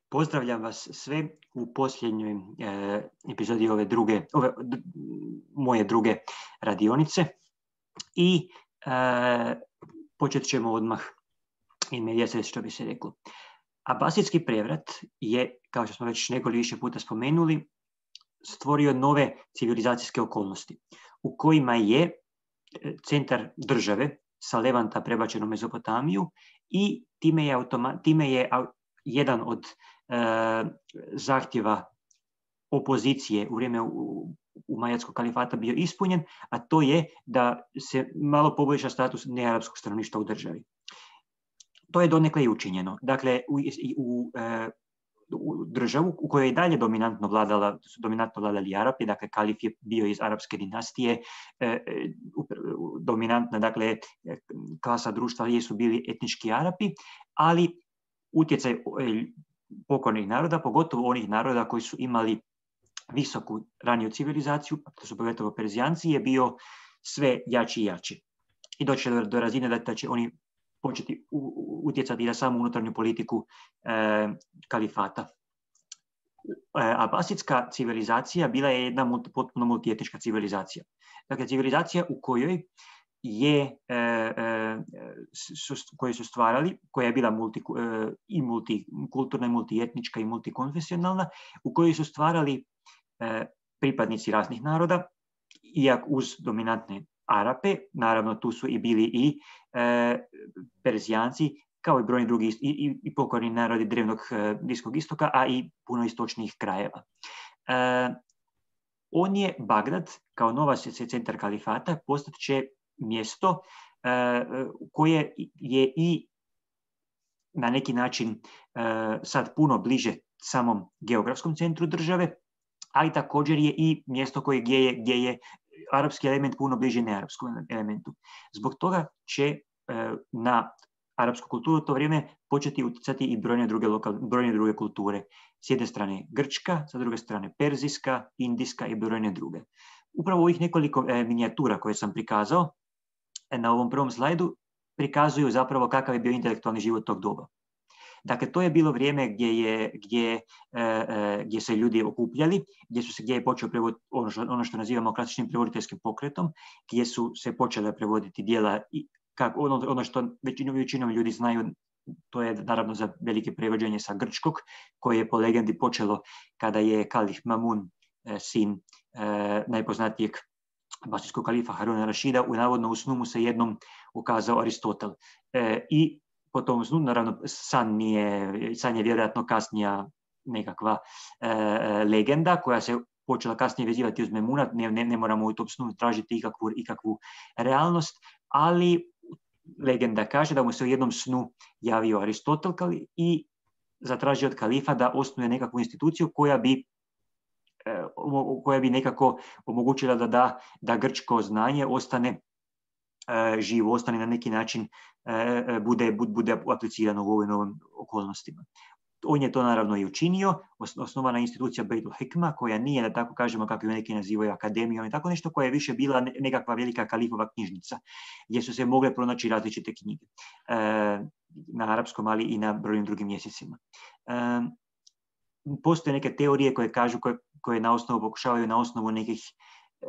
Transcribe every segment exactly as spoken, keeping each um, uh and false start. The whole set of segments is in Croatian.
Pozdravljam vas sve u posljednjoj e, epizodi ove druge, ove, d, moje druge radionice i e, počet ćemo odmah in medias res, što bi se reklo. Abasidski prevrat je, kao što smo već nekoliko više puta spomenuli, stvorio nove civilizacijske okolnosti u kojima je centar države sa Levanta prebačen u Mezopotamiju i time je, automa, time je jedan od e, zahtjeva opozicije u vrijeme u, u Majatskog kalifata bio ispunjen, a to je da se malo poboljša status nearapskog stanovništva u državi. To je donekle i učinjeno. Dakle, u, u, e, u državu u kojoj je dalje dominantno vladala, su dominantno vladali Arapi, dakle kalif je bio iz arapske dinastije, e, dominantna dakle klasa društva jesu bili etnički Arapi, ali utjecaj pokornih naroda, pogotovo onih naroda koji su imali visoku raniju civilizaciju, to su pogotovo Perzijanci, je bio sve jači i jači. I doći do, do razine da, da će oni početi utjecati na samu unutarnju politiku e, kalifata. E, Abasidska civilizacija bila je jedna multi, potpuno multietnička civilizacija. Dakle, civilizacija u kojoj je, e, e, su, koje su stvarali, koja je bila multi, e, i multikulturna, i multietnička, i multikonfesionalna, u kojoj su stvarali e, pripadnici raznih naroda, iako uz dominantne Arape, naravno tu su i bili i e, Perzijanci, kao i brojni drugi i, i, i pokorni narodi drevnog e, Bliskog istoka, a i puno istočnijih krajeva. E, on je Bagdad, kao nova centar kalifata, postat će mjesto e, koje je i na neki način e, sad puno bliže samom geografskom centru države, ali također je i mjesto koje gdje je, gdje je arapski element puno bliži nearapskom elementu. Zbog toga će e, na arapsku kulturu u to vrijeme početi utjecati i brojne druge, lokal, brojne druge kulture. S jedne strane grčka, sa druge strane perzijska, indijska i brojne druge. Upravo ovih nekoliko e, minijatura koje sam prikazao e, na ovom prvom slajdu prikazuju zapravo kakav je bio intelektualni život tog doba. Dakle, to je bilo vrijeme gdje, je, gdje, e, gdje se ljudi okupljali, gdje, su se, gdje je počeo prevod, ono, što, ono što nazivamo klasičnim prevoditeljskim pokretom, gdje su se počele prevoditi djela, i, kako, ono, ono što većinom, većinom ljudi znaju, to je naravno za velike prevođenje sa grčkog, koje je po legendi počelo kada je kalif Mamun, e, sin e, najpoznatijeg abasidskog kalifa Haruna Rašida, u navodno u snu mu se jednom ukazao Aristotel. E, I po tom snu, naravno, san, nije, san je vjerojatno kasnija nekakva e, legenda koja se počela kasnije vezivati uz Memuna, ne, ne, ne moramo u tom snu tražiti ikakvu, ikakvu realnost, ali legenda kaže da mu se u jednom snu javio Aristotel i zatražio od kalifa da osnuje nekakvu instituciju koja bi, e, koja bi nekako omogućila da, da, da grčko znanje ostane e, živo, ostane na neki način Bude, bude aplicirano u ovim novim okolnostima. On je to naravno i učinio, osnovana institucija Bejtul Hikma, koja nije, da tako kažemo, kako je neki nazivaju akademijom i tako nešto, koja je više bila nekakva velika kalifova knjižnica, gdje su se mogle pronaći različite knjige e, na arapskom, ali i na brojnim drugim jezicima. E, postoje neke teorije koje kažu, koje, koje na osnovu pokušavaju na osnovu nekih e,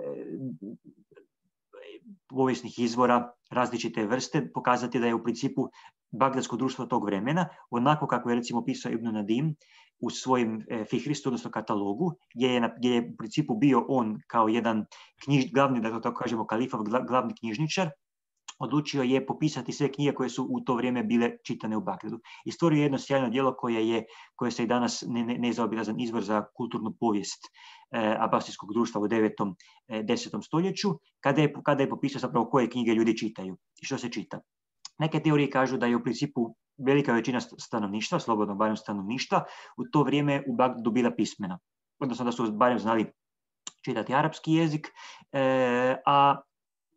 povijesnih izvora različite vrste pokazati da je u principu bagdadsko društvo tog vremena, onako kako je recimo pisao Ibn Nadim u svojim e, Fihristu, odnosno katalogu, gdje je, gdje je u principu bio on kao jedan knjiž, glavni, da to tako kažemo, kalifov glavni knjižničar, odlučio je popisati sve knjige koje su u to vrijeme bile čitane u Bagdadu. I stvorio jedno sjajno djelo koje je, koje se i danas ne, ne, nezaobilazan izvor za kulturnu povijest eh, abasidskog društva u devetom i desetom stoljeću, kada je, kada je popisao zapravo koje knjige ljudi čitaju i što se čita. Neke teorije kažu da je u principu velika većina stanovništva, slobodno barem stanovništva, u to vrijeme u Bagdadu bila pismena. Odnosno da su barem znali čitati arapski jezik, eh, a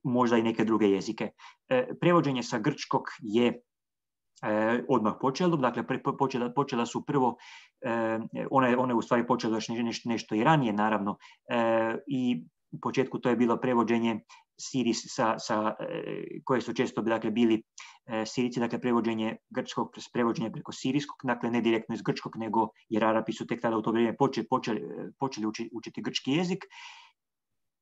možda i neke druge jezike. E, prevođenje sa grčkog je e, odmah počelo, dakle pre, počela, počela su prvo, e, ona, je, ona je u stvari počela još nešto, nešto i ranije naravno, e, i u početku to je bilo prevođenje Siris, sa, sa, koje su često dakle, bili Sirici, dakle prevođenje grčkog prevođenje preko sirijskog, dakle ne direktno iz grčkog, nego jer Arapi su tek tada u to vrijeme počeli, počeli, počeli učiti, učiti grčki jezik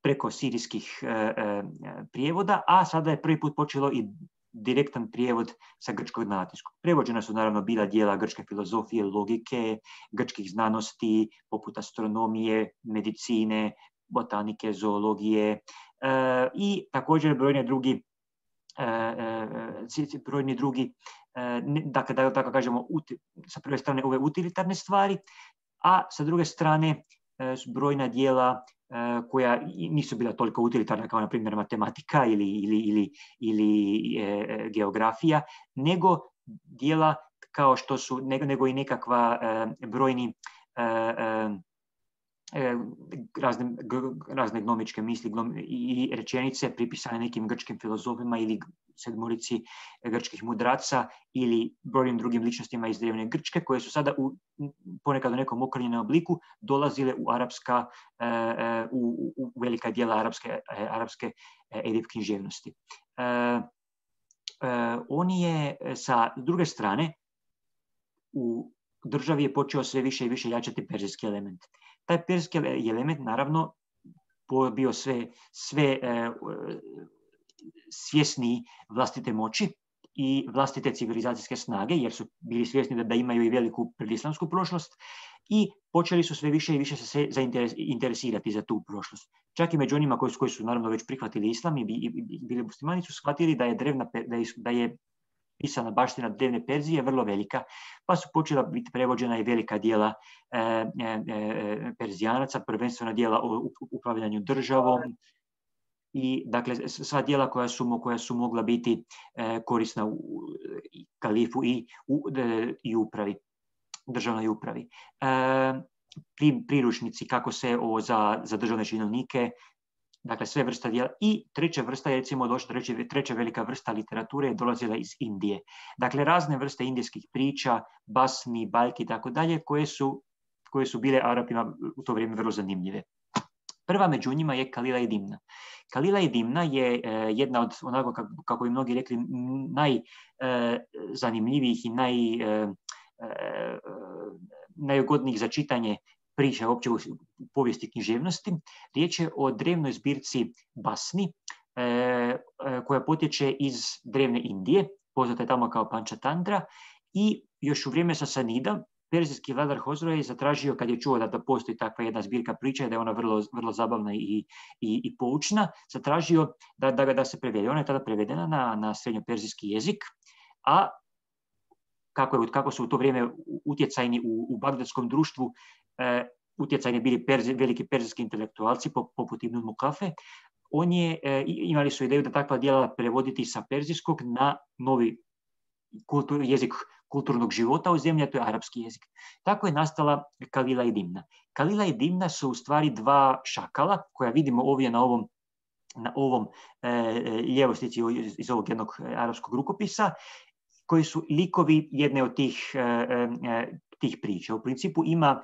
preko sirijskih e, e, prijevoda, a sada je prvi put počelo i direktan prijevod sa grčkog na latinskog. Prevođena su naravno bila dijela grčke filozofije, logike, grčkih znanosti, poput astronomije, medicine, botanike, zoologije, e, i također brojne drugi e, e, brojni drugi, e, dakle, da tako kažemo, uti, sa prve strane ove utilitarne stvari, a sa druge strane e, su brojna dijela e, koja nisu bila toliko utilitarna kao na primjer matematika ili, ili, ili, ili e, geografija, nego dijela kao što su, nego, nego i nekakva e, brojni e, e, Razne, razne gnomičke misli glom, i rečenice pripisane nekim grčkim filozofima ili sedmorici grčkih mudraca ili brojnim drugim ličnostima iz drevne Grčke, koje su sada u, ponekad u nekom okrnjenom obliku dolazile u arapska, u, u velika dijela arapske, arapske edip književnosti. On je sa druge strane u državi je počeo sve više i više jačati perzijski element. Taj perzijski element naravno bio sve, sve e, svjesniji vlastite moći i vlastite civilizacijske snage, jer su bili svjesni da, da imaju i veliku predislamsku prošlost i počeli su sve više i više se zainteresirati za tu prošlost. Čak i među onima koji su, koji su naravno već prihvatili islam i, i, i bili muslimani su shvatili da je, drevna, da je, da je pisana baština drevne Perzije vrlo velika, pa su počela biti prevođena i velika dijela e, e, Perzijanaca, prvenstveno dijela o upravljanju državom i dakle sva dijela koja su, koja su mogla biti e, korisna u kalifu i u e, i upravi, državnoj upravi. E, pri, priručnici kako se o, za, za državne činovnike, dakle sve vrsta dijela. I treća vrsta je recimo došla, treća, treća velika vrsta literature je dolazila iz Indije. Dakle razne vrste indijskih priča, basni, bajki i tako dalje, koje su, koje su bile Arapima u to vrijeme vrlo zanimljive. Prva među njima je Kalila i Dimna. Kalila i Dimna je e, jedna od, onako kako, kako bi mnogi rekli, najzanimljivijih i naj, e, e, najugodnijih za čitanje priča uopće u povijesti književnosti. Riječ je o drevnoj zbirci basni e, e, koja potječe iz drevne Indije, poznata je tamo kao Pančatandra, i još u vrijeme Sasanida perzijski vladar Hosro je zatražio, kad je čuo da, da postoji takva jedna zbirka priča, da je ona vrlo, vrlo zabavna i, i, i poučna, zatražio da, da, da se prevede. Ona je tada prevedena na, na srednjoperzijski jezik, a kako, je, kako su u to vrijeme utjecajni u, u bagdadskom društvu e, utjecajni bili perzi, veliki perzijski intelektualci poput Ibn Mukafe, on je, e, imali su ideju da takva djela prevoditi sa perzijskog na novi kultur, jezik kulturnog života u zemlji, a to je arapski jezik. Tako je nastala Kalila i Dimna. Kalila i Dimna su u stvari dva šakala koja vidimo ovdje na ovom, na ovom e, lijevoj slici iz ovog jednog arapskog rukopisa, koji su likovi jedne od tih, e, e, tih priča. U principu ima,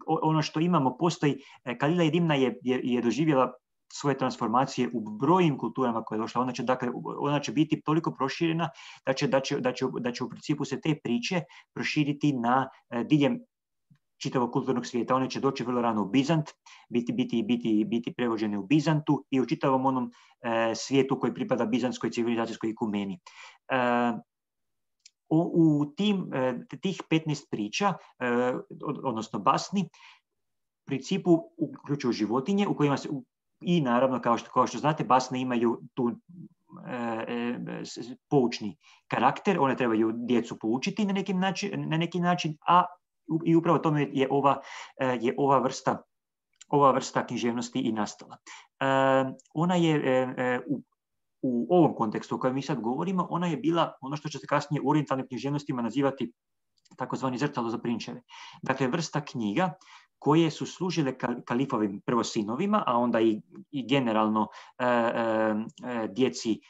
ono što imamo postoji, Kalila i Dimna je, je, je doživjela svoje transformacije u brojnim kulturama koje je došla. Ona će, dakle, ona će biti toliko proširena da će, da, će, da, će, da će u principu se te priče proširiti na e, diljem čitavog kulturnog svijeta. One će doći vrlo rano u Bizant, biti, biti, biti, biti prevođene u Bizantu i u čitavom onom e, svijetu koji pripada bizantskoj civilizacijskoj ikumeni. E, u, u tim, e, tih petnaest priča, e, odnosno basni, u principu uključuju životinje u kojima se i naravno, kao što, kao što znate, basne imaju tu e, e, poučni karakter, one trebaju djecu poučiti na neki način, na neki način, a i upravo tome je ova, je ova vrsta ova vrsta književnosti i nastala. E, ona je e, u, u ovom kontekstu o kojem mi sad govorimo, ona je bila ono što će se kasnije u orijentalnim književnostima nazivati takozvani zrcalo za prinčeve. Dakle, vrsta knjiga koje su služile kalifovim prvo sinovima, a onda i, i generalno e, e, djeci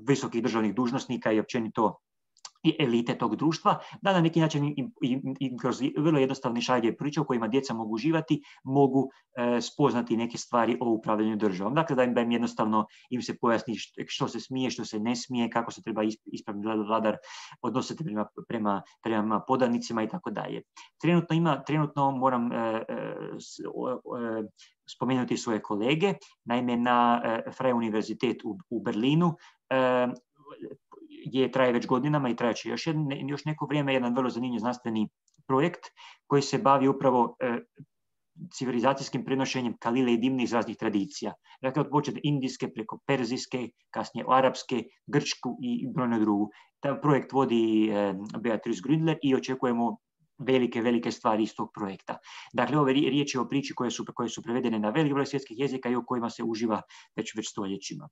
visokih državnih dužnosnika i općenito i elite tog društva, da na neki način im, im, im kroz vrlo jednostavne šalje priče u kojima djeca mogu uživati, mogu e, spoznati neke stvari o upravljanju državom. Dakle, da im, da im jednostavno im se pojasni što se smije, što se ne smije, kako se treba ispravni vladar odnositi prema, prema, prema podanicima i tako dalje. Trenutno ima, trenutno moram e, e, e, spomenuti svoje kolege, naime na e, Freie Universitet u, u Berlinu e, je traje već godinama i trajeće još, još neko vrijeme jedan vrlo zanimljiv znanstveni projekt koji se bavi upravo e, civilizacijskim prenošenjem kalile i dimne iz raznih tradicija. Dakle, od počet indijske preko perzijske, kasnije arapske, grčku i brojnu drugu. Taj projekt vodi e, Beatrice Gründler i očekujemo velike, velike stvari iz tog projekta. Dakle, ove riječi o priči koje su, koje su prevedene na velik broj svjetskih jezika i o kojima se uživa već, već stoljećima.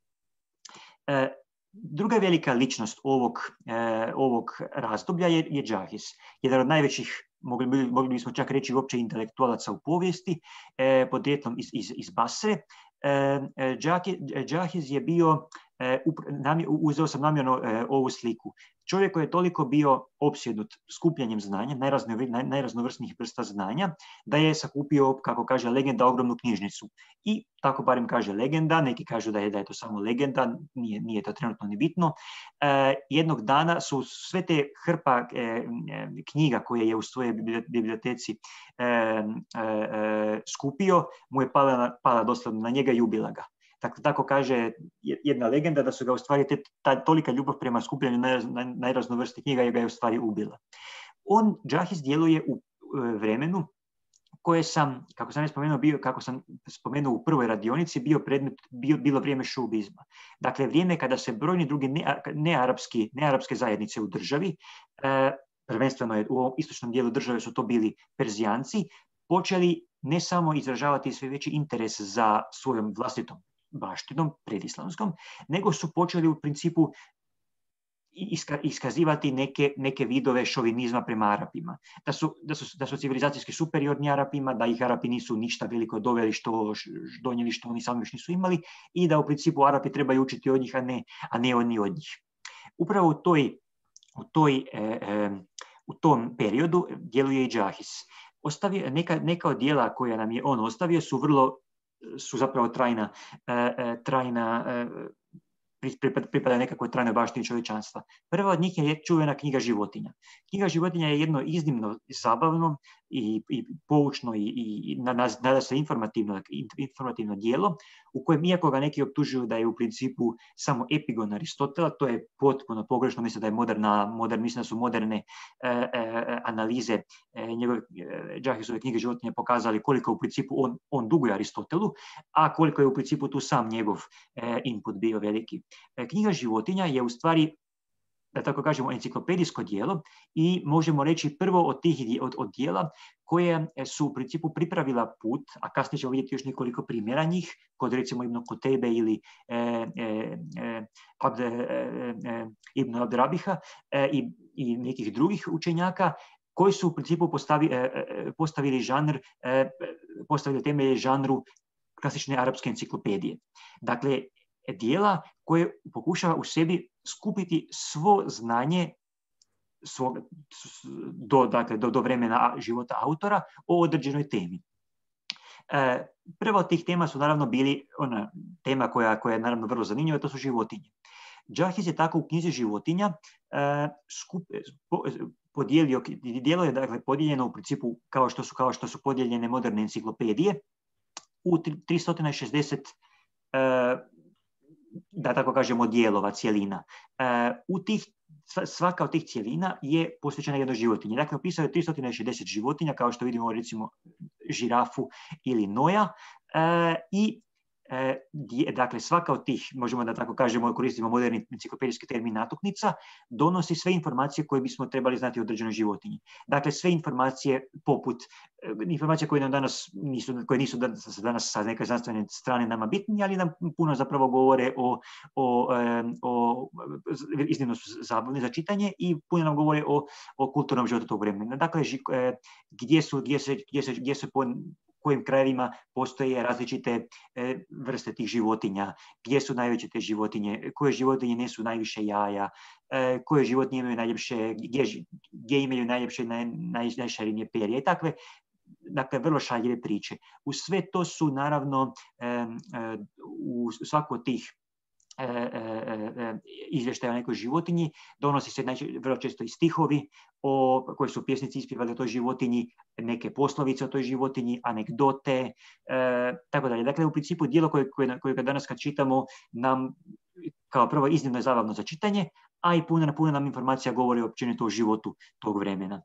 E, Druga velika ličnost ovog, eh, ovog razdoblja je, je Džahis. Jedan od najvećih, mogli, mogli bismo čak reći, uopće intelektualaca u povijesti, eh, podrijetlom iz, iz, iz Basre. Eh, Džahis je bio, eh, namje, uzeo sam namjerno eh, ovu sliku. Čovjek koji je toliko bio opsjednut skupljanjem znanja, najraznovrsnijih vrsta znanja, da je sakupio, kako kaže legenda, ogromnu knjižnicu. I tako barem kaže legenda, neki kažu da je, da je to samo legenda, nije, nije to trenutno ni bitno. E, jednog dana su sve te hrpa e, knjiga koje je u svojoj biblioteci e, e, skupio, mu je pala, pala doslovno na njega i ubila ga. Tako, tako kaže jedna legenda da su ga u stvari te, ta tolika ljubav prema skupljanju naj, naj, najraznovrsnijih knjiga je ga je u stvari ubila. On, Džahis, djeluje u e, vremenu koje sam, kako sam spomenuo, bio, kako sam spomenuo u prvoj radionici, bio predmet, bio, bilo vrijeme šubizma. Dakle, vrijeme kada se brojni drugi nearapski, nearapske zajednice u državi, e, prvenstveno je u ovom istočnom dijelu države su to bili Perzijanci, počeli ne samo izražavati sve veći interes za svojom vlastitom baštinom predislamskom, nego su počeli u principu iska, iskazivati neke, neke vidove šovinizma prema Arapima. Da su, da su, da su civilizacijski superiorni Arapima, da ih Arapi nisu ništa veliko doveli, što donijeli što oni sami još nisu imali i da u principu Arapi trebaju učiti od njih, a ne, a ne oni od njih. Upravo u, toj, u, toj, e, e, u tom periodu djeluje i Džahis. Ostavio, neka, neka od djela koja nam je on ostavio su vrlo su zapravo trajna, trajna pripada nekakvoj trajnoj baštini čovječanstva. Prva od njih je čuvena knjiga Životinja. Knjiga Životinja je jedno iznimno zabavno i, i poučno i, i nada se informativno, informativno djelo u kojem, iako ga neki optužuju da je u principu samo epigon Aristotela, to je potpuno pogrešno. Mislim da je moderna, modern, mislim da su moderne e, e, analize e, njegove e, Džahisove knjige Životinja pokazali koliko u principu on, on duguje Aristotelu, a koliko je u principu tu sam njegov e, input bio veliki. E, knjiga Životinja je u stvari, da tako kažemo, enciklopedijsko djelo i možemo reći prvo od tih od, od djela koje su u principu pripravila put, a kasnije ćemo vidjeti još nekoliko primjera njih, kod recimo Ibn Kutejbe ili e, e, e, Abde, e, e, Ibn Abdrabiha e, i, i nekih drugih učenjaka koji su u principu postavi, e, postavili žanr, e, postavili temelje žanru klasične arapske enciklopedije. Dakle, djela koje pokušava u sebi skupiti svo znanje svog, do, dakle, do, do vremena života autora o određenoj temi. E, prva od tih tema su naravno bili ona tema koja, koja je naravno vrlo zanimljiva, to su životinje. Džahis je tako u knjizi Životinja e, skup, po, podijelio, djelo je dakle podijeljeno u principu kao što su, kao što su podijeljene moderne enciklopedije u tristo šezdeset e, da tako kažemo dijelova, cijelina. E, u tih, svaka od tih cijelina je posvećena jednoj životinji. Dakle, opisao je tristo šezdeset životinja, kao što vidimo recimo žirafu ili noja e, i e, dakle, svaka od tih, možemo da tako kažemo, koristimo moderni enciklopedijski termin natuknica, donosi sve informacije koje bismo trebali znati o određenoj životinji. Dakle, sve informacije poput informacije koje nam danas nisu, koje nisu danas, danas sa neke znanstvene strane nama bitni, ali nam puno zapravo govore o, o, o iznimno zabavne za čitanje i puno nam govore o, o kulturnom životu tog vremena. Dakle, gdje su, gdje se, gdje se, gdje se po, kojim krajevima postoje različite e, vrste tih životinja, gdje su najveće te životinje, koje životinje nesu najviše jaja, e, koje životinje imaju najljepše, gdje, gdje imaju najljepše, naj, naj, najšarenije perje i takve. Dakle, vrlo šaljive priče. U sve to su, naravno, e, e, u svaku od tih e, e, izvještaja o nekoj životinji donosi se najče, vrlo često i stihovi o, koji su pjesnici ispjevali o toj životinji, neke poslovice o toj životinji, anegdote, e, tako dalje. Dakle, u principu dijelo koje, koje, koje danas kad čitamo nam kao prvo iznimno je zabavno za čitanje, a i puno, puno nam informacija govori općenito o životu tog vremena.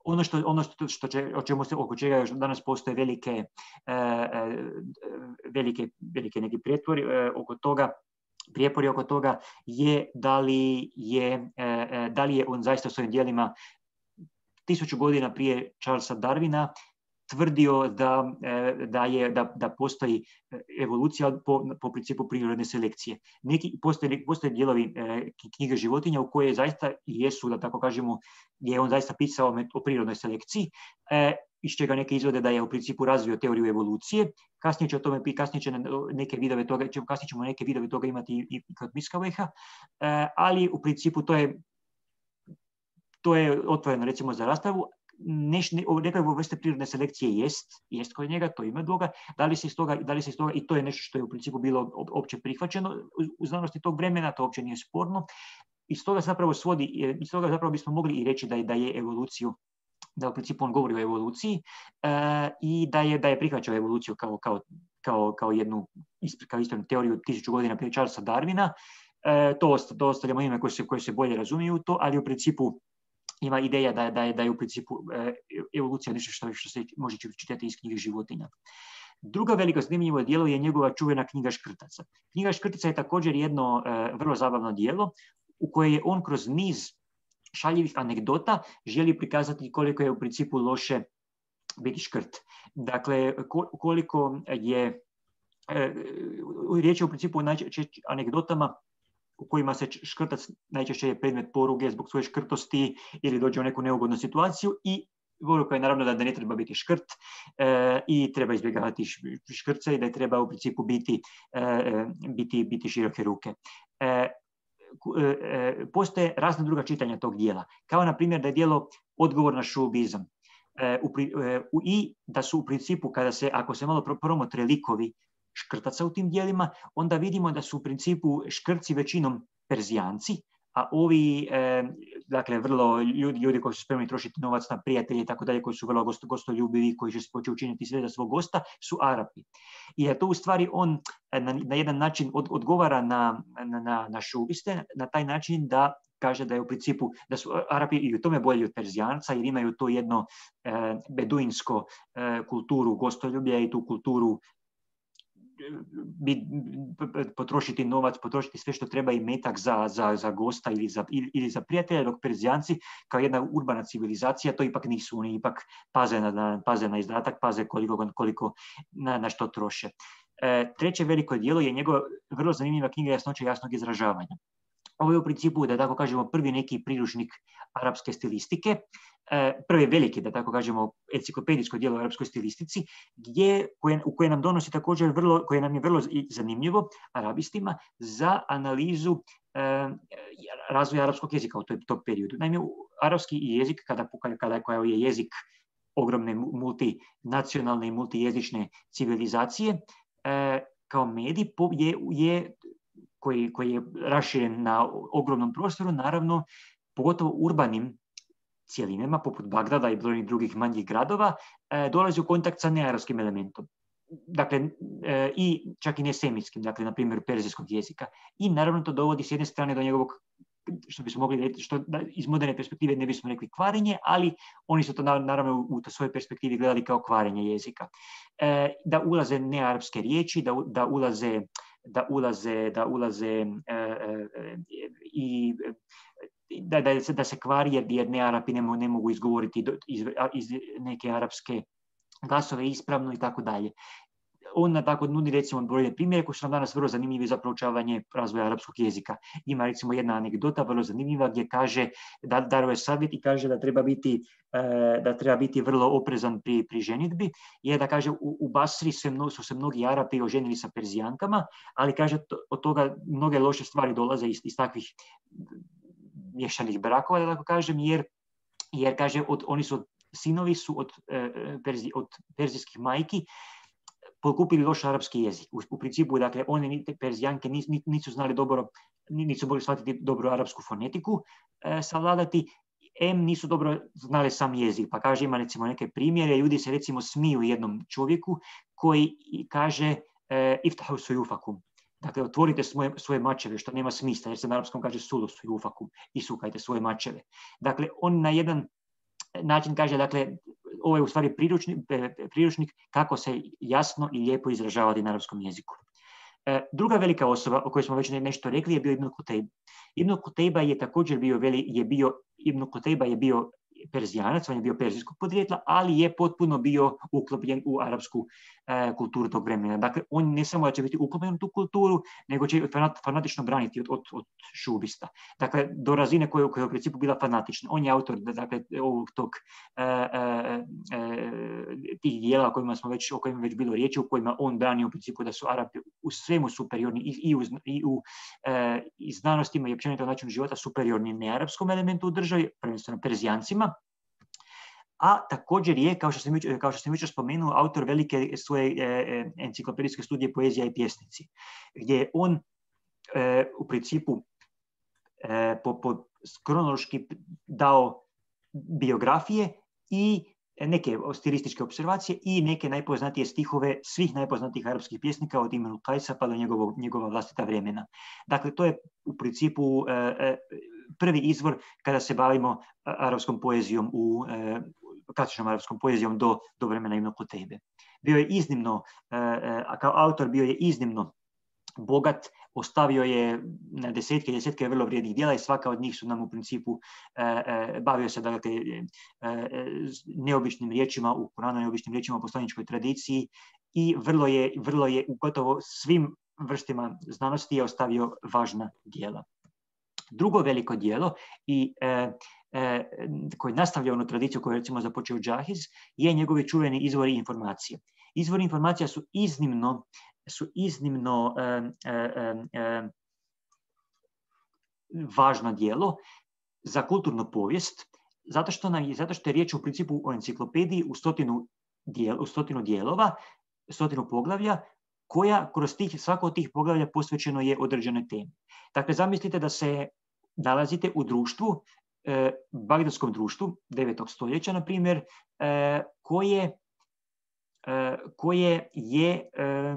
Ono, što, ono što, što će, o čemu se, oko čega još danas postoje velike, e, velike, velike neki prijepori e, oko toga, prijepori oko toga je da li je, e, da li je on zaista svojim djelima tisuću godina prije Charlesa Darwina tvrdio da, da, je, da, da postoji evolucija po, po principu prirodne selekcije. Neki, postoje, postoje dijelovi e, knjige životinja u koje zaista jesu, da tako kažemo, je on zaista pisao o prirodnoj selekciji, e, iz čega neke izvode da je u principu razvio teoriju evolucije. Kasnije će o tome, kasnije će neke vidove toga, kasnije ćemo neke vidove toga imati i, i kod Miskaveha, e, ali u principu to je, to je otvoreno recimo za raspravu. Nekakve vrste prirodne selekcije jest, jest kod njega, to ima Boga, da li se iz toga, da li se iz toga, i to je nešto što je u principu bilo opće prihvaćeno u znanosti tog vremena, to uopće nije sporno. Iz toga zapravo svodi, iz toga zapravo bismo mogli i reći da je, da je evoluciju, da u principu on govori o evoluciji uh, i da je, da je prihvaćao evoluciju kao, kao, kao, kao jednu kao ispravnu teoriju tisuću godina prije Charlesa Darwina. Uh, to, to ostavljamo ime koje se, koje se bolje razumiju u to, ali u principu ima ideja da, da, je, da je u principu e, evolucija nešto što, što se može čitati iz knjige životinja. Druga veliko zanimljivo djelo je njegova čuvena knjiga Škrtaca. Knjiga Škrtica je također jedno e, vrlo zabavno djelo u koje je on kroz niz šaljivih anegdota želi prikazati koliko je u principu loše biti škrt. Dakle, koliko je e, riječ je u principu o anegdotama u kojima se škrtac najčešće je predmet poruge zbog svoje škrtosti ili dođe u neku neugodnu situaciju i poruka je naravno da, da ne treba biti škrt e, i treba izbjegavati škrce i da je treba u principu biti, e, biti, biti široke ruke. E, e, postoje razna druga čitanja tog dijela, kao na primjer da je dijelo odgovor na šoubizam. E, u, e, u, I da su u principu, kada se, ako se malo promotre likovi škrtaca u tim dijelima, onda vidimo da su u principu škrci većinom Perzijanci, a ovi, e, dakle, vrlo ljudi, ljudi koji su spremni trošiti novac na prijatelje i tako dalje, koji su vrlo gosto, gostoljubivi, koji će se početi učiniti sve za svog gosta, su Arapi. I to u stvari on na, na jedan način od, odgovara na, na, na, na šubiste, na taj način da kaže da je u principu, da su Arapi i u tome bolji od Perzijanca, jer imaju to jedno e, beduinsko e, kulturu gostoljublja i tu kulturu potrošiti novac, potrošiti sve što treba i metak za, za, za gosta ili za, ili za prijatelja, dok Perzijanci kao jedna urbana civilizacija to ipak nisu, oni ipak paze na, paze na izdatak, paze koliko, koliko na, na što troše. E, treće veliko djelo je njegova vrlo zanimljiva knjiga Jasnoća jasnog izražavanja. Ovo je u principu, da tako kažemo, prvi neki priručnik arapske stilistike, prvi veliki, da tako kažemo, enciklopedijsko djelo o arapskoj stilistici, gdje, koje, u koje nam donosi također vrlo, koje nam je vrlo zanimljivo, arabistima, za analizu eh, razvoja arapskog jezika u toj, tom periodu. Naime, arapski jezik, kada, kada, kada je jezik ogromne multinacionalne i multijezične civilizacije, eh, kao medij je, je koji, koji je raširen na ogromnom prostoru, naravno, pogotovo urbanim cjelinama, poput Bagdada i brojnih drugih manjih gradova, e, dolazi u kontakt sa nearapskim elementom. Dakle, e, i čak i nesemitskim, dakle, na primjer, perzijskog jezika. I naravno to dovodi s jedne strane do njegovog, što bismo mogli reći, što da, iz moderne perspektive ne bismo rekli kvarenje, ali oni su to naravno u, u svojoj perspektivi gledali kao kvarenje jezika. E, da ulaze nearapske riječi, da, da ulaze da ulaze, da ulaze e, e, i da, da, se, da se kvari jer, jer ne Arapi ne, ne mogu izgovoriti iz, iz neke arapske glasove ispravno i tako dalje. on tako nudi recimo brojne primjere koji su nam danas vrlo zanimljivi za proučavanje razvoja arapskog jezika. Ima recimo jedna anegdota vrlo zanimljiva gdje kaže, da daruje savjet i kaže da treba biti, da treba biti vrlo oprezan pri, pri ženitbi, je da kaže u, u Basri se mno, su se mnogi Arapi oženili sa Perzijankama, ali kaže to, od toga mnoge loše stvari dolaze iz, iz takvih miješanih brakova, da tako kažem, jer, jer kaže od, oni su sinovi su od, Perzi, od perzijskih majki pokupili loš arapski jezik. U, u principu, dakle, one Perzijanke nisu, nisu znali dobro, nisu mogli shvatiti dobro arapsku fonetiku, e, savladati, em nisu dobro znali sam jezik. Pa kaže, ima recimo neke primjere, ljudi se recimo smiju jednom čovjeku koji kaže e, iftahu sujufakum. Dakle, otvorite svoje, svoje mačeve, što nema smisla, jer se na arapskom kaže sulu sujufakum, isukajte svoje mačeve. Dakle, on na jedan način kaže, dakle, ovo je u stvari priručnik, priručnik kako se jasno i lijepo izražavati na arapskom jeziku. E, druga velika osoba o kojoj smo već nešto rekli je bio Ibn Kutejba. Ibn Kutejba je također bio, veli, je bio, Ibn Kutejba je bio Perzijanac, on je bio perzijskog podrijetla, ali je potpuno bio uklopljen u arapsku e, kulturu tog vremena. Dakle, on ne samo da će biti uklopljen u tu kulturu, nego će fanat, fanatično braniti od, od, od šubista. Dakle, do razine koja, koja je u principu bila fanatična. On je autor dakle, ovog tog e, e, e, tih dijela o kojima smo već, o kojima već bilo riječi, u kojima on brani u principu da su Arapi u svemu superiorni i, i u, i u e, i znanostima i općenito načinu života superiorni nearapskom elementu u državi, prvenstveno Perzijancima. A također je, kao što sam, kao što sam jučer spomenuo, autor velike svoje e, enciklopedijske studije Poezija i pjesnici, gdje je on e, u principu e, po, po kronološki dao biografije i neke stilističke observacije i neke najpoznatije stihove svih najpoznatijih arapskih pjesnika od Imrul Kajsa pa do njegovog, njegova vlastita vremena. Dakle, to je u principu e, prvi izvor kada se bavimo arapskom poezijom u e, klasičnom arapskom poezijom do, do vremena Ibn Kutejbe. Bio je iznimno, a kao autor bio je iznimno bogat, ostavio je na desetke i desetke vrlo vrijednih djela i svaka od njih su nam u principu bavio se dakle, neobičnim riječima u Koranu, neobičnim riječima u poslaničkoj tradiciji i vrlo je, vrlo je u gotovo svim vrstama znanosti je ostavio važna djela. Drugo veliko djelo i e, e, koji nastavlja onu tradiciju koju je recimo započeo Džahiz je njegovi čuveni izvori informacije. Izvori informacija su iznimno, su iznimno e, e, e, važno djelo za kulturnu povijest, zato što, nam, zato što je riječ u principu o enciklopediji u stotinu, dijel, u stotinu dijelova, stotinu poglavlja, koja kroz tih, svako od tih poglavlja posvećeno je određenoj temi. Dakle, zamislite da se nalazite u društvu, eh, bagdadskom društvu, devetog stoljeća, na primjer, eh, koje, eh, koje je eh,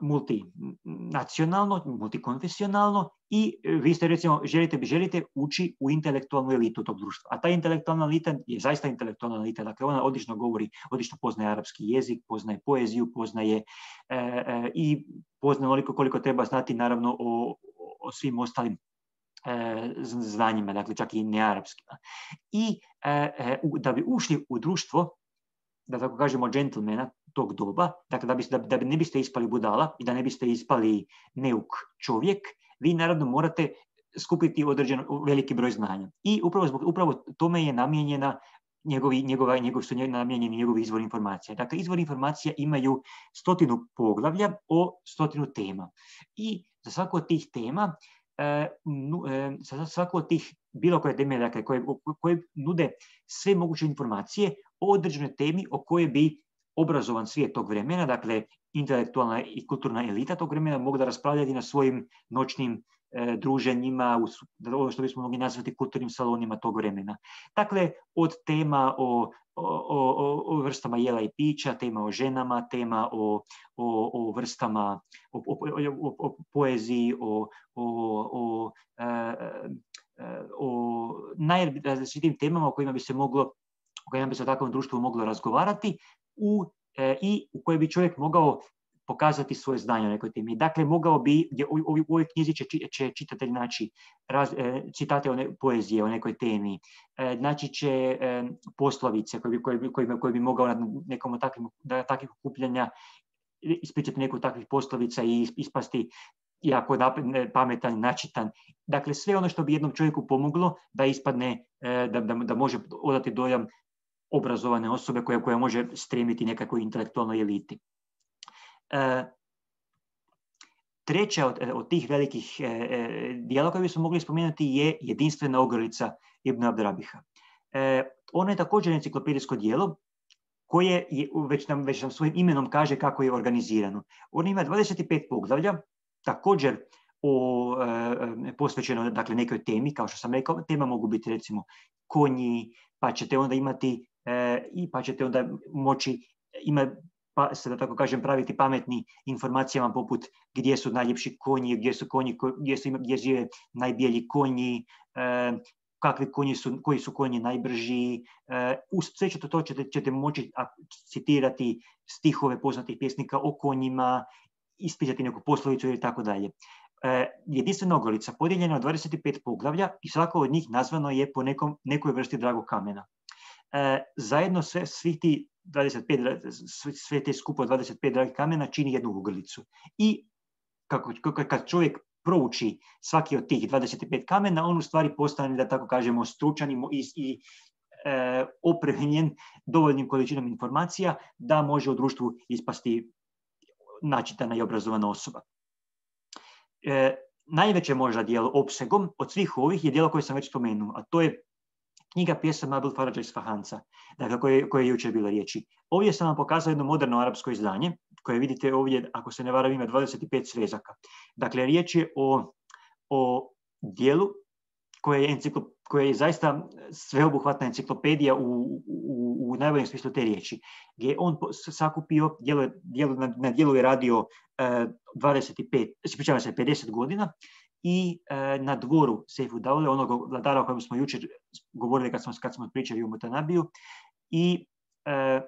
multinacionalno, multikonfesionalno i vi ste recimo, želite, želite ući u intelektualnu elitu tog društva. A ta intelektualna elita je zaista intelektualna elita. Dakle, ona odlično govori, odlično poznaje arapski jezik, poznaje poeziju, poznaje e, e, i poznaje onoliko koliko treba znati naravno o, o svim ostalim e, znanjima, dakle čak i nearapskima. I e, e, da bi ušli u društvo, da tako kažemo džentlmena tog doba, dakle da, bi, da, da ne biste ispali budala i da ne biste ispali neuk čovjek, vi naravno morate skupiti određen veliki broj znanja. I upravo, zbog, upravo tome je namijenjena njegovi, njegova, njegov su namijenjeni njegovi izvori informacija. Dakle, izvori informacija imaju stotinu poglavlja o stotinu tema. I za svaku od tih tema, e, nu, e, za svaku od tih bilo koje teme, dakle, koje, koje nude sve moguće informacije o određenoj temi o kojoj bi obrazovan svijet tog vremena, dakle intelektualna i kulturna elita tog vremena mogla raspravljati na svojim noćnim e, druženjima, ono što bismo mogli nazvati kulturnim salonima tog vremena. Dakle, od tema o, o, o, o vrstama jela i pića, tema o ženama, tema o, o, o vrstama, o, o, o, o poeziji, o, o, o, e, o najrazličitijim temama o kojima bi se moglo, o kojima bi se u takvom društvu moglo razgovarati, U, e, i u kojoj bi čovjek mogao pokazati svoje znanje o nekoj temi. Dakle, mogao bi, u, u, u ovoj knjizi će, će čitatelj naći raz, e, citate o ne, poezije o nekoj temi, e, znači će e, poslovice koje bi, koje, bi, koje, bi, koje bi mogao na nekom od takvih, takvih okupljanja ispričati neku takvih poslovica i ispasti jako pametan, načitan. Dakle, sve ono što bi jednom čovjeku pomoglo da ispadne, da, da, da može odati dojam obrazovane osobe koja, koja može stremiti nekakvoj intelektualnoj eliti. E, treća od, od tih velikih e, dijela koje bismo mogli spomenuti je Jedinstvena ogrlica Ibn Abdrabiha. E, ono je također enciklopedijsko dijelo koje je, već, nam, već nam svojim imenom kaže kako je organizirano. Ono ima dvadeset pet poglavlja, također o, e, posvećeno dakle, nekoj temi, kao što sam rekao, tema mogu biti recimo konji, pa ćete onda imati e, i pa ćete onda moći ima, pa se da tako kažem praviti pametni informacijama poput gdje su najljepši konji, gdje su konji, gdje, su, gdje žive najbijelji konji, e, kakvi konji su, koji su konji najbrži. E, uz sve ćete to ćete, ćete moći citirati stihove poznatih pjesnika o konjima, ispisati neku poslovicu ili tako dalje. Jedinstvena ogrlica podijeljena od dvadeset pet poglavlja i svako od njih nazvano je po nekom, nekoj vrsti dragog kamena. E, zajedno sve, svih ti dvadeset pet, sve te skupo dvadeset pet dragih kamena čini jednu ogrlicu. I kako, kad čovjek prouči svaki od tih dvadeset pet kamena, on u stvari postane, da tako kažemo, stručan i, i e, opremljen dovoljnim količinom informacija da može u društvu ispasti načitana i obrazovana osoba. E, najveće možda dijelo opsegom od svih ovih je dijelo koje sam već spomenuo, a to je knjiga pjesama Abul Farađa Isfahanca, dakle koje, koje je jučer bilo riječi. Ovdje sam vam pokazao jedno moderno arapsko izdanje, koje vidite ovdje, ako se ne varam, ima dvadeset pet svezaka. Dakle, riječ je o, o dijelu koje je, enciklop, koje je zaista sveobuhvatna enciklopedija u, u, u najboljem smislu te riječi, gdje je on sakupio, dijelo, dijelo, na, na dijelu je radio eh, dvadeset pet, ispričavam se, pedeset godina i eh, na dvoru Sejfu Daule, onog vladara o kojem smo jučer govorili kad smo, kad smo pričali o Mutanabiju, i eh,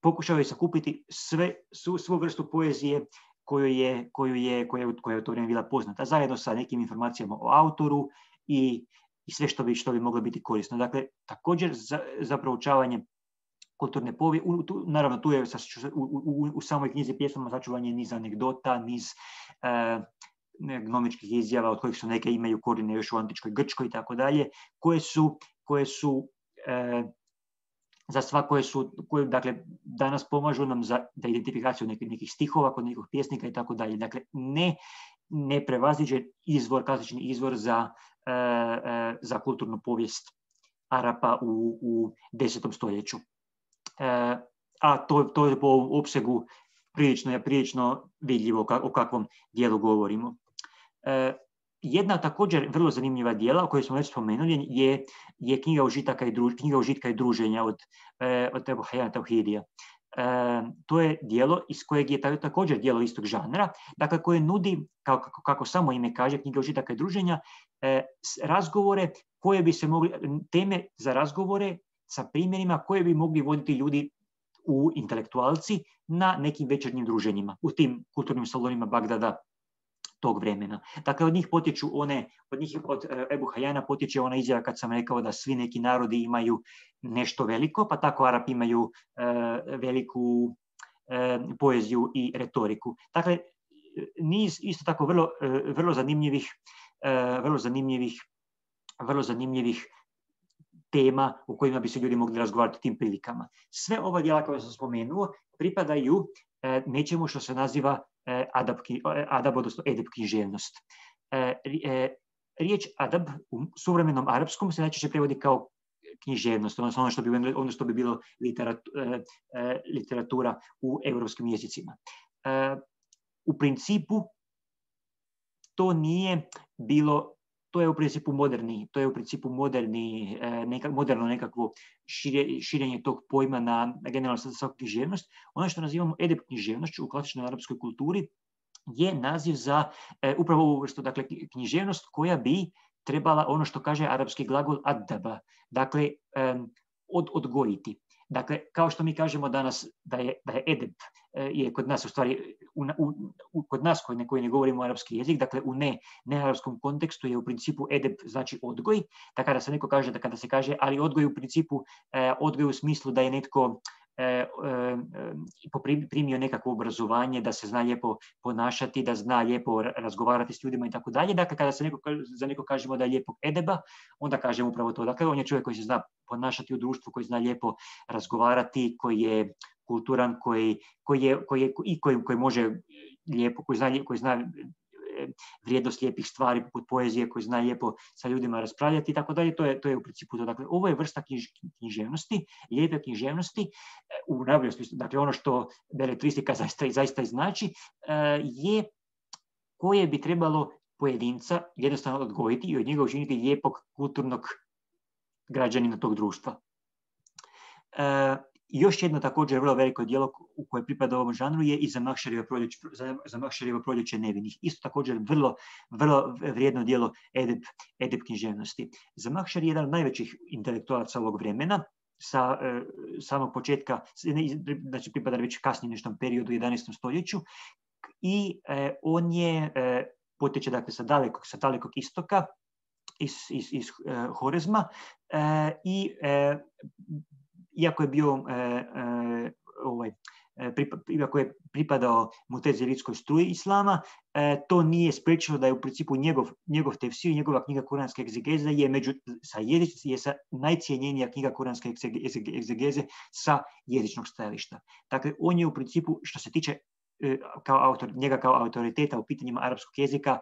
pokušao je sakupiti sve, svu, svu vrstu poezije koju je, koju je, koja je, koja je u to vrijeme bila poznata, zajedno sa nekim informacijama o autoru i i sve što bi, što bi moglo biti korisno. Dakle, također za, za proučavanje kulturne povijesti, naravno tu je u, u, u samoj knjizi pjesama sačuvanje niz anegdota, niz e, gnomičkih izjava, od kojih su neke imaju korijene još u antičkoj Grčkoj i tako dalje, koje su, koje su e, za sva koje su, koje, dakle, danas pomažu nam za, za identifikaciju nekih, nekih stihova kod nekih pjesnika i tako dalje. Dakle, ne, ne prevaziđe izvor, klasični izvor za E, e, za kulturnu povijest Arapa u, u desetom stoljeću. E, a to, to je po opsegu prilično je prilično vidljivo ka, o kakvom dijelu govorimo. E, jedna također vrlo zanimljiva dijela o kojoj smo već spomenuli je, je knjiga užitaka i, druž, knjiga užitka i druženja od, e, od Ebu Hajjana Tauhidija. E, to je dijelo iz kojeg je također dijelo istog žanra, dakle koje nudi, kako, kako samo ime kaže, knjiga užitaka i druženja, e, razgovore koje bi se mogli, teme za razgovore sa primjerima koje bi mogli voditi ljudi u intelektualci na nekim večernjim druženjima, u tim kulturnim salonima Bagdada tog vremena. Dakle, od njih potječu one, od njih od Ebu Hajjana potječe ona izjava kad sam rekao da svi neki narodi imaju nešto veliko, pa tako Arapi imaju e, veliku e, poeziju i retoriku. Dakle, niz isto tako vrlo, e, vrlo zanimljivih, e, vrlo zanimljivih, vrlo zanimljivih tema u kojima bi se ljudi mogli razgovarati tim prilikama. Sve ova djela koje sam spomenuo pripadaju e, nečemu što se naziva e, adab, adab, odnosno edeb književnost. E, e, riječ adab u suvremenom arapskom se najčešće prevodi kao književnost, odnosno ono što bi, ono što bi bilo literatura, e, literatura u europskim jezicima. E, u principu to nije bilo To je u principu moderni, to je u principu moderni, neka, moderno nekakvo šire, širenje tog pojma na, na generalno svaku književnost. Ono što nazivamo edeb književnošću u klasičnoj arapskoj kulturi je naziv za e, upravo ovu vrstu, dakle, književnost koja bi trebala, ono što kaže arapski glagol adaba, dakle, e, od, odgojiti. Dakle, kao što mi kažemo danas da je, da je edeb, je kod nas u stvari, u, u, u, kod nas koji ne, koji ne govorimo arapski jezik, dakle u ne, nearapskom kontekstu je u principu edeb znači odgoj, da kada se neko kaže, da kada se kaže, ali odgoj u principu, eh, odgoj u smislu da je netko primio nekakvo obrazovanje, da se zna lijepo ponašati, da zna lijepo razgovarati s ljudima i tako dalje. Dakle, kada se neko, za neko kažemo da je lijepog edeba, onda kažemo upravo to. Dakle, on je čovjek koji se zna ponašati u društvu, koji zna lijepo razgovarati, koji je kulturan, koji, koji, je, koji, je, i koji, koji može lijepo, koji zna, koji zna vrijednost lijepih stvari poput poezije, koji zna lijepo sa ljudima raspravljati i tako dalje. To je, to je u principu to. Dakle, ovo je vrsta knjiž, književnosti, lijepe književnosti u najboljem smislu. Dakle, ono što beletristika zaista, zaista znači je koje bi trebalo pojedinca jednostavno odgojiti i od njega učiniti lijepog kulturnog građanina tog društva. E, još jedno također vrlo veliko djelo u koje pripada ovom žanru je i Zamahšerijevo proljeće, Zamahšerijevo proljeće nevinih. Isto također vrlo, vrlo vrijedno djelo edeb, edeb književnosti. Zamahšeri je jedan od najvećih intelektualaca ovog vremena, sa e, samog početka, znači pripada već kasnije neštom periodu u jedanaestom stoljeću, i e, on je, e, potječe dakle sa dalekog, sa dalekog istoka, iz, iz, iz e, Horezma, e, i e, iako je bio e, e, ovaj, pripa, iako je pripadao muteziritskoj struji islama, e, to nije spriječilo da je u principu njegov, njegov tefsir, njegova knjiga kuranske egzegeze je među sa jezič, je sa najcijenjenija knjiga kuranske egzegeze sa jezičnog stajališta. Dakle, on je u principu, što se tiče e, kao autor, njega kao autoriteta u pitanjima arapskog jezika,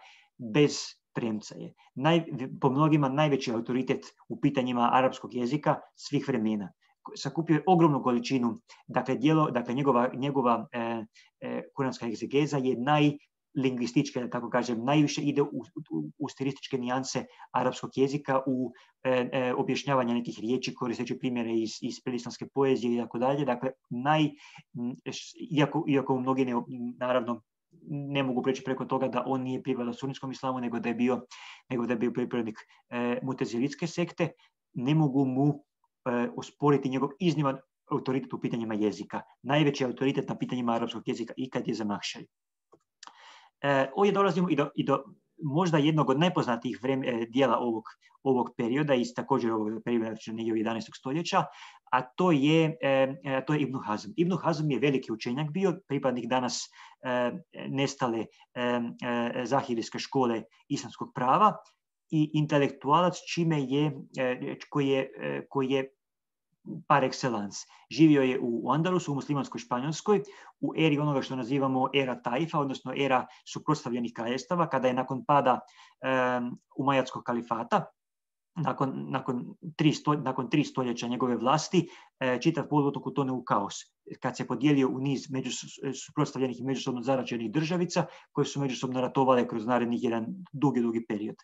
bez premca je. Naj, po mnogima najveći autoritet u pitanjima arapskog jezika svih vremena. Sakupio je ogromnu količinu, dakle, djelo, dakle njegova, njegova e, e, kuranska egzegeza je najlingvistička, da tako kažem, najviše ide u, u, u stilističke nijanse arapskog jezika, u e, e, objašnjavanje nekih riječi, koristeći primjere iz, iz predislamske poezije i tako dalje. Dakle, naj, iako, iako mnogi ne, naravno ne mogu preći preko toga da on nije pripadao sunitskom islamu, nego da je bio, nego da je bio pripadnik e, muteziritske sekte, ne mogu mu osporiti njegov izniman autoritet u pitanjima jezika. Najveći autoritet na pitanjima arapskog jezika ikad je Zamahšeri. E, ovdje dolazimo i do, i do možda jednog od najpoznatijih vreme, dijela ovog, ovog perioda, iz također ovog perioda negdje jedanaestog stoljeća, a to je, e, to je Ibn Hazm. Ibn Hazm je veliki učenjak bio, pripadnik danas e, nestale e, e, zahirijske škole islamskog prava, i intelektualac čime je, koji je, koji je par excellence. Živio je u Andalusu, u muslimanskoj Španjolskoj, u eri onoga što nazivamo era Taifa, odnosno era suprotstavljenih kraljevstava, kada je nakon pada um, umajatskog kalifata, nakon, nakon, tri sto, nakon tri stoljeća njegove vlasti, e, čitav poluotok utone u kaos. Kad se podijelio u niz među, suprotstavljenih i međusobno zaraćenih državica, koje su međusobno ratovale kroz narednih jedan dugi, dugi period.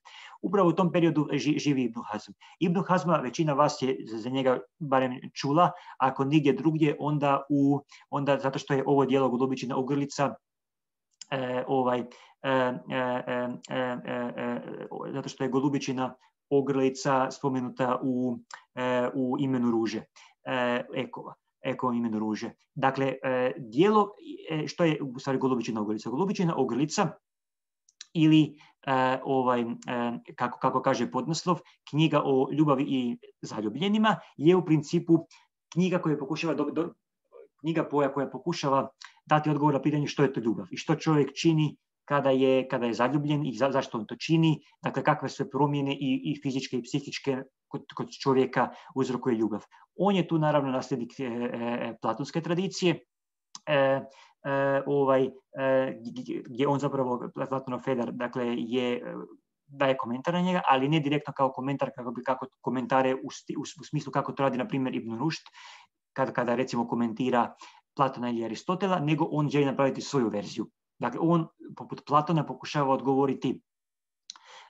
Upravo u tom periodu ži, živi Ibn Hazm. Ibn Hazma većina vas je za njega barem čula, ako nigdje drugdje, onda, u, onda zato što je ovo djelo Golubičina ogrlica, e, ovaj, e, e, e, e, e, zato što je Golubičina ogrlica spomenuta u, e, u imenu Ruže, e, Ekova, Ekova imenu Ruže. Dakle, e, dijelo, e, što je u stvari Golubičina ogrlica? Golubičina ogrlica ili e, ovaj, e, kako, kako kaže podnaslov, knjiga o ljubavi i zaljubljenima, je u principu knjiga koja pokušava do, do, knjiga poja koja pokušava dati odgovor na pitanje što je to ljubav i što čovjek čini kada je, kada je zaljubljen i za, zašto on to čini, dakle kakve sve promjene i, i fizičke i psihičke kod, kod čovjeka uzrokuje ljubav. On je tu naravno nasljednik e, e, platonske tradicije, e, e, ovaj, e, gdje on zapravo, Platonov Fedar, dakle, je, daje komentar na njega, ali ne direktno kao komentar, kako bi kako komentare u, sti, u, u smislu kako to radi, na primjer, Ibn Rušd, kada, kada recimo komentira Platona ili Aristotela, nego on želi napraviti svoju verziju. Dakle, on, poput Platona, pokušava odgovoriti,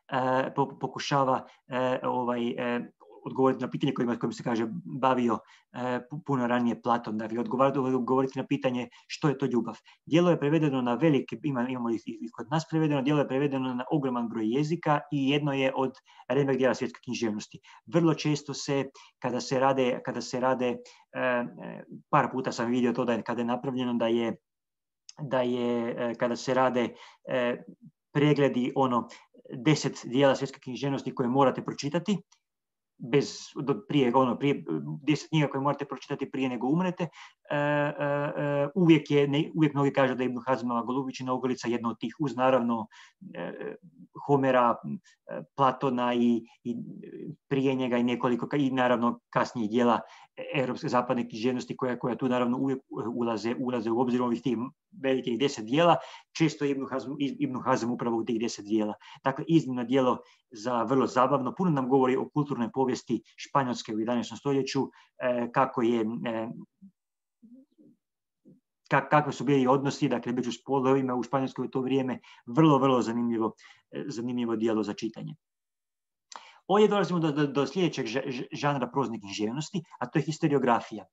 e, pokušava e, ovaj, e, odgovoriti na pitanje kojima, kojim se kaže bavio e, puno ranije Platon, dakle, odgovoriti na pitanje što je to ljubav. Djelo je prevedeno na velike, ima, imamo i, i kod nas prevedeno, djelo je prevedeno na ogroman broj jezika i jedno je od remek djela svjetske književnosti. Vrlo često se, kada se rade, kada se rade e, par puta sam vidio to da je, kada je napravljeno da je da je, kada se rade e, pregledi ono deset dijela svjetske književnosti koje morate pročitati, bez, do, prije, ono, prije deset knjiga koje morate pročitati prije nego umrete. E, e, uvijek, je, ne, uvijek mnogi kažu da je Ibn Hazmova Golubićina ogrlica jedna od tih, uz naravno e, Homera, Platona i, i prije njega i nekoliko, i naravno kasnijih dijela europske zapadne književnosti koja, koja tu naravno uvijek ulaze, ulaze u obzir ovih tih velikih deset dijela. Često je Ibn Hazm, Ibn Hazm upravo u tih deset dijela. Dakle, iznimno dijelo za vrlo zabavno. Puno nam govori o kulturnoj povijesti Španjolske u jedanaestom stoljeću, eh, kako je, eh, kak, kakve su bili odnosi, dakle, među spolovima u Španjolskoj u to vrijeme. Vrlo, vrlo zanimljivo, eh, zanimljivo dijelo za čitanje. Ovdje dolazimo do, do, do sljedećeg žanra prozne književnosti, a to je historiografija.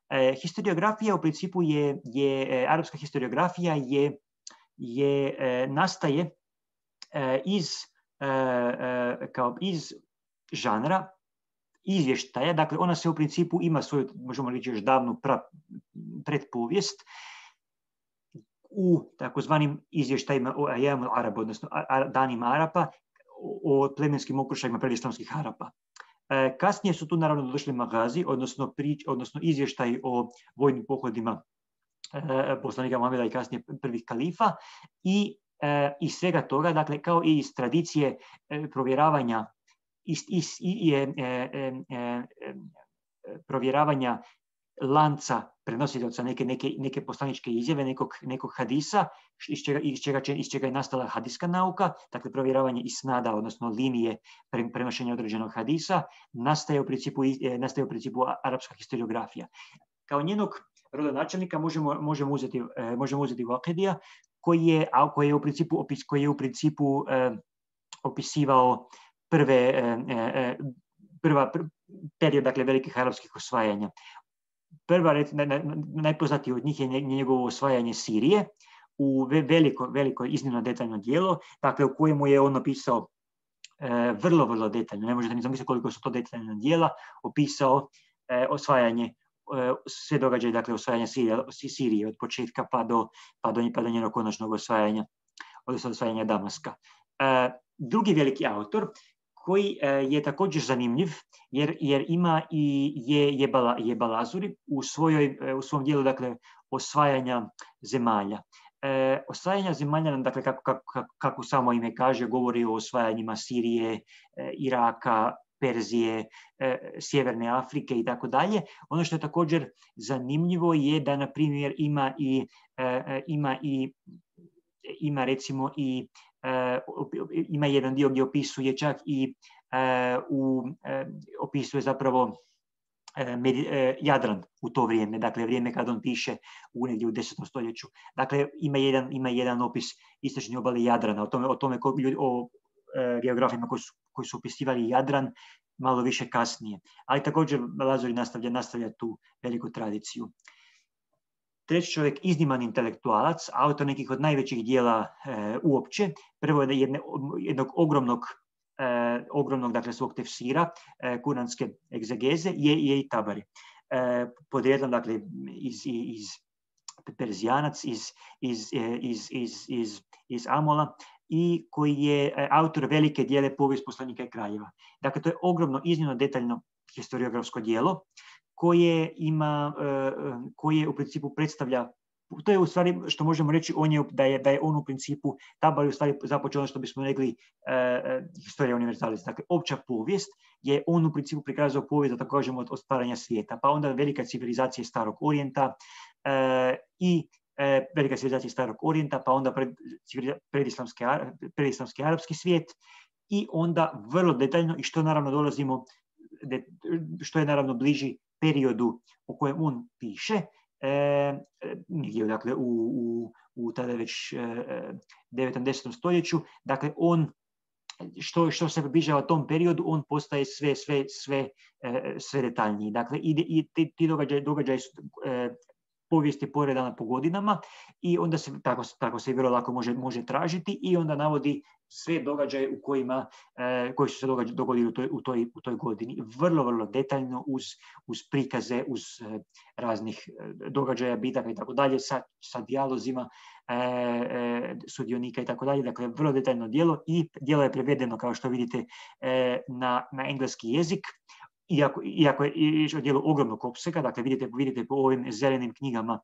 E, historiografija u principu je, je e, arapska historiografija je, je e, nastaje e, iz, e, e, kao iz žanra izvještaja, dakle ona se u principu ima svoju, možemo reći još davnu pra, predpovijest u takozvanim izvještajima o Ajamul Arab, odnosno danima Arapa, o plemenskim okršajima predislamskih Arapa. E, kasnije su tu naravno došli magazi, odnosno, prič, odnosno izvještaj o vojnim pohodima e, poslanika Muhameda i kasnije prvih kalifa i e, iz svega toga, dakle kao i iz tradicije e, provjeravanja iz, iz, i, e, e, e, provjeravanja lanca prenosioca neke, neke, neke poslaničke izjave, nekog, nekog hadisa, iz čega, iz, čega, iz čega je nastala hadiska nauka, dakle provjeravanje isnada, odnosno linije pre, prenošenja određenog hadisa, nastaje u principu, nastaje u principu arapska historiografija. Kao njenog rodonačelnika možemo, možemo uzeti, možemo uzeti Vakidija, koji je, koji je u principu, opis, koji je u principu eh, opisivao prve, eh, prva, pr, period, dakle, velikih arapskih osvajanja. Prva, najpoznatiji od njih je njegovo osvajanje Sirije u veliko, veliko iznimno detaljno djelo, dakle u kojemu je on opisao e, vrlo, vrlo detaljno, ne možete ni zamisliti koliko su to detaljna djela, opisao e, osvajanje, e, sve događaje, dakle osvajanje Sirije, Sirije od početka pa do, pa do, pa do njenog konačnog osvajanja, odnosno osvajanja Damaska. E, drugi veliki autor, koji je također zanimljiv, jer, jer ima i je, je, bala, je Balazuri u, svojoj, u svom dijelu, dakle, osvajanja zemalja. E, osvajanja zemalja, dakle, kako, kako, kako samo ime kaže, govori o osvajanjima Sirije, e, Iraka, Perzije, e, Sjeverne Afrike i tako dalje. Ono što je također zanimljivo je da, na primjer, ima i, e, ima i ima recimo i Uh, ima jedan dio gdje opisuje čak i uh, u, uh, opisuje zapravo uh, med, uh, Jadran u to vrijeme, dakle vrijeme kad on piše u negdje u desetom stoljeću. Dakle, ima jedan, ima jedan opis istočne obale Jadrana, o tome, o, tome ko, o uh, geografima koji su, koji su opisivali Jadran malo više kasnije. Ali također Balazuri nastavlja, nastavlja tu veliku tradiciju. Treći čovjek, izniman intelektualac, autor nekih od najvećih dijela e, uopće. Prvo je jedne, jednog ogromnog, e, ogromnog dakle, svog tefsira, e, kuranske egzegeze, je, je i Tabari. E, podrijetlom, dakle, iz, iz Perzijanac, iz, iz, iz, iz, iz, iz Amola, i koji je autor velike dijele povijest poslanika i kraljeva. Dakle, to je ogromno, iznimno detaljno historiografsko dijelo, koje ima, koje u principu predstavlja, to je u stvari što možemo reći on je, da, je, da je on u principu, Tabari u stvari započeo ono što bismo rekli uh, historija univerzalis, dakle opća povijest, je on u principu prikazao povijest, da tako kažemo, od stvaranja svijeta, pa onda velika civilizacija starog orijenta uh, i uh, velika civilizacija starog orijenta, pa onda pred, predislamski, predislamski arapski svijet i onda vrlo detaljno, i što naravno dolazimo, de, što je naravno bliži periodu u kojem on piše, e, negdje dakle, u, u, u tada već e, devetom desetom stoljeću, dakle on, što, što se približava tom periodu, on postaje sve, sve, sve, e, sve detaljniji. Dakle, i, i ti, ti događaji, događaji su, e, povijest je poredana po godinama i onda se tako, tako se vrlo lako može, može tražiti i onda navodi sve događaje u kojima, eh, koji su se događa, dogodili u toj, u, toj, u toj godini. Vrlo, vrlo detaljno uz, uz prikaze, uz eh, raznih eh, događaja, bitaka i tako dalje, sa, sa dijalozima eh, eh, sudionika i tako dalje. Dakle, vrlo detaljno djelo i djelo je prevedeno, kao što vidite, eh, na, na engleski jezik. Iako, iako je riječ o djelu ogromnog opsega, dakle vidite, vidite po ovim zelenim knjigama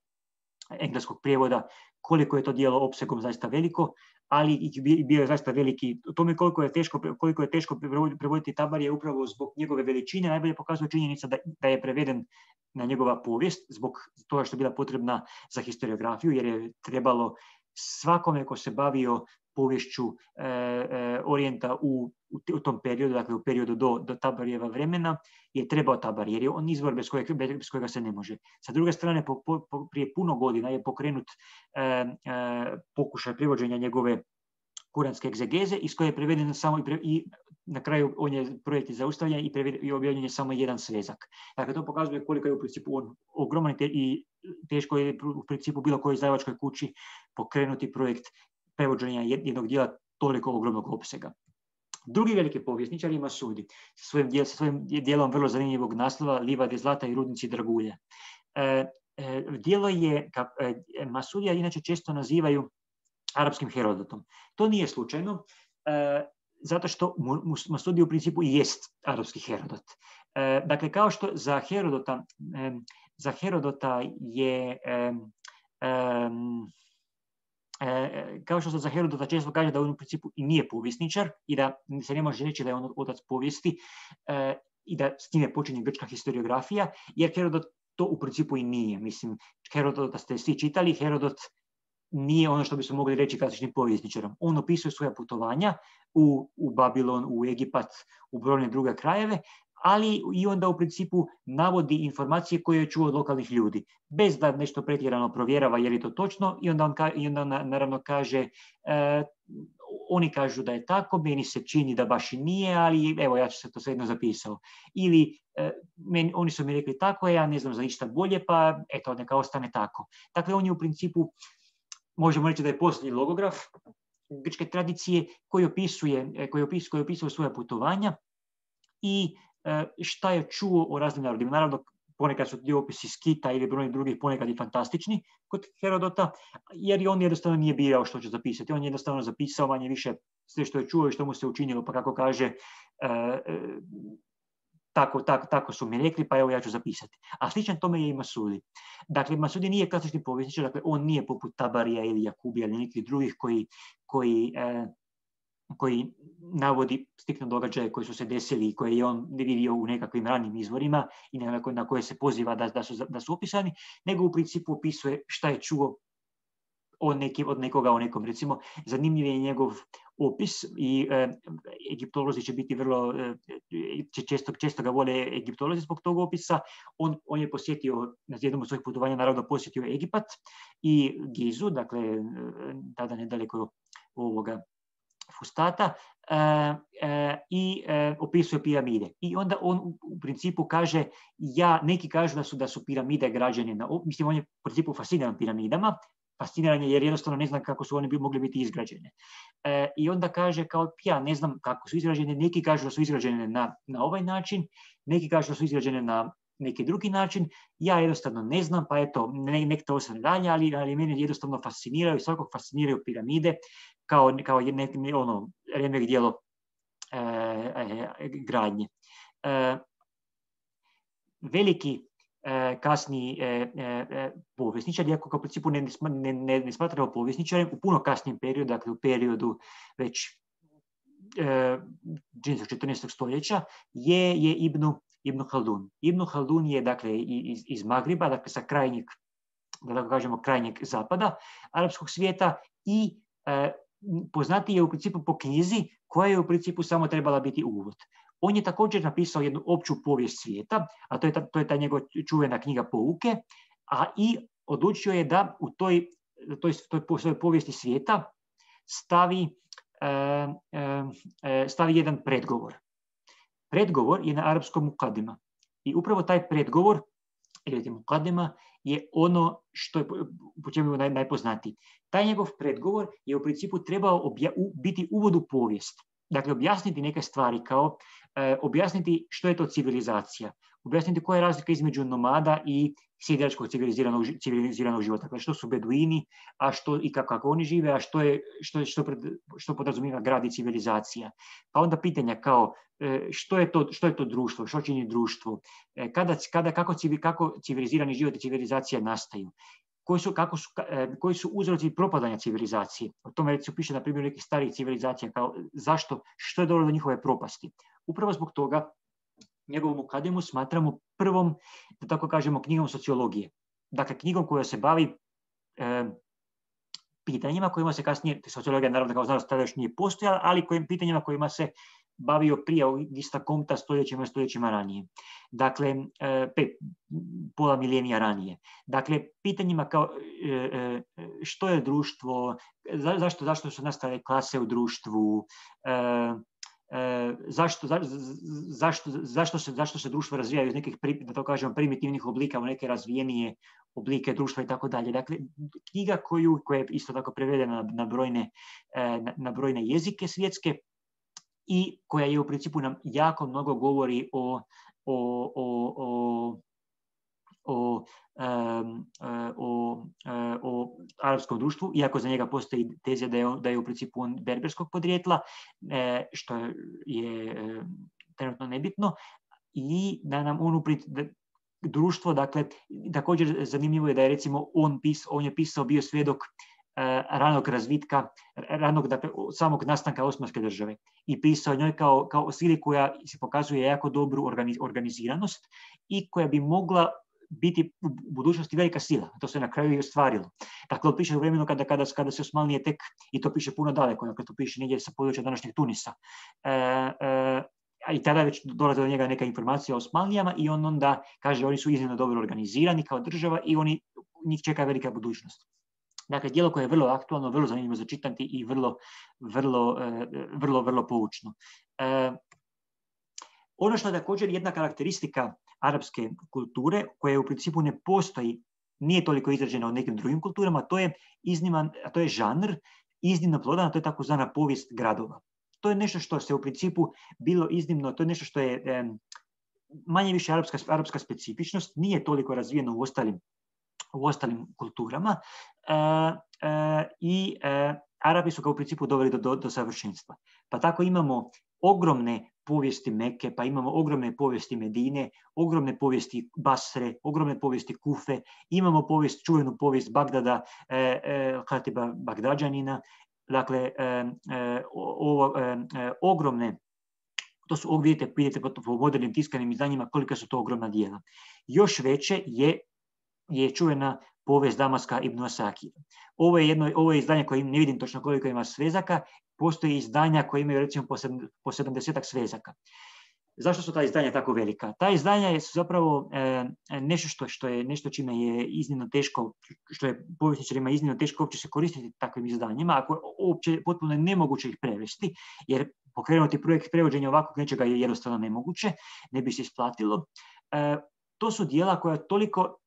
engleskog prijevoda koliko je to djelo opsegom zaista veliko, ali i bio je zaista veliki. O tome koliko je teško, koliko je teško prevoditi Tabarije upravo zbog njegove veličine najbolje pokazuje činjenica da, da je preveden na njegova povijest zbog toga što je bila potrebna za historiografiju, jer je trebalo svakome ko se bavio povješću e, e, Orijenta u, u, u tom periodu, dakle u periodu do, do Tabarijeva vremena, je trebao Tabarije, jer je on izvor bez, kojeg, bez kojega se ne može. Sa druge strane, po, po, prije puno godina je pokrenut e, e, pokušaj privođenja njegove kuranske egzegeze, iz koje je preveden samo i, pre, i na kraju on je projekt je zaustavljen i, i objavljen je samo jedan svezak. Dakle, to pokazuje koliko je u principu on ogroman i teško je u principu bilo kojoj izdavačkoj kući pokrenuti projekt prevođenja jednog dijela toliko ogromnog opsega. Drugi veliki povjesničar je Masudi, sa svojim, dijel, sa svojim dijelom vrlo zanimljivog naslova Livade zlata i rudnici dragulja. E, e, dijelo je, ka, e, Masudija inače često nazivaju arapskim Herodotom. To nije slučajno, e, zato što Masudi u principu i jest arapski Herodot. E, dakle, kao što za Herodota, e, za Herodota je... E, e, E, kao što se za Herodota često kaže da on u principu i nije povjesničar i da se ne može reći da je on otac povijesti e, i da s time počinje grčka historiografija, jer Herodot to u principu i nije. Mislim, Herodota ste svi čitali, Herodot nije ono što bismo mogli reći klasičnim povjesničarom. On opisuje svoja putovanja u, u Babilon, u Egipat, u brojne druge krajeve, ali i onda u principu navodi informacije koje je čuo od lokalnih ljudi, bez da nešto pretjerano provjerava je li to točno i onda on, ka, i onda naravno kaže e, oni kažu da je tako, meni se čini da baš i nije, ali evo ja ću se to svejedno zapisao. Ili e, meni, oni su mi rekli tako, ja ne znam za ništa bolje, pa eto, neka ostane tako. Dakle, on je u principu, možemo reći da je posljednji logograf grčke tradicije koji opisuje, koji opisuje, koji opisuje svoja putovanja i šta je čuo o raznim narodima. Naravno, ponekad su ti opisi Skita ili brojnih drugih ponekad i fantastični kod Herodota, jer on jednostavno nije birao što će zapisati. On je jednostavno zapisao manje više sve što je čuo i što mu se učinilo, pa kako kaže, e, tako, tako, tako su mi rekli, pa evo ja ću zapisati. A sličan tome je i Masudi. Dakle, Masudi nije klasični povjesničar, dakle, on nije poput Tabarija ili Jakubija ili nekih drugih koji, koji e, koji navodi striktno događaje koji su se desili i koje je on vidio u nekakvim ranim izvorima i na koje se poziva da, da, su, da su opisani, nego u principu opisuje šta je čuo od, neki, od nekoga o nekom. Recimo, zanimljiv je njegov opis i e, egiptolozi će biti vrlo, e, često, često ga vole egiptolozi zbog tog opisa. On, on je posjetio, na jednom od svojih putovanja, naravno posjetio Egipat i Gizu, dakle, tada nedaleko ovoga Fustata, e, e, i e, opisuje piramide. I onda on u, u principu kaže, ja, neki kažu da su, da su piramide građene, na, mislim, on je u principu fasciniran piramidama, fasciniran je jer jednostavno ne znam kako su one bi, mogli biti izgrađene. E, I onda kaže, kao, ja ne znam kako su izgrađene, neki kažu da su izgrađene na, na ovaj način, neki kažu da su izgrađene na neki drugi način, ja jednostavno ne znam, pa eto, ne, nek to ostane dalje, ali, ali mene jednostavno fasciniraju, svakog fasciniraju piramide, kao, kao ne, ne, ono, remek dijelo e, e, gradnje. E, veliki e, kasni e, e, povjesničar, iako kao u principu ne, ne, ne, ne smatrao povjesničarem, u puno kasnijem periodu, dakle u periodu već e, četrnaestog stoljeća, je, je Ibnu, Ibnu Haldun. Ibnu Haldun je dakle iz, iz Magriba, dakle sa krajnjeg, da tako kažemo, krajnjeg zapada arapskog svijeta i e, poznati je u principu po knjizi koja je u principu samo trebala biti uvod. On je također napisao jednu opću povijest svijeta, a to je ta, to je ta njegova čuvena knjiga Pouke, a i odlučio je da u toj, toj, toj svojoj povijesti svijeta stavi, e, e, stavi jedan predgovor. Predgovor je na arapskom mukadima. I upravo taj predgovor ili Mukadema, je ono što je po čemu je naj, najpoznatiji. Taj njegov predgovor je u principu trebao obja, u, biti uvod u povijest. Dakle, objasniti neke stvari kao e, objasniti što je to civilizacija, objasniti koja je razlika između nomada i sjedilačkog civiliziranog, civiliziranog života. Dakle, što su beduini, a što i kako, kako oni žive, a što je što, što, pred, što podrazumijeva grad i civilizacija. Pa onda pitanja kao e, što je to, što je to društvo, što čini društvo, e, kada, kada, kako, civil, kako civilizirani život i civilizacija nastaju. Koji su, kako su, koji su uzroci propadanja civilizacije. O tome recimo piše na primjer nekih starih civilizacija, kao zašto, što je dovelo do njihove propasti. Upravo zbog toga njegovu Mukademu smatramo prvom, da tako kažemo, knjigom sociologije. Dakle, knjigom koja se bavi e, pitanjima kojima se kasnije, sociologija naravno kao znanost tada još nije postojala, ali kojim pitanjima kojima se bavio prije Augusta Comtea stoljećima i stoljećima ranije. Dakle, pet, pola milenija ranije. Dakle, pitanjima kao što je društvo, zašto, zašto su nastale klase u društvu, zašto, za, zašto, zašto, se, zašto se društvo razvijaju iz nekih, da to kažemo, primitivnih oblika u neke razvijenije oblike društva i tako dalje. Dakle, knjiga koju, koja je isto tako prevedena na, na, brojne, na, na brojne jezike svjetske, i koja je u principu nam jako mnogo govori o, o, o, o, o, um, o, o arapskom društvu, iako za njega postoji tezija da je, da je u principu on berberskog podrijetla, što je trenutno nebitno, i da nam on u principu, društvo, dakle, također zanimljivo je da je recimo on, pis, on je pisao, bio svjedok ranog razvitka, ranog, dakle, samog nastanka Osmanske države i pisao njoj kao, kao sili koja se pokazuje jako dobru organiziranost i koja bi mogla biti u budućnosti velika sila. To se na kraju i ostvarilo. Dakle, on piše u vremenu kada, kada, kada se Osmanlije tek, i to piše puno daleko, dakle, to piše negdje sa područja današnjeg Tunisa. E, e, I tada već dolaze do njega neka informacija o Osmanlijama i on onda kaže oni su iznimno dobro organizirani kao država i oni, njih čeka velika budućnost. Dakle, djelo koje je vrlo aktualno, vrlo zanimljivo za čitati i vrlo, vrlo, vrlo, vrlo poučno. E, ono što je također jedna karakteristika arapske kulture, koja u principu ne postoji, nije toliko izražena u nekim drugim kulturama, to je izniman, a to je žanr, iznimno plodan, a to je takozvana povijest gradova. To je nešto što se u principu bilo iznimno, to je nešto što je e, manje više arapska, arapska specifičnost, nije toliko razvijeno u ostalim u ostalim kulturama e, e, i e, Arapi su ga u principu doveli do, do, do savršenstva. Pa tako imamo ogromne povijesti Mekke, pa imamo ogromne povijesti Medine, ogromne povijesti Basre, ogromne povijesti Kufe, imamo povijest, čuvenu povijest Bagdada, e, e, Hatiba Bagdađanina, dakle, e, e, ovo, e, e, ogromne, to su, vidite, vidite po modernim tiskanim izdanjima kolika su to ogromna dijela. Još veće je je čuvena povijest Damaska ibn Asakira. Ovo je, jedno, ovo je izdanje koje ne vidim točno koliko ima svezaka, postoji izdanja koje imaju recimo po sedamdesetak svezaka. Zašto su ta izdanja tako velika? Ta izdanja su zapravo e, nešto što, što je nešto čime je iznimno teško, što je povjesničarima iznimno teško uopće se koristiti takvim izdanjima, ako uopće potpuno je nemoguće ih prevesti, jer pokrenuti projekt prevođenja ovakvog nečega je jednostavno nemoguće, ne bi se isplatilo. E, to su dijela koja toliko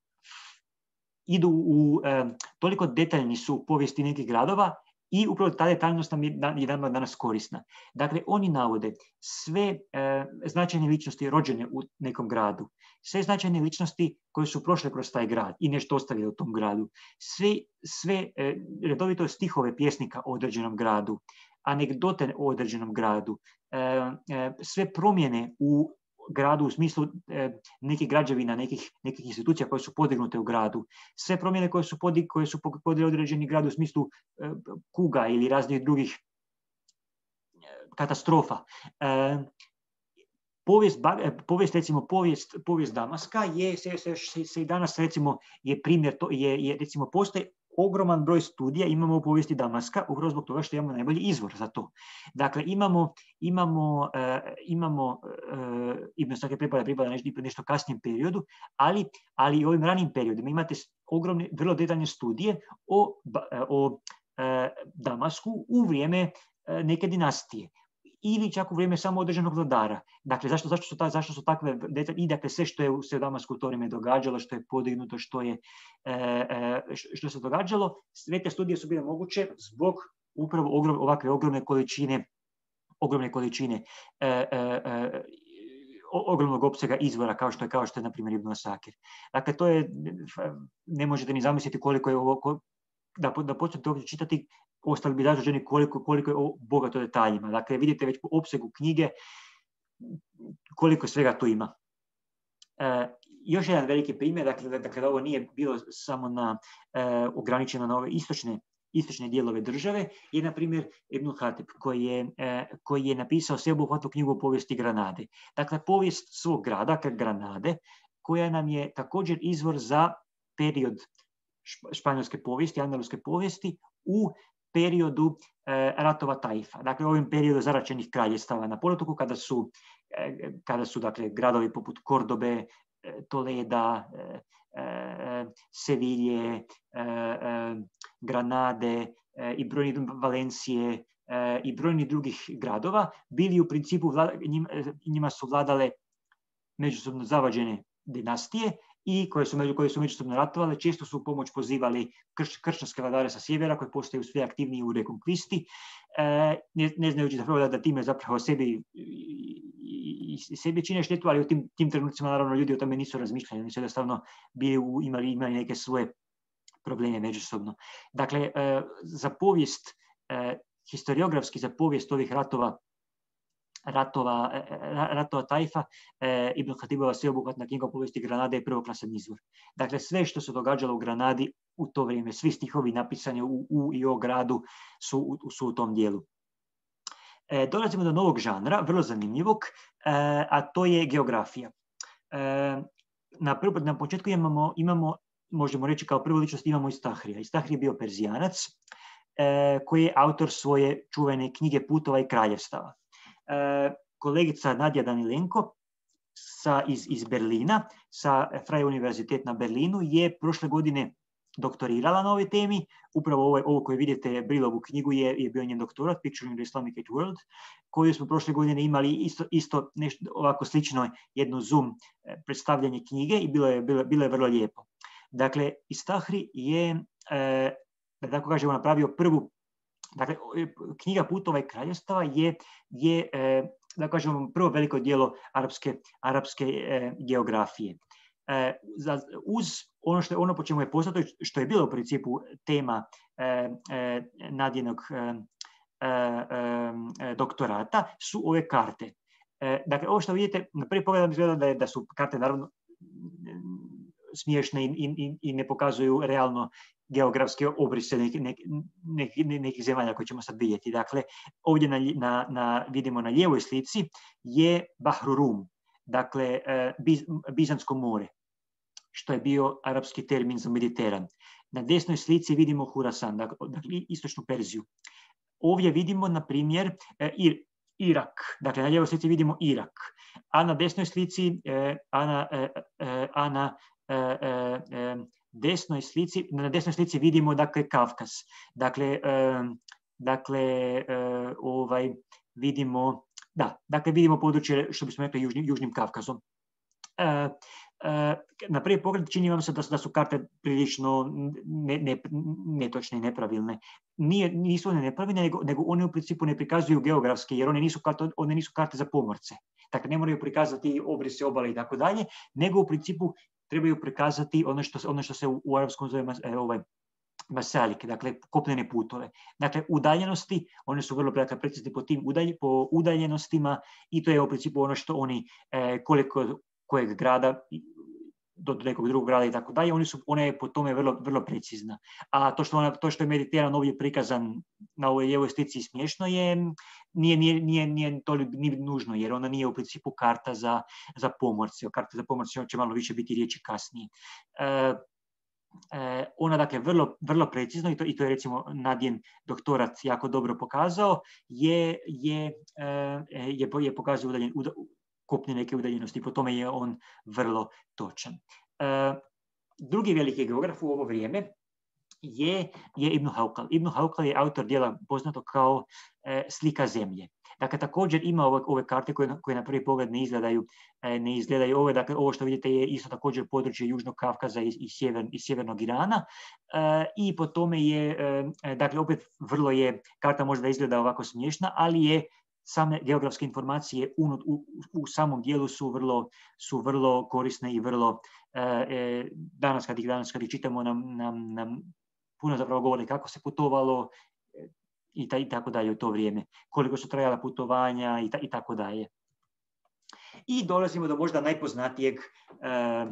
idu u, e, toliko detaljni su u povijesti nekih gradova i upravo ta detaljnost nam je danas korisna. Dakle, oni navode sve e, značajne ličnosti rođene u nekom gradu, sve značajne ličnosti koje su prošle kroz taj grad i nešto ostavile u tom gradu, sve, sve e, redovito stihove pjesnika o određenom gradu, anegdote o određenom gradu, e, e, sve promjene u gradu u smislu e, nekih građevina, nekih, nekih institucija koje su podignute u gradu, sve promjene koje su, podig, koje su podigli određeni grad u smislu e, kuga ili raznih drugih e, katastrofa. E, povijest, povijest, recimo, povijest, povijest Damaska je, se, se, se, se i danas, recimo, je primjer, to, je, je, recimo, postoji ogroman broj studija imamo u povijesti Damaska, upravo zbog toga što imamo najbolji izvor za to. Dakle, imamo, imamo, uh, imamo uh, Ibn Sake pripada, pripada nešto, nešto kasnijem periodu, ali, ali i ovim ranim periodima imate ogromne, vrlo detaljne studije o, o uh, Damasku u vrijeme uh, neke dinastije. ili čak u vrijeme samo određenog vladara. Dakle, zašto, zašto, su, ta, zašto su takve detalje? I dakle, sve što je se u Damasku u to vrijeme događalo, što je podignuto, što, je, e, što se događalo, sve te studije su bile moguće zbog upravo ogrom, ovakve ogromne količine, ogromne količine e, e, ogromnog opsega izvora kao što je, kao što je na primjer Ibn Asakir. Dakle, to je, ne možete ni zamisliti koliko je ovo, da, da počnete ovdje čitati, ostali bi začuđeni koliko, koliko je ovo bogato detaljima. Dakle, vidite već po opsegu knjige koliko svega tu ima. E, još jedan veliki primjer, dakle, dakle da ovo nije bilo samo na, e, ograničeno na ove istočne istočne dijelove države, je na primjer Ibn Hatib, koji je, eh, koji je napisao sveobuhvatnu knjigu o povijesti Granade. Dakle, povijest svog grada, Granade, koja nam je također izvor za period španjolske povijesti, andaluske povijesti, u periodu eh, ratova Taifa. Dakle, u ovim periodu zaračenih kraljestava na poluotoku, kada su, eh, kada su dakle, gradovi poput Kordobe, eh, Toleda, eh, Sevilje, Granade i brojni Valencije i brojni drugih gradova bili u principu, njima su vladale međusobno zavađene dinastije i koje su, koje su međusobno ratovale. Često su u pomoć pozivali krš, kršćanske vladare sa sjevera koji postaju sve aktivniji u rekonkvisti, ne, ne znajući zapravo da, da time zapravo sebi i sebi čine štetu, ali u tim, tim trenucima naravno ljudi o tome nisu razmišljali, oni su jednostavno bili u, imali, imali neke svoje probleme međusobno. Dakle, za povijest, historiografski za povijest ovih ratova, ratova, ratova Taifa, Ibn Hatibova sveobuhvatna knjiga o povijesti Granade je prvoklasan izvor. Dakle, sve što se događalo u Granadi u to vrijeme, svi stihovi napisani u, u i o gradu su, su u tom dijelu. E, dolazimo do novog žanra, vrlo zanimljivog, e, a to je geografija. E, na, prv, na početku imamo, imamo, možemo reći kao prvu ličnost, imamo Istahrija. Istahrij je bio Perzijanac, e, koji je autor svoje čuvene knjige Putova i kraljevstava. E, kolegica Nadja Danilenko sa, iz, iz Berlina, sa Freie Universitet na Berlinu, je prošle godine doktorirala na ovoj temi. Upravo ovo, ovo koje vidite, Brilovu knjigu, je, je bio njen doktorat, Picturing the Islamic World, koju smo prošle godine imali isto, isto nešto ovako slično, jedno Zoom predstavljanje knjige i bilo je, bilo, bilo je vrlo lijepo. Dakle, Istahrij je, e, da tako kažemo, napravio prvu, dakle, knjiga Putova i kraljevstava je, je e, da kažemo, prvo veliko djelo arapske, arapske e, geografije. E, za, uz ono, što, ono po čemu je poznato, što je bilo u principu tema e, e, Nadijinog e, e, e, doktorata, su ove karte. E, dakle, ovo što vidite, na prvi pogled izgleda da, je, da su karte naravno smiješne i, i, i ne pokazuju realno geografske obrise nekih nek, nek, nekih zemalja koje ćemo sad vidjeti. Dakle, ovdje na, na, na, vidimo na lijevoj slici je Bahru Rum, dakle Biz, Bizansko more, što je bio arapski termin za Mediteran. Na desnoj slici vidimo Hurasan, dakle istočnu Perziju. Ovdje vidimo, na primjer, Ir, Irak, dakle na lijevoj slici vidimo Irak, a na desnoj slici, a na, a na desnoj slici, na desnoj slici vidimo, dakle, Kavkaz. Dakle, dakle ovaj, vidimo, da, dakle vidimo područje, što bismo rekli, južnim, južnim Kavkazom. E, e, na prvi pogled čini vam se da, da su karte prilično ne, ne, netočne i nepravilne. Nije, nisu one nepravilne, nego, nego one u principu ne prikazuju geografske, jer one nisu karte, one nisu karte za pomorce. Dakle, ne moraju prikazati obrise obale i tako dalje, nego u principu trebaju prikazati ono što, ono što se u, u arapskom zove e, ovaj, masalike, dakle kopnene putove. Dakle, udaljenosti, one su vrlo dakle, precizni po tim udalj, po udaljenostima i to je u principu ono što oni, e, koliko kojeg grada do nekog drugog grada i tako dalje, oni su, ona je po tome vrlo, vrlo precizna. A to što, ona, to što je Mediteran ovdje prikazan na ovoj lijevoj slici smiješno je, nije, nije, nije, nije to nije nužno, jer ona nije u principu karta za, za pomorce. O karta za pomorce će malo više biti riječi kasnije. E, e, ona dakle vrlo, vrlo precizno, i to, i to je recimo Nadjen doktorat jako dobro pokazao, je, je, je, je pokazao udaljen, kopne neke udaljenosti, po tome je on vrlo točan. E, drugi veliki geograf u ovo vrijeme je, je Ibn Haukal. Ibn Haukal je autor djela poznato kao e, Slika zemlje. Dakle, također ima ove, ove karte koje, koje na prvi pogled ne izgledaju, ne izgledaju ove, dakle, ovo što vidite je isto također područje Južnog Kavkaza i, i, sjever, i sjevernog Irana i po tome je, dakle, opet vrlo je, karta možda izgleda ovako smiješna, ali je same geografske informacije u, u, u samom dijelu su vrlo, su vrlo korisne i vrlo, e, danas kad ih, danas kad ih čitamo nam, nam, nam puno zapravo govori kako se putovalo i, ta, i tako dalje u to vrijeme, koliko su trajala putovanja i, ta, i tako dalje. I dolazimo do možda najpoznatijeg, e,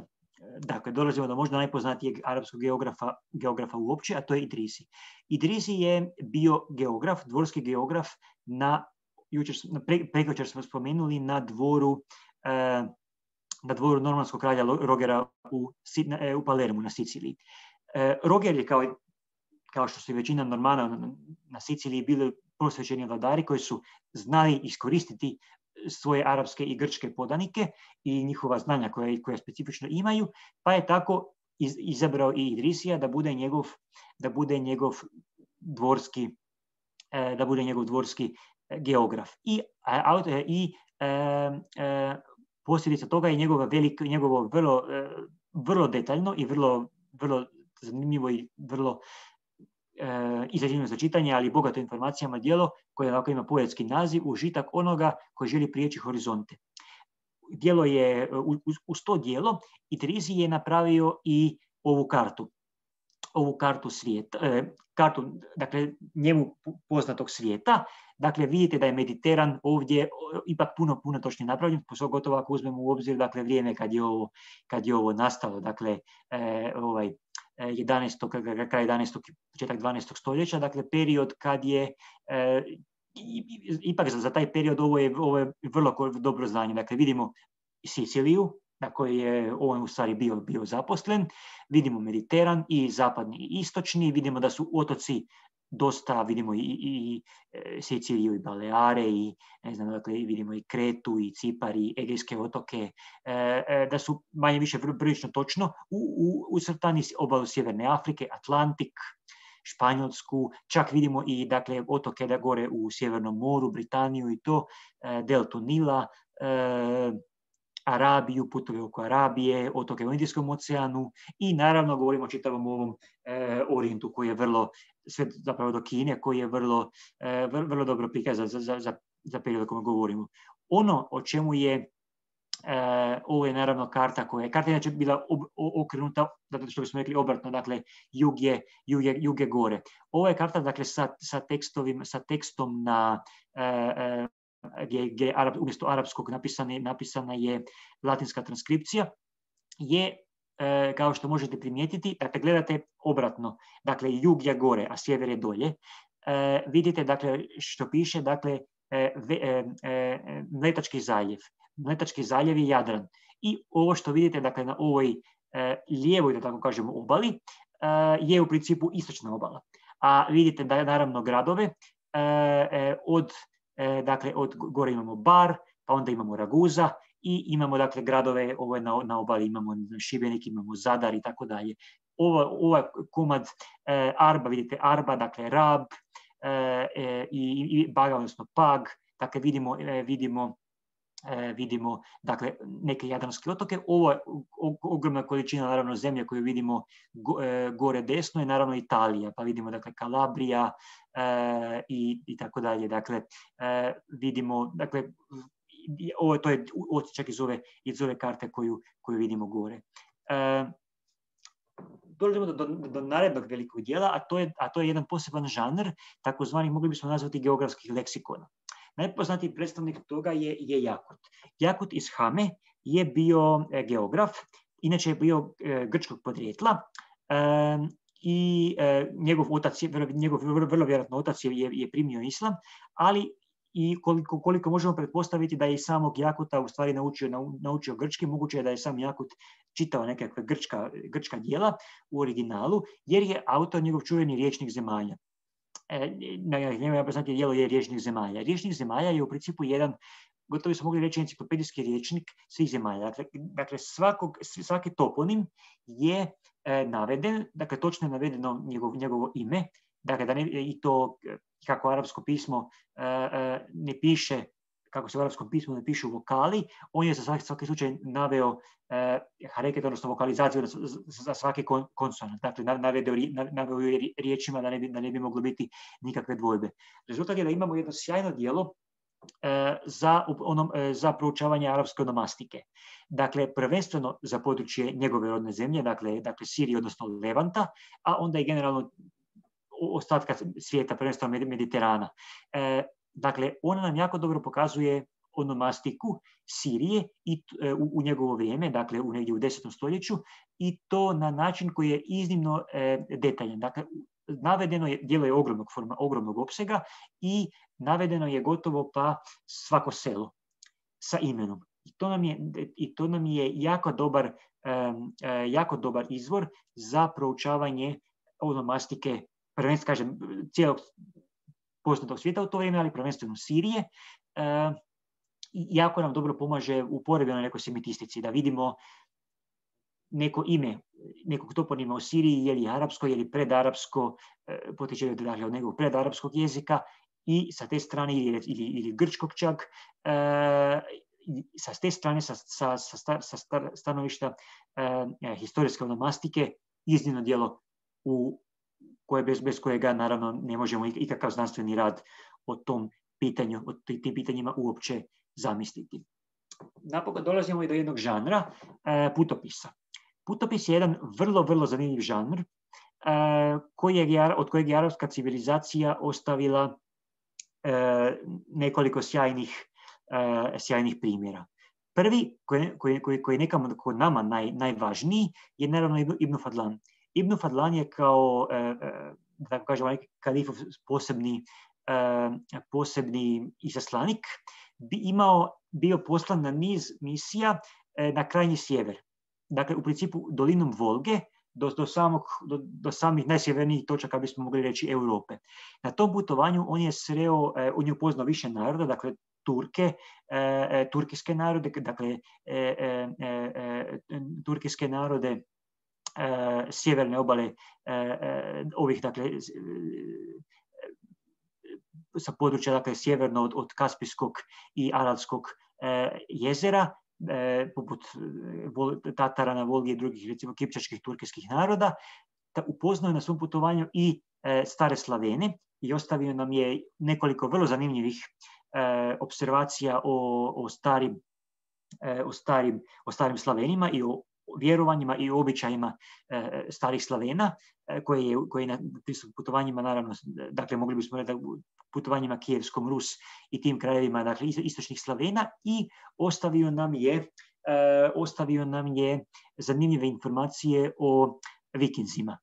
dakle, dolazimo do možda najpoznatijeg arapskog geografa, geografa uopće, a to je Idrisi. Idrisi je bio geograf, dvorski geograf na Jučer, pre, prekjučer smo spomenuli na dvoru, eh, na dvoru normanskog kralja Rogera u, eh, u Palermu na Siciliji. Eh, Roger je kao, kao što su i većina Normana na, na Siciliji bili prosvećeni vladari koji su znali iskoristiti svoje arapske i grčke podanike i njihova znanja koja, koja specifično imaju, pa je tako iz, izabrao i Idrisija da bude njegov, da bude njegov dvorski, eh, da bude njegov dvorski geograf. I, i e, e, posljedica toga je njegovo, veliko, njegovo vrlo, e, vrlo detaljno i vrlo, vrlo zanimljivo i vrlo e, izrađeno za čitanje, ali bogato informacijama djelo koje ovako ima poetski naziv, užitak onoga koji želi prijeći horizonte. Djelo je, uz, uz to djelo Idrisi je napravio i ovu kartu. ovu kartu svijeta, e, kartu, dakle, njemu poznatog svijeta. Dakle, vidite da je Mediteran ovdje ipak puno, puno točnije napravljen, pogotovo ako uzmemo u obzir, dakle, vrijeme kad je ovo, kad je ovo nastalo, dakle, e, ovaj, jedanaestog kraj jedanaestog početak dvanaestog stoljeća, dakle, period kad je, e, ipak za, za taj period ovo je, ovo je vrlo dobro znanje. Dakle, vidimo Siciliju, na kojoj je on u stvari bio, bio zaposlen, vidimo Mediteran i zapadni i istočni, vidimo da su otoci dosta, vidimo i, i, i Siciliju i Baleare i ne znam, dakle, vidimo i Kretu i Cipar i Egejske otoke, e, da su manje više prilično točno u, u, ucrtani obalu Sjeverne Afrike, Atlantik, Španjolsku, čak vidimo i, dakle, otoke da gore u Sjevernom moru, Britaniju i to, e, deltu Nila, e, Arabiju, putove oko Arabije, otoke u Indijskom oceanu i naravno govorimo o čitavom ovom e, Orijentu koji je vrlo, sve zapravo do Kine, koji je vrlo, e, vrlo, vrlo dobro prikazan za, za, za, za period o kojem govorimo. Ono o čemu je, e, ovo je naravno karta koja je, karta je inače bila ob, okrenuta, zato što bismo rekli obratno, dakle, jug je, jug je, jug je gore. Ovo je karta, dakle, sa, sa, tekstovim, sa tekstom na e, e, gdje, gdje Arab, umjesto arapskog napisane, napisana je latinska transkripcija, je, e, kao što možete primijetiti, dakle, gledate obratno, dakle, jug je gore, a sjever je dolje, e, vidite, dakle, što piše, dakle, e, e, e, Mletački zaljev. Mletački zaljev je Jadran. I ovo što vidite, dakle, na ovoj e, lijevoj, da tako kažemo, obali, e, je u principu istočna obala. A vidite da je naravno gradove e, e, od Dakle, od gore imamo Bar, pa onda imamo Raguza i imamo, dakle, gradove ovo na, na obali, imamo Šibenik, imamo Zadar i tako dalje. Ovaj komad e, Arba, vidite Arba, dakle Rab e, i, i Baga, odnosno Pag, dakle vidimo, e, vidimo, e, vidimo dakle, neke jadranske otoke. Ovo je ogromna količina, naravno, zemlje koju vidimo go, e, gore desno je naravno Italija, pa vidimo, dakle, Kalabrija, E, i, i tako dalje. Dakle, e, vidimo, dakle, ovo to je otičak iz ove, iz ove karte koju, koju vidimo gore. E, dolazimo do, do, do narednog velikog dijela, a to je, a to je jedan poseban žanr, takozvani, mogli bismo nazvati, geografskih leksikona. Najpoznatiji predstavnik toga je, je Jakut. Jakut iz Hame je bio e, geograf, inače je bio e, grčkog podrijetla, e, i e, njegov otac, njegov vrlo, vrlo vjerojatno otac je, je primio islam, ali i koliko, koliko možemo pretpostaviti da je i samog Jakuta u stvari naučio, naučio grčki, moguće je da je sam Jakut čitao nekakve grčka, grčka djela u originalu, jer je autor njegov čuveni Rječnik zemalja. E, njegov poznatije djelo je Rječnik zemalja. Rječnik zemalja je u principu jedan, gotovo bismo mogli reći, enciklopedijski rječnik svih zemalja. Dakle, dakle svakog, svaki toponim je e, naveden, dakle točno je navedeno njegov, njegovo ime, dakle, da ne, i to kako arapsko pismo ne piše, kako se u arapskom pismu ne pišu vokali, on je za svaki, svaki slučaj naveo hareket, odnosno vokalizaciju za svaki konsonant. Dakle, naveo je riječima da ne, bi, da ne bi moglo biti nikakve dvojbe. Rezultat je da imamo jedno sjajno djelo za, onom, za proučavanje arapske onomastike. Dakle, prvenstveno za područje njegove rodne zemlje, dakle, dakle Sirije, odnosno Levanta, a onda i generalno ostatka svijeta, prvenstveno Mediterana. E, dakle, ona nam jako dobro pokazuje onomastiku Sirije i u, u njegovo vrijeme, dakle u negdje u desetom stoljeću, i to na način koji je iznimno e, detaljan. Dakle, navedeno je, djelo je ogromnog, forma, ogromnog opsega i navedeno je gotovo pa svako selo sa imenom. I to nam je, i to nam je jako, dobar, um, jako dobar izvor za proučavanje onomastike, prvenstveno kažem, cijelog poznatog svijeta u to vrijeme, ali prvenstveno Sirije. Uh, jako nam dobro pomaže u porebenoj nekoj semitistici, da vidimo neko ime nekog toponima u Siriji, je li arapsko, je li predarapsko, potiče od nekog predarapskog jezika, i sa te strane, ili, ili, ili grčkog čak, e, sa te strane, sa, sa, sa, sa stanovišta e, historijske onomastike, iznimno djelo u koje bez, bez kojega naravno ne možemo ikakav znanstveni rad o tom pitanju, o tim pitanjima uopće zamisliti. Napokon dolazimo i do jednog žanra, e, putopisa. Putopis je jedan vrlo, vrlo zanimljiv žanr e, kojeg je, od kojeg je arapska civilizacija ostavila e, nekoliko sjajnih, e, sjajnih primjera. Prvi, koji, koji, koji, koji je nekamo kod nama naj, najvažniji, je naravno Ibn Fadlan. Ibn Fadlan je kao, e, da tako kažemo, neki kalifov posebni, e, posebni izaslanik, bi imao, bio poslan na niz misija e, na krajnji sjever. Dakle, u principu dolinom Volge do, do, samog, do, do samih najsjevernijih točaka, bismo mogli reći, Europe. Na tom putovanju on je sreo, eh, on je upoznao više naroda, dakle Turke, eh, turkiske narode, dakle eh, eh, eh, turkiske narode eh, sjeverne obale eh, ovih, dakle, eh, sa područja, dakle, sjeverno od, od Kaspijskog i Aralskog eh, jezera, E, poput Tatara na Volgi i drugih, recimo, kipčačkih turkijskih naroda. Upoznao je na svom putovanju i e, stare Slavene i ostavio nam je nekoliko vrlo zanimljivih e, observacija o, o, starim, e, o, starim, o starim Slavenima i o vjerovanjima i običajima e, starih Slavena, e, koje je, koje je na putovanjima, naravno, dakle, mogli bismo reći, putovanjima Kijevskom Rus i tim krajevima, dakle, istočnih Slavena, i ostavio nam je, e, ostavio nam je zanimljive informacije o Vikinzima,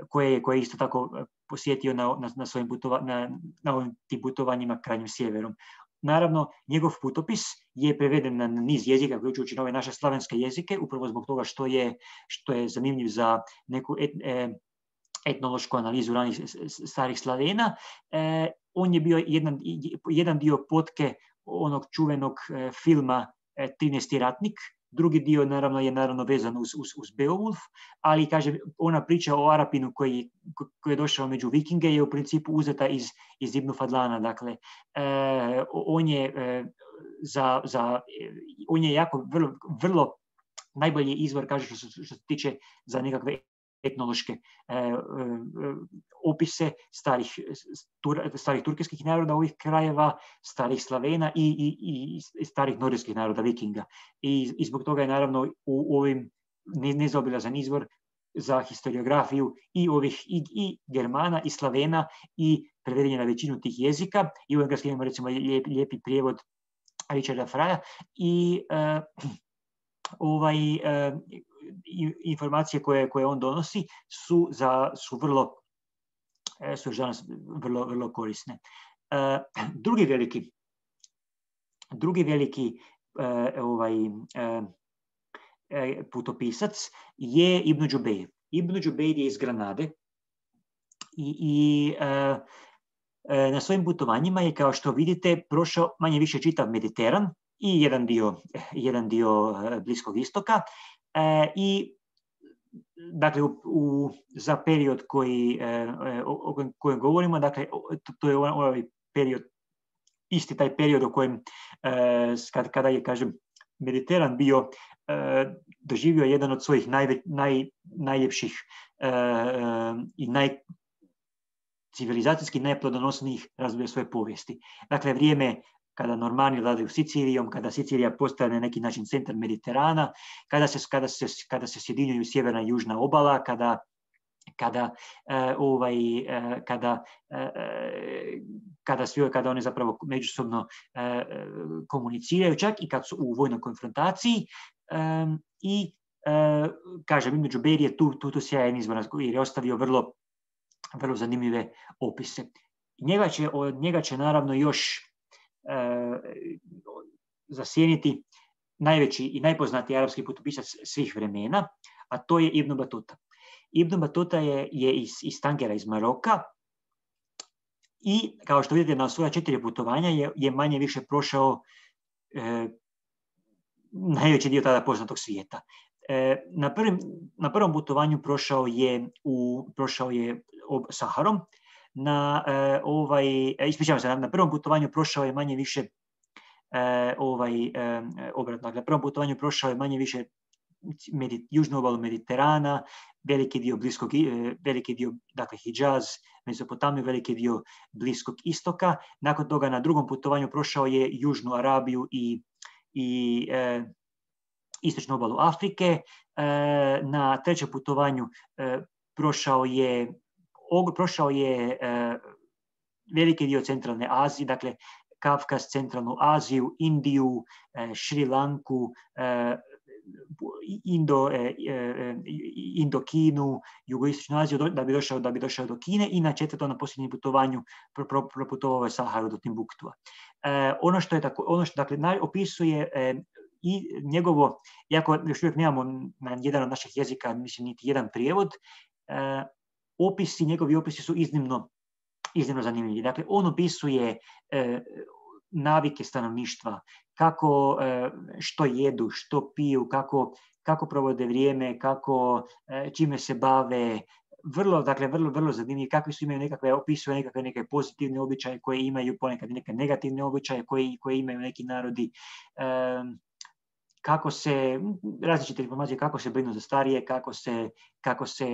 koje, koje je isto tako posjetio na, na, na, svojim putova, na, na ovim tim putovanjima krajnjim sjeverom. Naravno, njegov putopis je preveden na niz jezika, uključujući nove naše slavenske jezike, upravo zbog toga što je, što je zanimljiv za neku et, e, etnološku analizu ranih starih Slavena. E, on je bio jedan, jedan dio potke onog čuvenog e, filma e, trinaesti ratnik, drugi dio naravno je naravno vezan uz, uz, uz Beowulf, ali kaže, ona priča o Arapinu koji, koji je došao među Vikinge je u principu uzeta iz, iz Ibn Fadlana. Dakle, e, on je e, za, za on je jako vrlo, vrlo najbolji izvor, kaže, što, što se tiče za nekakve etnološke e, e, opise starih, tur, starih turkijskih naroda ovih krajeva, starih Slavena i, i, i starih nordijskih naroda, Vikinga. I, i zbog toga je naravno u, u ovim nezaobilazan izvor za historiografiju i ovih i, i Germana i Slavena i preveden je na većinu tih jezika. I u engleskom imamo, recimo, lijep, lijepi prijevod Richarda Fraja i e, ovaj e, informacije koje, koje on donosi su, za, su vrlo su danas vrlo, vrlo korisne. Uh, drugi veliki drugi veliki uh, ovaj, uh, putopisac je Ibn Đubejr. Ibn Đubejr je iz Granade i, i uh, uh, na svojim putovanjima je, kao što vidite, prošao manje više čitav Mediteran i jedan dio, jedan dio uh, Bliskog istoka. Uh, I dakle, u, u, za period koji, o, o kojem govorimo, dakle, to, to je ovaj period, isti taj period o kojem, kad, kada je, kažem, Mediteran bio, doživio jedan od svojih najve, naj, najljepših i naj, civilizacijski najplodonosnijih razdoblja svoje povijesti. Dakle, vrijeme kada Normani vladaju Sicilijom, kada Sicilija postaje na neki način centar Mediterana, kada se, kada se, kada se sjedinjuju sjeverna i južna obala, kada kada uh, ovaj uh, kada uh, kada svi kada one zapravo međusobno uh, komuniciraju, čak i kad su u vojnoj konfrontaciji, um, i uh, kažem, između Berije tu tu tu sjajan izvor jer je ostavio vrlo vrlo zanimljive opise. Njega će od njega će naravno još uh, zasjeniti najveći i najpoznatiji arapski putopisac svih vremena, a to je Ibn Batuta. Ibn Batuta je, je iz, iz Tangera, iz Maroka, i kao što vidite na svoja četiri putovanja je, je manje više prošao e, najveći dio tada poznatog svijeta. E, na, prvim, na prvom putovanju prošao je, u, prošao je ob Saharom, na, e, ovaj, ispričavam se, na, na prvom putovanju prošao je manje više e, ovaj, e, obratno, dakle, na prvom putovanju prošao je manje više Medit, južnu obalu Mediterana, veliki dio bliskog, veliki dio, dakle, Hidžaz, Mezopotamiju, veliki dio Bliskog istoka. Nakon toga na drugom putovanju prošao je južnu Arabiju i, i e, istočnu obalu Afrike. E, na trećem putovanju e, prošao je, og, prošao je e, veliki dio centralne Azije, dakle, Kavkaz, centralnu Aziju, Indiju, e, Šri Lanku, e, Indo, eh, eh, Indokinu, jugoistočnu Aziju, da bi došao, da bi došao do Kine, i na četvrtom, na posljednjem putovanju proputovao je Saharu do Timbuktua. Eh, ono što je tako, ono što dakle naj, opisuje eh, i njegovo, iako još uvijek nemamo na jedan od naših jezika, mislim, niti jedan prijevod, eh, opisi, njegovi opisi su iznimno, iznimno zanimljivi. Dakle, on opisuje eh, navike stanovništva, kako, što jedu, što piju, kako, kako provode vrijeme, kako, čime se bave, vrlo, dakle, vrlo, vrlo zanimljivi, kakvi su, imaju nekakve, opisuje nekakve neke pozitivne običaje koje imaju, ponekad neke negativne običaje koje, koje imaju neki narodi, kako se, različite informacije, kako se brinu za starije, kako se, kako se,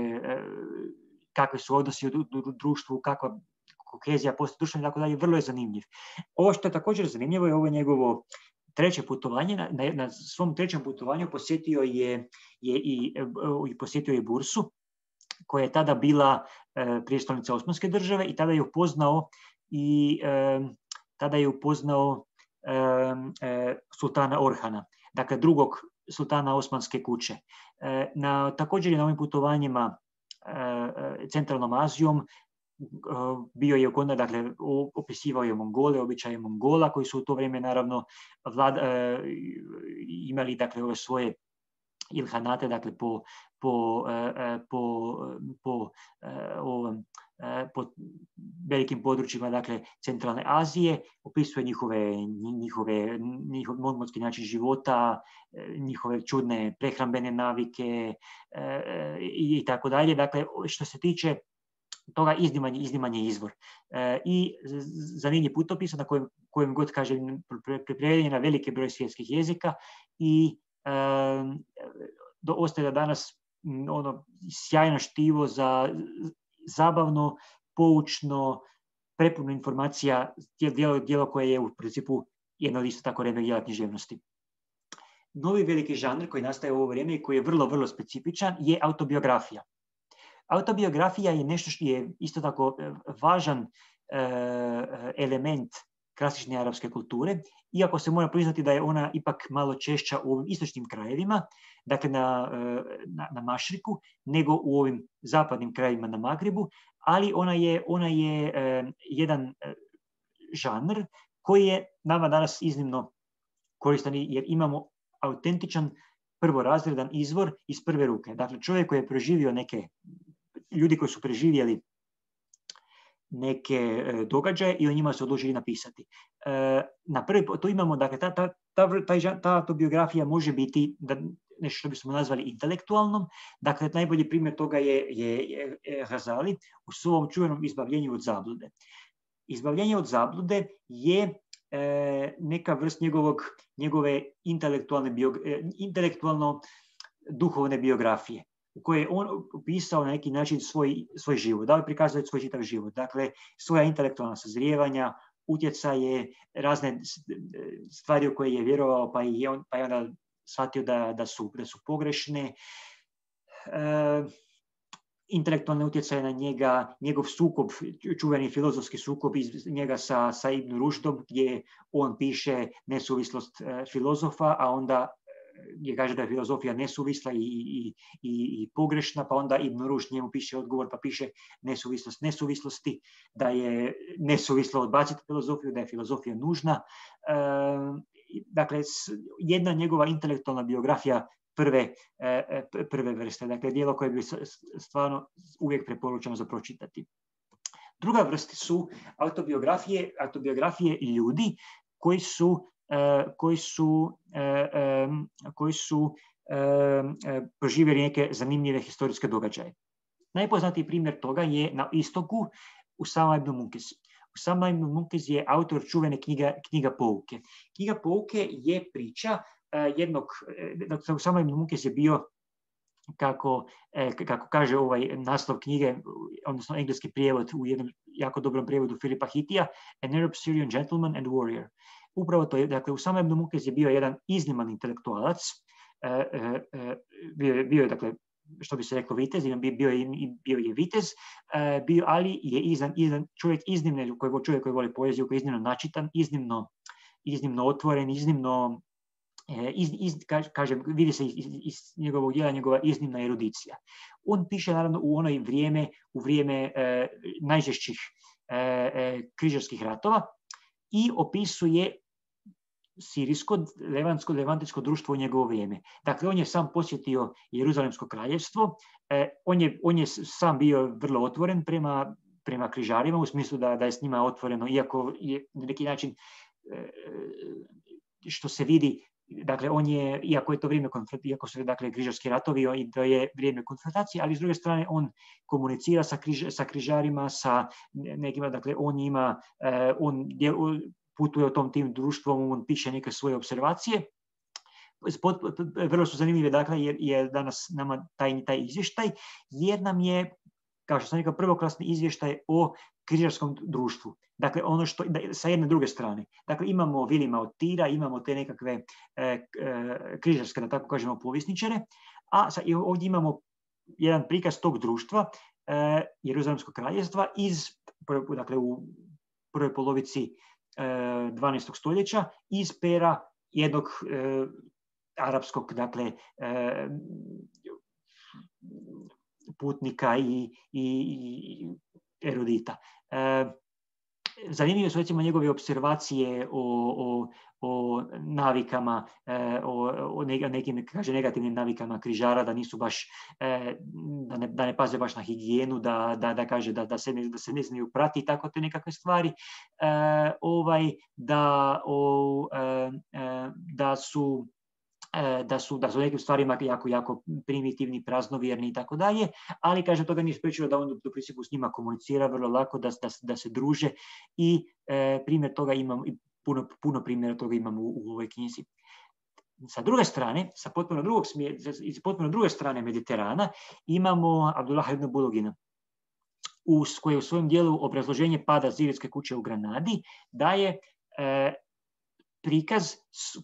kakvi su odnosi u društvu, kako kohezija postoji društveno i tako dalje, vrlo je zanimljiv. Ovo što je također zanimljivo je ovo njegovo treće putovanje. Na, na, na svom trećem putovanju posjetio je, je i, i posjetio je Bursu, koja je tada bila e, prijestolnica Osmanske države, i tada je upoznao i e, tada je upoznao e, e, sultana Orhana, dakle drugog sultana Osmanske kuće. E, na, također je na ovim putovanjima e, centralnom Azijom bio je ukonda, dakle, opisivao je Mongole, običaje Mongola, koji su u to vrijeme naravno vlad, e, imali, dakle, ove svoje ilhanate, dakle, po, po, e, po, po, e, ovom, e, po velikim područjima, dakle, centralne Azije, opisuje njihove, njihove, njihov mongonski način života, njihove čudne prehrambene navike e, i, i tako dalje. Dakle, što se tiče toga, izniman, izniman je izvor. E, I zanimljiv putopis na kojem, kojem god, kažem, preveden na veliki broj svjetskih jezika, i e, do, ostaje da danas ono sjajno štivo za zabavno, poučno, prepuno informacija, djelo, djelo koje je u principu jedno od isto tako rednog dijela književnosti. Novi veliki žanr koji nastaje u ovo vrijeme i koji je vrlo, vrlo specifičan je autobiografija. Autobiografija je nešto što je isto tako važan e, element klasične arapske kulture, iako se mora priznati da je ona ipak malo češća u ovim istočnim krajevima, dakle na, na, na Mašriku, nego u ovim zapadnim krajevima na Magrebu, ali ona je, ona je e, jedan e, žanr koji je nama danas iznimno koristan, jer imamo autentičan prvorazredan izvor iz prve ruke. Dakle, čovjek koji je proživio neke, ljudi koji su preživjeli neke e, događaje i o njima su odlučili napisati. E, na prvi, to imamo, dakle, ta, ta, ta, ta, ta autobiografija može biti, da, nešto što bismo nazvali intelektualnom. Dakle, najbolji primjer toga je, je, je Gazali u svom čuvenom izbavljenju od zablude. Izbavljenje od zablude je e, neka vrst njegovog, njegove intelektualne bio, intelektualno duhovne biografije, u kojoj je on opisao na neki način svoj, svoj život, da li prikazuje svoj čitav život, dakle svoja intelektualna sazrijevanja, utjecaje, razne stvari u koje je vjerovao, pa je on, pa je onda shvatio da, da, su, da su pogrešne, e, intelektualne utjecaje na njega, njegov sukob, čuveni filozofski sukob iz njega sa, sa Ibn Rušdom, gdje on piše nesuvislost e, filozofa, a onda je kaže da je filozofija nesuvisla i, i, i, i pogrešna, pa onda Ibn Rušd njemu piše odgovor, pa piše nesuvislost nesuvislosti, da je nesuvislo odbaciti filozofiju, da je filozofija nužna. E, dakle, jedna njegova intelektualna biografija prve, e, prve vrste, dakle, dijelo koje bi stvarno uvijek preporučeno za pročitati. Druga vrsta su autobiografije, autobiografije ljudi koji su Uh, koji su, uh, um, koji su uh, uh, proživjeli neke zanimljive historijske događaje. Najpoznatiji primjer toga je na istoku Usama ibn Munkez. Usama ibn Munkez je autor čuvene knjiga, knjiga Pouke. Knjiga Pouke je priča uh, jednog, dakle, Usama ibn Munkez je bio, kako, eh, kako kaže ovaj naslov knjige, odnosno engleski prijevod u jednom jako dobrom prijevodu Filipa Hitija, An Arab Syrian Gentleman and Warrior. Upravo to je, dakle, Usama ibn Munkez je bio jedan izniman intelektualac, e, e, bio, bio je, dakle, što bi se reklo vitez, bio je, bio je vitez, e, bio, ali je izan, izan, čovjek iznimne, koji, čovjek koji voli poeziju, koji je iznimno načitan, iznimno, iznimno otvoren, iznimno, e, iz, iz, kažem, vidi se iz, iz njegovog djela njegova iznimna erudicija. On piše, naravno, u onoj vrijeme, u vrijeme e, najžešćih e, e, križarskih ratova i opisuje sirijsko, levantsko, levantičko društvo u njegovo vrijeme. Dakle, on je sam posjetio Jeruzalemsko kraljevstvo, eh, on, je, on je sam bio vrlo otvoren prema, prema križarima, u smislu da, da je s njima otvoreno, iako je na neki način, eh, što se vidi, dakle, on je, iako je to vrijeme, iako su, dakle, križarski ratovi i to je vrijeme konfrontacije, ali s druge strane on komunicira sa, križ, sa križarima, sa nekima, dakle, on ima, eh, on je, putuje o tom tim društvom, on piše neke svoje observacije. Vrlo su zanimljive, dakle, jer je danas nama taj, taj izvještaj, jer nam je, kao što sam rekao, prvoklasni izvještaj o križarskom društvu. Dakle, ono što, sa jedne druge strane. Dakle, imamo Vilima od Tira, imamo te nekakve e, e, križarske, da tako kažemo, povjesničare, a sa, ovdje imamo jedan prikaz tog društva, e, Jeruzalemskog kraljevstva, iz, dakle, u prvoj polovici dvanaestog stoljeća, iz pera jednog e, arapskog, dakle, e, putnika i, i, i erudita. E, zanimljive su, recimo, njegove observacije o, o, o navikama, e, o, o nekim, kaže, negativnim navikama križara, da nisu baš, e, da, ne, da ne paze baš na higijenu, da, da, da kaže da, da, se ne, da se ne znaju prati, tako te nekakve stvari, e, ovaj, da, o, e, da su Da su, da su nekim stvarima jako, jako primitivni, praznovjerni i tako dalje, ali, kaže, toga nije spriječilo da on u principu s njima komunicira vrlo lako, da, da, da se druže i e, primjer toga imam, puno, puno primjera toga imamo u, u ovoj knjizi. Sa druge strane, sa potpuno, drugog smjer, iz potpuno druge strane Mediterana imamo Abdullah ibn Bulugina, koji je u svojem dijelu Obrazloženje pada Zirijske kuće u Granadi daje e, prikaz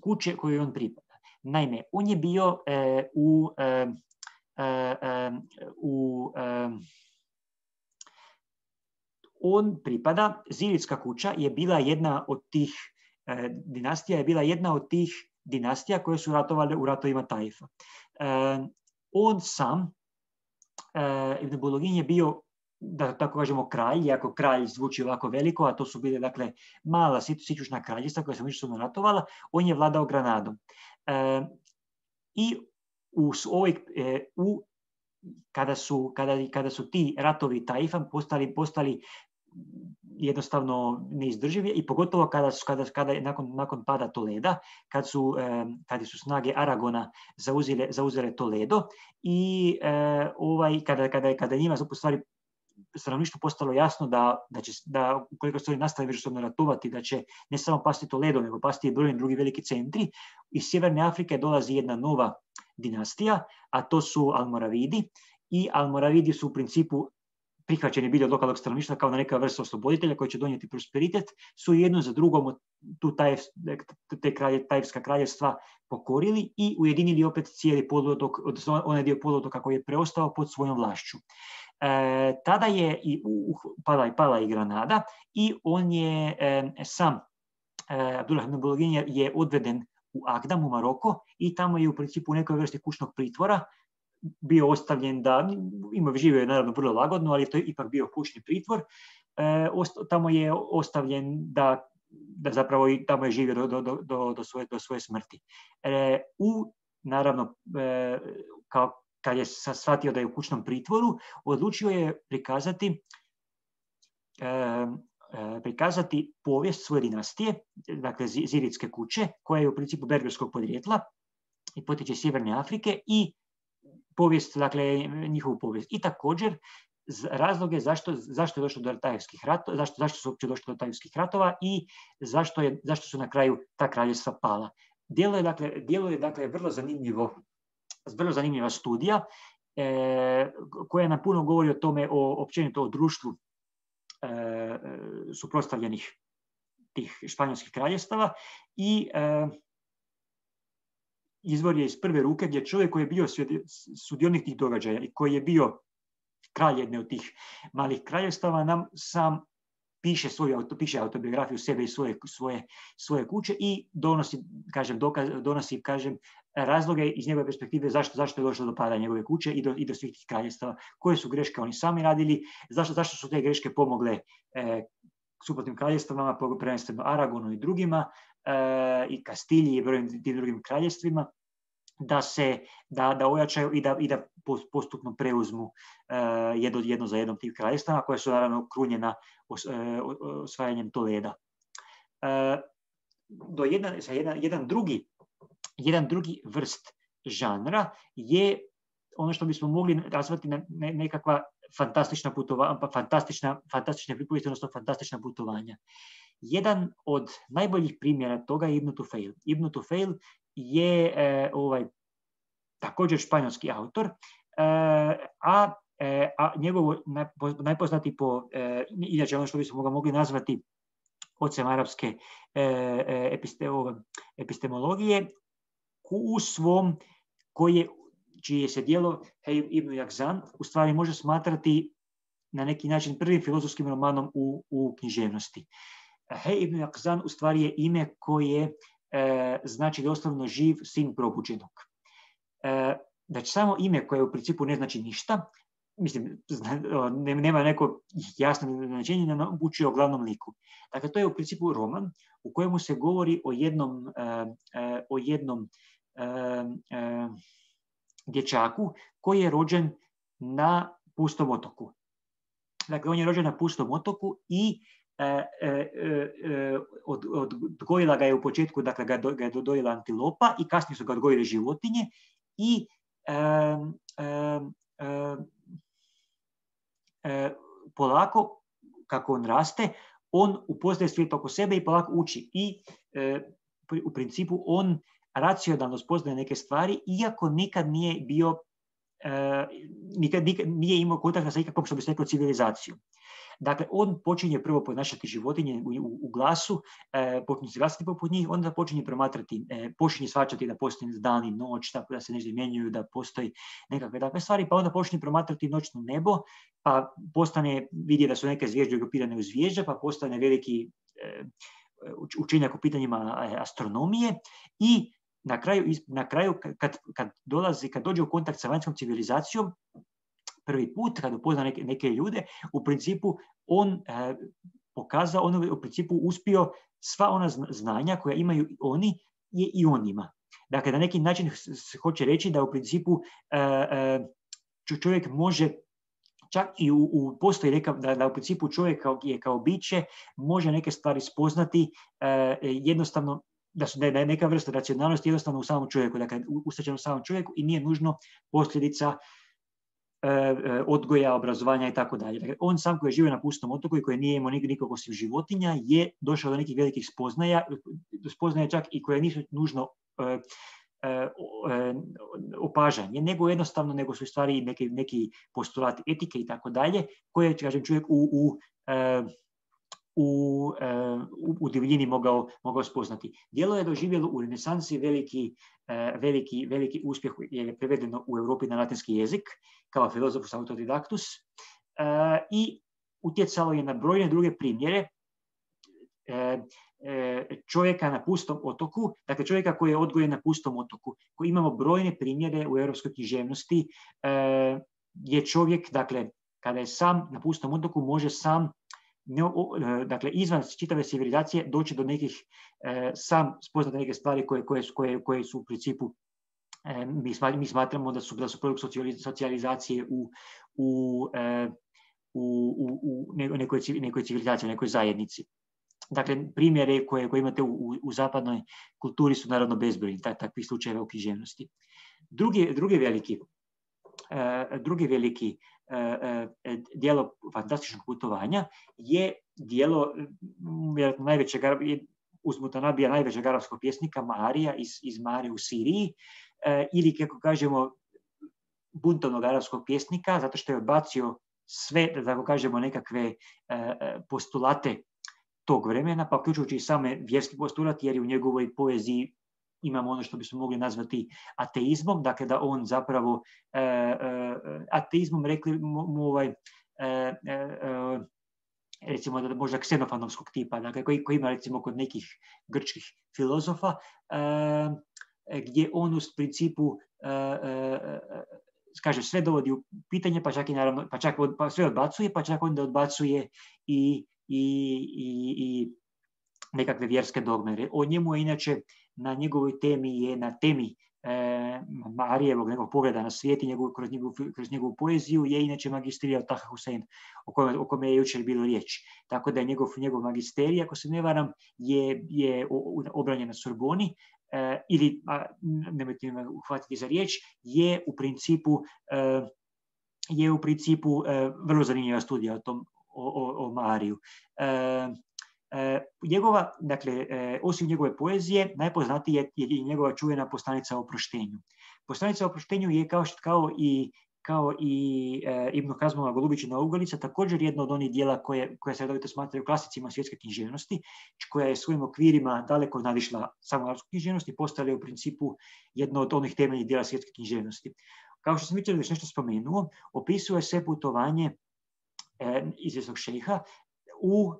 kuće koju on pripada. Naime, on je bio e, u, e, e, u e, on pripada, Zirijska kuća je bila jedna od tih e, dinastija, je bila jedna od tih dinastija koje su ratovale u ratovima Taifa. E, on sam, e, Ibn Bulugin, je bio, da tako kažemo, kralj, iako kralj zvuči ovako veliko, a to su bile, dakle, mala sićušna kraljevstva koja su međusobno ratovala, on je vladao Granadom. E, I u ovoj, e, u, kada, su, kada, kada su ti ratovi Taifa postali, postali jednostavno neizdrživ i pogotovo kada, su, kada, kada je nakon, nakon pada Toleda, kad su, eh, kada su snage Aragona zauzele, zauzele Toledo i eh, ovaj, kada, kada, kada je njima u stvari stanovništvu postalo jasno da, da, će, da ukoliko se oni nastave međusobno ratovati, da će ne samo pasti Toledo, nego pasti i brojni drugi veliki centri. Iz Sjeverne Afrike dolazi jedna nova dinastija, a to su Almoravidi. I Almoravidi su u principu prihvaćeni bili od lokalnog stanovništva kao na neka vrsta osloboditelja koji će donijeti prosperitet, su jedno za drugom tu taj, te kralje, tajevska kraljevstva pokorili i ujedinili opet cijeli poluotok, odnosno onaj dio poluotoka koji je preostao pod svojom vlašću. E, tada je i u, pala, i pala i Granada i on je e, sam e, Abdullah ibn Bulgin je, je odveden u Agdam u Maroko i tamo je u principu u nekoj vrsti kućnog pritvora bio ostavljen da, ima živio je naravno vrlo lagodno, ali to je ipak bio kućni pritvor. E, ost, tamo je ostavljen da, da zapravo i tamo je živio do, do, do, do, svoje, do svoje smrti. E, u, naravno, e, kao kad je shvatio da je u kućnom pritvoru, odlučio je prikazati e, e, prikazati povijest svoje dinastije, dakle Ziridske kuće, koja je u principu berberskog podrijetla i potiče iz Sjeverne Afrike i povijest, dakle njihovu povijest. I također razloge zašto, zašto je došlo do tajevskih ratova, zašto, zašto su uopće došlo do tajevskih ratova i zašto, je, zašto su na kraju ta kraljevstva pala. Djelo je dakle, djelo je, dakle vrlo zanimljivo, vrlo zanimljiva studija e, koja nam puno govori o tome, o, općenito o društvu e, suprotstavljenih tih španjolskih kraljevstava i e, izvor je iz prve ruke gdje čovjek koji je bio sudionik tih događaja i koji je bio kralj jedne od tih malih kraljevstava nam sam piše svoju auto, piše autobiografiju sebe i svoje, svoje, svoje kuće i donosi, kažem, dokaz, donosi, kažem, razloge iz njegove perspektive zašto, zašto je došlo do pada njegove kuće i do, i do svih tih kraljevstava, koje su greške oni sami radili, zašto, zašto su te greške pomogle e, suprotnim kraljevstvama, prvenstveno Aragonu i drugima, e, i Kastilji i brojnim tim drugim kraljevstvima, da se da, da ojačaju i da, i da postupno preuzmu uh, jedno, jedno za jednom tih kraljevstava, koje su naravno krunjena os, uh, osvajanjem Toleda. Uh, do jedan, jedan, jedan, drugi, jedan drugi vrst žanra je ono što bismo mogli nazvati na ne, nekakva fantastična putovanja, fantastična, fantastične pripovijesti, odnosno fantastična putovanja. Jedan od najboljih primjera toga je Ibn Tufail. Ibn Tufail je e, ovaj, također španjolski autor, e, a, e, a njegov najpoznati po, e, inače ono što bismo ga mogli nazvati ocem arapske e, episte, epistemologije, u svom, koje, čije se djelo Hej ibn Jakzan u stvari može smatrati na neki način prvim filozofskim romanom u, u književnosti. Hej ibn Jakzan u stvari je ime koje E, znači doslovno živ sin probuđenog. E, znači samo ime koje u principu ne znači ništa, mislim, nema neko jasno značenje, ne uči o glavnom liku. Dakle, to je u principu roman u kojemu se govori o jednom, e, e, o jednom e, e, dječaku koji je rođen na pustom otoku. Dakle, on je rođen na pustom otoku i E, e, e, od, odgojila ga je u početku, dakle ga, do, ga je dojela antilopa i kasnije su ga odgojile životinje i e, e, e, polako, kako on raste, on upoznaje svijet oko sebe i polako uči i e, u principu on racionalno spoznaje neke stvari, iako nikad nije bio e, nikad, nikad nije imao kontakta sa ikakvom, što bi se reklo, civilizacijom. Dakle, on počinje prvo ponašati životinje u, u, u glasu, e, počinje se glasati poput njih, onda počinje promatrati, e, počinje shvaćati da postoji dan i noć, tako da se nešto izmjenjuju, da postoji nekakve takve stvari, pa onda počinje promatrati noćno nebo, pa postane, vidi da su neke zvijezde grupirane u zvijezde, pa postane veliki e, učenjak u pitanjima astronomije i na kraju, na kraju kad, kad dolazi, kad dođe u kontakt sa vanjskom civilizacijom, prvi put, kad upozna neke, neke ljude, u principu on e, pokazao, on u principu uspio sva ona znanja koja imaju oni, je i on ima. Dakle, na neki način se hoće reći da u principu e, e, čovjek može čak i u, u postoji neka, da, da u principu čovjek kao, je kao biće, može neke stvari spoznati e, jednostavno, da, su, da je neka vrsta racionalnosti jednostavno u samom čovjeku, dakle ustačeno u samom čovjeku i nije nužno posljedica odgoja, obrazovanja i tako dalje. Dakle, on sam koji je živio na pustom otoku i koji nije imao nikog osim životinja je došao do nekih velikih spoznaja, spoznaja čak i koje nisu nužno e, e, opažanje, nego jednostavno, nego su stvari neki, neki postulati etike i tako dalje, koje, kažem, čovjek u, u e, U, u, u divljini mogao, mogao spoznati. Djelo je doživjelo u renesansi veliki, veliki, veliki uspjeh, jer je prevedeno u Europi na latinski jezik, kao filozofus autodidactus, i utjecalo je na brojne druge primjere čovjeka na pustom otoku, dakle čovjeka koji je odgojen na pustom otoku, koji imamo brojne primjere u europskoj književnosti, je čovjek, dakle, kada je sam na pustom otoku, može sam Ne, dakle, izvan čitave civilizacije doći do nekih, e, sam spoznati neke stvari koje, koje, koje, koje su u principu, e, mi, mi smatramo da su, da su produkt socijalizacije u, u, e, u, u, u nekoj, nekoj civilizaciji, nekoj zajednici. Dakle, primjere koje, koje imate u, u zapadnoj kulturi su naravno bezbrojni, takvih slučajeva u književnosti. Drugi, drugi veliki, e, drugi veliki djelo fantastičnog putovanja je djelo vjerojatno najvećeg, uz Mutanabija najvećeg arapskog pjesnika Maarija iz, iz Mare u Siriji, ili kako kažemo buntovnog arapskog pjesnika, zato što je odbacio sve, da tako kažemo, nekakve postulate tog vremena, pa uključujući i same vjerski postulati, jer je u njegovoj poeziji imamo ono što bismo mogli nazvati ateizmom, dakle da on zapravo e, e, ateizmom rekli mu ovaj, e, e, recimo da možda ksenofanovskog tipa, dakle koji, koji ima recimo kod nekih grčkih filozofa, e, gdje on u principu e, e, kaže sve dovodi u pitanje, pa čak i naravno, pa čak od, pa sve odbacuje, pa čak onda odbacuje i, i, i, i nekakve vjerske dogme. O njemu je inače na njegovoj temi je na temi e, Marijevog nekog pogleda na svijet i njegov, kroz, njegovu, kroz njegovu poeziju je inače magistrirao Taha Husein, o kome, o kome je jučer bilo riječ. Tako da je njegov, njegov magisterij, ako se ne varam, je, je obranjen na Sorboni, e, ili, a, nemojte me uhvatiti za riječ, je u principu, e, je u principu e, vrlo zanimljiva studija o tom, o, o, o Mariju. E, E, njegova, dakle, e, osim njegove poezije, najpoznatija je, je njegova čuvena Poslanica o oproštenju. Poslanica o oproštenju je kao, što, kao i, kao i e, Ibn Hazmova Golubićina ugolica također jedno od onih dijela koje, koje se redovito smatraju klasicima svjetske književnosti, koja je svojim okvirima daleko nadišla samo arapsku književnost i postala je u principu jedno od onih temeljnih dijela svjetske književnosti. Kao što sam jučer već nešto spomenuo, opisuje se putovanje e, izvjesnog šejha U,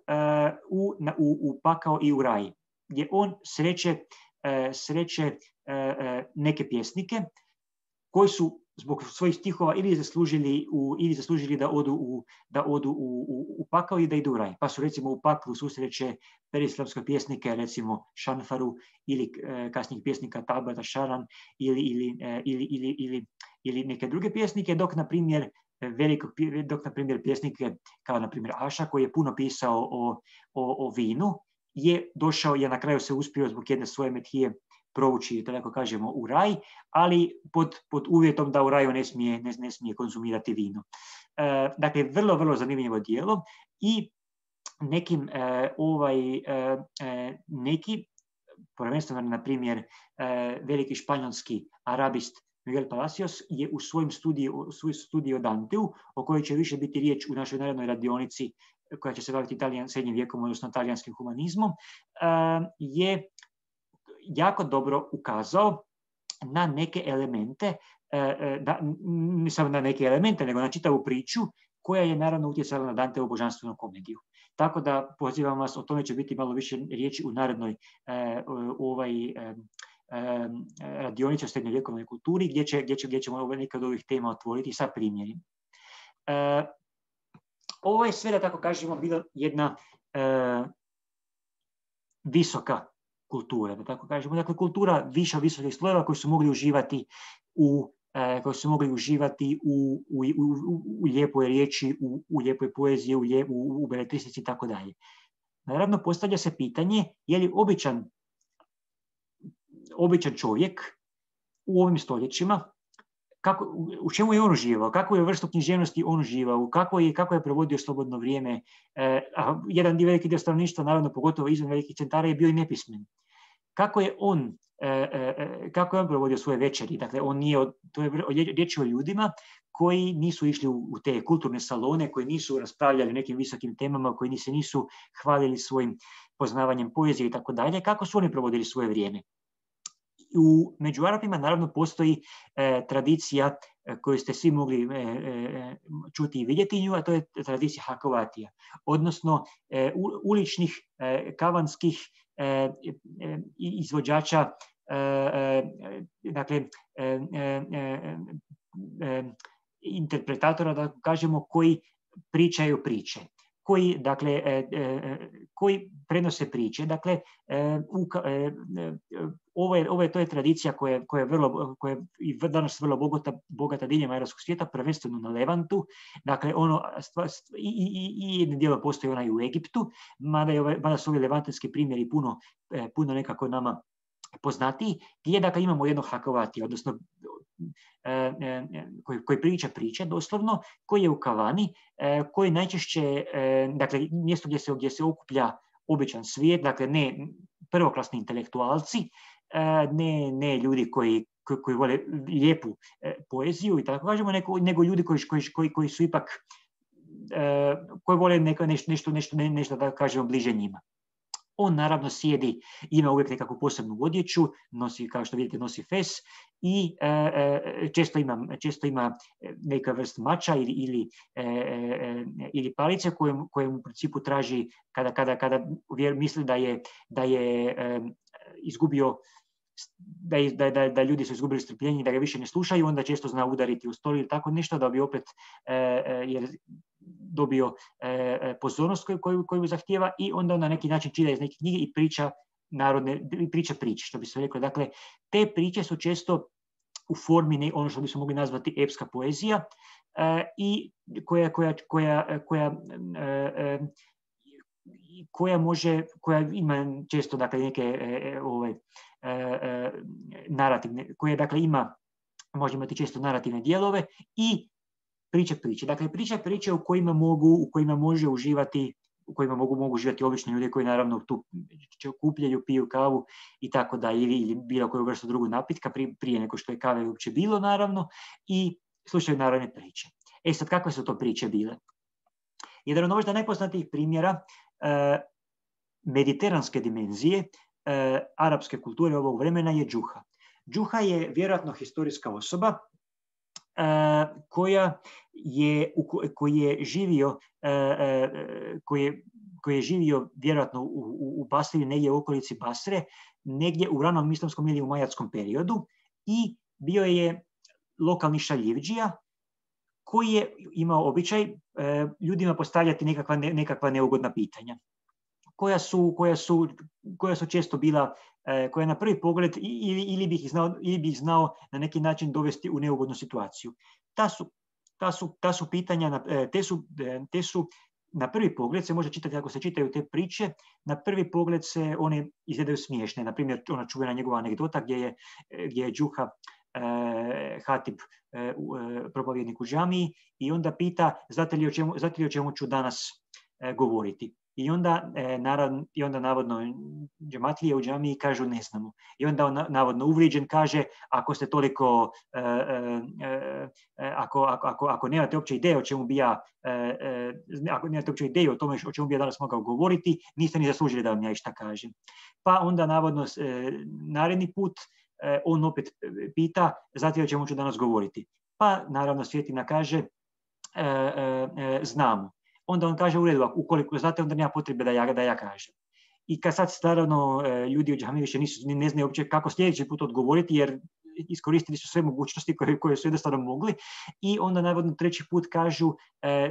u, u, u pakao i u raj, gdje on sreće, sreće neke pjesnike koji su zbog svojih stihova ili zaslužili, u, ili zaslužili da odu, u, da odu u, u, u pakao i da idu u raj. Pa su recimo u paklu susreće perislamske pjesnike, recimo Šanfaru, ili kasnijih pjesnika Tabata Šaran, ili, ili, ili, ili, ili, ili neke druge pjesnike, dok na primjer veliko, dok, na primjer, pjesnike kao, na primjer, Aša, koji je puno pisao o, o, o vinu, je došao, je na kraju se uspio zbog jedne svoje methije provući, da tako kažemo, u raj, ali pod, pod uvjetom da u raju ne smije, ne, ne smije konzumirati vino. E, dakle, vrlo, vrlo zanimljivo djelo i nekim, e, ovaj, e, neki, prvenstveno, na primjer, e, veliki španjolski arabist Miguel Palacios je u svojim studiju, u svoj studiju o Danteu, o kojoj će više biti riječ u našoj narednoj radionici koja će se baviti Italijan, srednjim vijekom, odnosno talijanskim humanizmom, je jako dobro ukazao na neke elemente, ne samo na neke elemente, nego na čitavu priču koja je naravno utjecala na Danteovu božanstvenu komediju. Tako da pozivam vas, o tome će biti malo više riječi u narednoj ovaj radionici o srednjovjekovnoj kulturi, gdje, će, gdje, će, gdje ćemo neke od ovih tema otvoriti sa primjerima. E, ovo je sve, da tako kažemo, bila jedna e, visoka kultura, da tako kažemo. Dakle, kultura više visokih slojeva koji su mogli uživati u koji su mogli uživati u, u, u, u lijepoj riječi, u, u lijepoj poeziji, u, lijep, u, u beletristici i tako dalje. Naravno, postavlja se pitanje je li običan, običan čovjek u ovim stoljećima, kako, u čemu je on uživao, kakvu je vrstu književnosti on uživao, kako je, kako je provodio slobodno vrijeme. E, a jedan dio veliki dio stanovništva, naravno pogotovo izvan velikih centara, je bio i nepismen. Kako je on, e, e, kako je on provodio svoje večeri? Dakle, on nije, to je riječ o ljudima koji nisu išli u, u te kulturne salone, koji nisu raspravljali o nekim visokim temama, koji se nisu hvalili svojim poznavanjem poezije i tako dalje. Kako su oni provodili svoje vrijeme? U među Arapima naravno postoji e, tradicija e, koju ste svi mogli e, e, čuti i vidjeti nju, a to je tradicija hakovatija, odnosno e, u, uličnih, e, kavanskih e, e, izvođača, e, e, dakle, e, e, e, interpretatora, da kažemo, koji pričaju priče. Koji, dakle, e, e, koji prenose priče. Dakle, e, u, e, ovo je, ovo je, to je tradicija koja, koja je vrlo, koja je i danas vrlo bogata, bogata diljem arapskog svijeta, prvenstveno na Levantu. Dakle, ono, stva, stva, i, i, i jedno dijelo postoji ona i u Egiptu, mada, je, mada su ovi levantanski primjeri puno, e, puno nekako nama poznatiji, gdje dakle imamo jednog hakovatija, odnosno e, e, koji, koji priča priče doslovno, koji je u kavani, e, koji najčešće, e, dakle mjesto gdje se, gdje se okuplja običan svijet, dakle ne prvoklasni intelektualci, e, ne, ne ljudi koji, koji, koji vole lijepu e, poeziju i tako kažemo, nego, nego ljudi koji, koji, koji, koji su ipak, e, koji vole neko, nešto, nešto, nešto, nešto da kažemo bliže njima. On naravno sjedi, ima uvijek nekakvu posebnu odjeću, nosi, kao što vidite, nosi fes i e, često, ima, često ima neka vrst mača ili, ili, e, ili palice kojem, kojem u principu traži kada, kada, kada misli da je, da je e, izgubio, da, je, da, da, da ljudi su izgubili strpljenje, da ga više ne slušaju, onda često zna udariti u stol ili tako nešto da bi opet e, jer dobio e, pozornost koju, koju, koju zahtijeva i onda na neki način čita iz neke knjige i priča narodne, priča priče, što bi se reklo. Dakle, te priče su često u formi ne, ono što bismo mogli nazvati epska poezija e, i koja, koja, koja, koja, e, koja može, koja ima često dakle neke e, ove, e, narativne, koja dakle ima, može imati često narativne dijelove i priče priče. Dakle, priče priče u kojima mogu, u kojima može uživati, u kojima mogu, mogu uživati obični ljudi koji naravno tu kupljaju, piju kavu i tako da, ili, ili bilo koju vrstu drugu napitka prije, prije nego što je kave uopće bilo naravno i slušaju narodne priče. E sad, kakve su to priče bile? Jedan od možda najpoznatijih primjera eh, mediteranske dimenzije eh, arapske kulture ovog vremena je Džuha. Džuha je vjerojatno historijska osoba Uh, koja je, koji je živio, uh, koji je, koji je živio vjerojatno u, u, u Basri, negdje u okolici Basre, negdje u ranom islamskom ili u majatskom periodu i bio je lokalni šaljivdžija koji je imao običaj uh, ljudima postavljati nekakva, ne, nekakva neugodna pitanja. Koja su, koja, su, koja su često bila, eh, koja na prvi pogled ili, ili, bi ih znao, ili bi ih znao na neki način dovesti u neugodnu situaciju. Ta su, ta su, ta su pitanja, eh, te, su, eh, te su na prvi pogled, se može čitati ako se čitaju te priče, na prvi pogled se one izgledaju smiješne. Na primjer, ona čuvena njegova anegdota gdje je, gdje je Džuha eh, Hatib, eh, propovjednik u džamiji i onda pita znate li o čemu, znate li o čemu ću danas eh, govoriti. I onda, e, naravno, i onda navodno džematlije u džamiji kažu ne znamo. I onda on navodno uvrijeđen kaže ako ste toliko, e, e, e, ako, ako, ako nemate uopće ideje o čemu bi ja, e, e, ako nemate uopće ideje o tome o čemu bi ja danas mogao govoriti, niste ni zaslužili da vam ja išta kažem. Pa onda navodno e, naredni put e, on opet pita znate o čemu ću danas govoriti. Pa naravno Svjetina kaže e, e, e, znamo. Onda on kaže u redu, ukoliko znate, onda nema potrebe da ja, da ja kažem. I kad sad naravno ljudi u džamiji više nisu, ne znaju uopće kako sljedeći put odgovoriti, jer iskoristili su sve mogućnosti koje, koje su jednostavno mogli i onda navodno treći put kažu,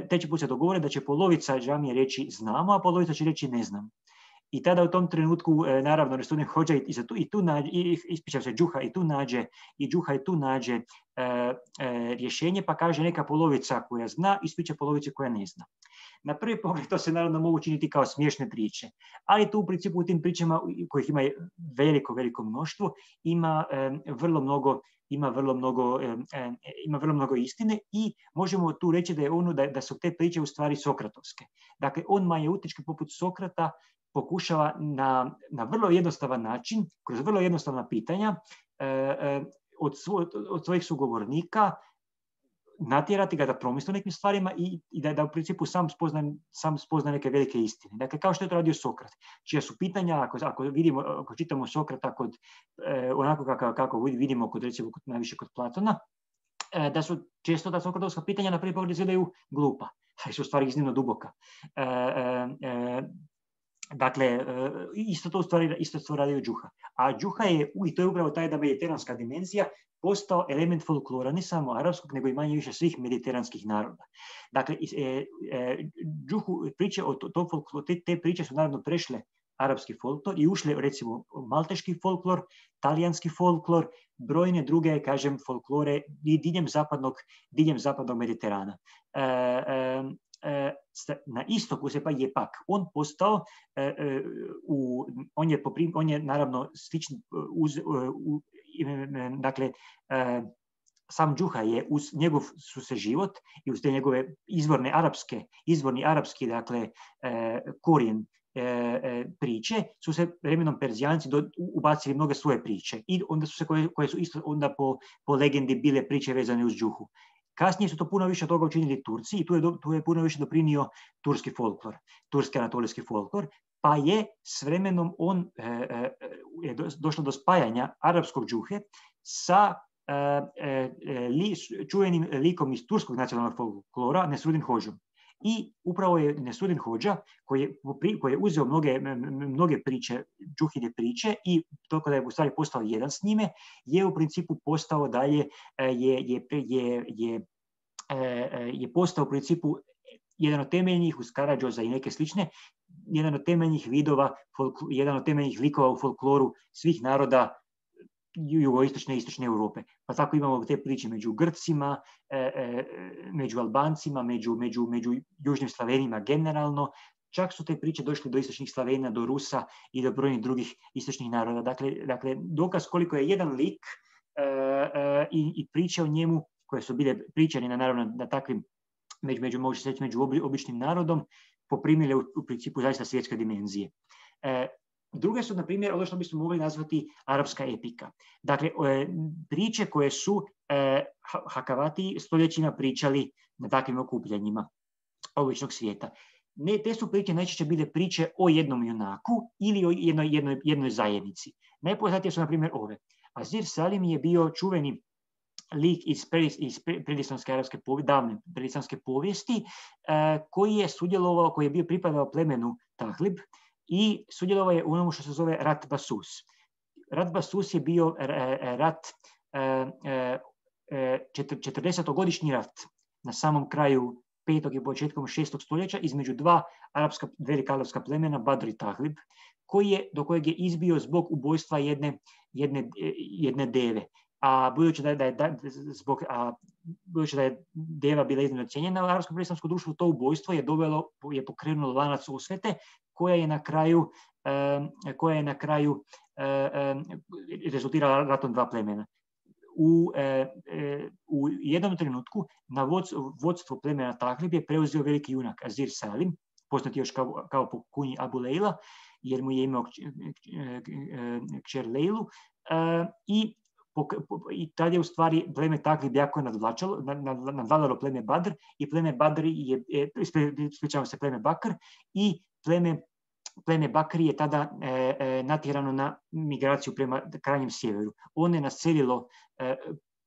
treći put se dogovore da će polovica džamije reći znamo, a polovica će reći ne znam. I tada u tom trenutku, naravno, Nesudin Hodža i, tu, i tu nađe, i, ispričam se, Džuha i tu nađe, i Džuha i tu nađe e, e, rješenje, pa kaže neka polovica koja zna, ispriča polovice koja ne zna. Na prvi pogled to se naravno mogu činiti kao smiješne priče, ali tu u principu u tim pričama, kojih ima veliko, veliko mnoštvo, ima e, vrlo mnogo ima vrlo mnogo, e, e, ima vrlo mnogo istine i možemo tu reći da, je ono, da, da su te priče u stvari sokratovske. Dakle, on majeutički poput Sokrata pokušava na, na vrlo jednostavan način, kroz vrlo jednostavna pitanja, e, e, od, svo, od svojih sugovornika natjerati ga da promisli o nekim stvarima i, i da, da u principu sam spozna, sam spozna neke velike istine. Dakle, kao što je to radio Sokrat, čija su pitanja, ako, ako, vidimo, ako čitamo Sokrata kod, eh, onako kako, kako vidimo kod, recimo, kod, najviše kod Platona, eh, da su često ta sokratovska pitanja na prvi pogled izgledaju glupa, ali su u stvari iznimno duboka. Eh, eh, Dakle, isto to u stvari, isto to radio Džuha. A Džuha je, i to je upravo ta jedna mediteranska dimenzija, postao element folklora, ne samo arapskog, nego i manje više svih mediteranskih naroda. Dakle, e, e, Džuhu priče o tom folkloru, te, te priče su naravno prešle arapski folklor i ušle, recimo, malteški folklor, talijanski folklor, brojne druge, kažem, folklore i diljem zapadnog, diljem zapadnog Mediterana. E, e, na istoku se pa je pak on postao, u, on, je poprim, on je naravno slični, uz, u, dakle, sam Džuha je uz njegov su se život i uz te njegove izvorne arapske, izvorni arapski, dakle, korijen priče, su se vremenom Perzijanci do, ubacili mnoge svoje priče i onda su se koje, koje su isto onda po, po legendi bile priče vezane uz Džuhu. Kasnije su to puno više toga učinili Turci i tu je, tu je puno više doprinio turski folklor, turski anatolijski folklor, pa je s vremenom on e, e, je došlo do spajanja arapskog Džuhe sa e, e, li, čuvenim likom iz turskog nacionalnog folklora, Nesudin Hodžom. I upravo je Nesudin Hodža, koji je, koji je uzeo mnoge, mnoge priče, Džuhine priče i to kada je u stvari postao jedan s njime, je u principu postao dalje, je, je, je, je, je postao u principu jedan od temeljnih uz Karađoza i neke slične, jedan od temeljnih vidova, jedan od temeljnih likova u folkloru svih naroda jugoistočne i istočne Europe. Pa tako imamo te priče među Grcima, e, e, među Albancima, među, među, među južnim Slavenima generalno. Čak su te priče došle do istočnih Slavena, do Rusa i do brojnih drugih istočnih naroda. Dakle, dakle dokaz koliko je jedan lik e, e, i, i priče o njemu, koje su bile pričane naravno na takvim, među, među, može se reći, među običnim narodom, poprimile u, u principu zaista svjetske dimenzije. E, Druge su, na primjer, ono što bismo mogli nazvati arapska epika. Dakle, priče koje su eh, Hakavati stoljećima pričali na takvim okupljanjima običnog svijeta. Ne, te su priče najčešće bile priče o jednom junaku ili o jednoj, jednoj, jednoj zajednici. Najpoznatije su, na primjer, ove. Azir Salim je bio čuveni lik iz, iz predislamske arapske povijesti, davne predislamske povijesti, eh, koji je sudjelovao, koji je bio pripadao plemenu Tahlib, i sudjelovao je u onomu što se zove rat Basus. Rat Basus je bio rat, četrdesetogodišnji rat na samom kraju petog i početkom šestog stoljeća između dva arapska, velika arapska plemena, Badr i Tahlib, koji je, do kojeg je izbio zbog ubojstva jedne, jedne, jedne deve. A budući da je, da je, da, zbog, a budući da je deva bila iznimno cijenjena u arapskom predstavskom društvu, to ubojstvo je dovelo, je pokrenulo lanac osvete, koja je na kraju, eh, koja je na kraju eh, rezultirala ratom dva plemena. U, eh, u jednom trenutku na vodstvo, vodstvo plemena Tahlib je preuzeo veliki junak Azir Salim, poznati još kao, kao po kunji Abu Leila, jer mu je imao kćer Leilu, eh, i i tad je u stvari pleme Tahlib jako nadvlačalo, nadvladalo pleme Badr i pleme Badr je, ispričavam se, pleme Bakr i pleme, pleme Bakri je tada e, e, natjerano na migraciju prema krajnjem sjeveru. On je naselilo e,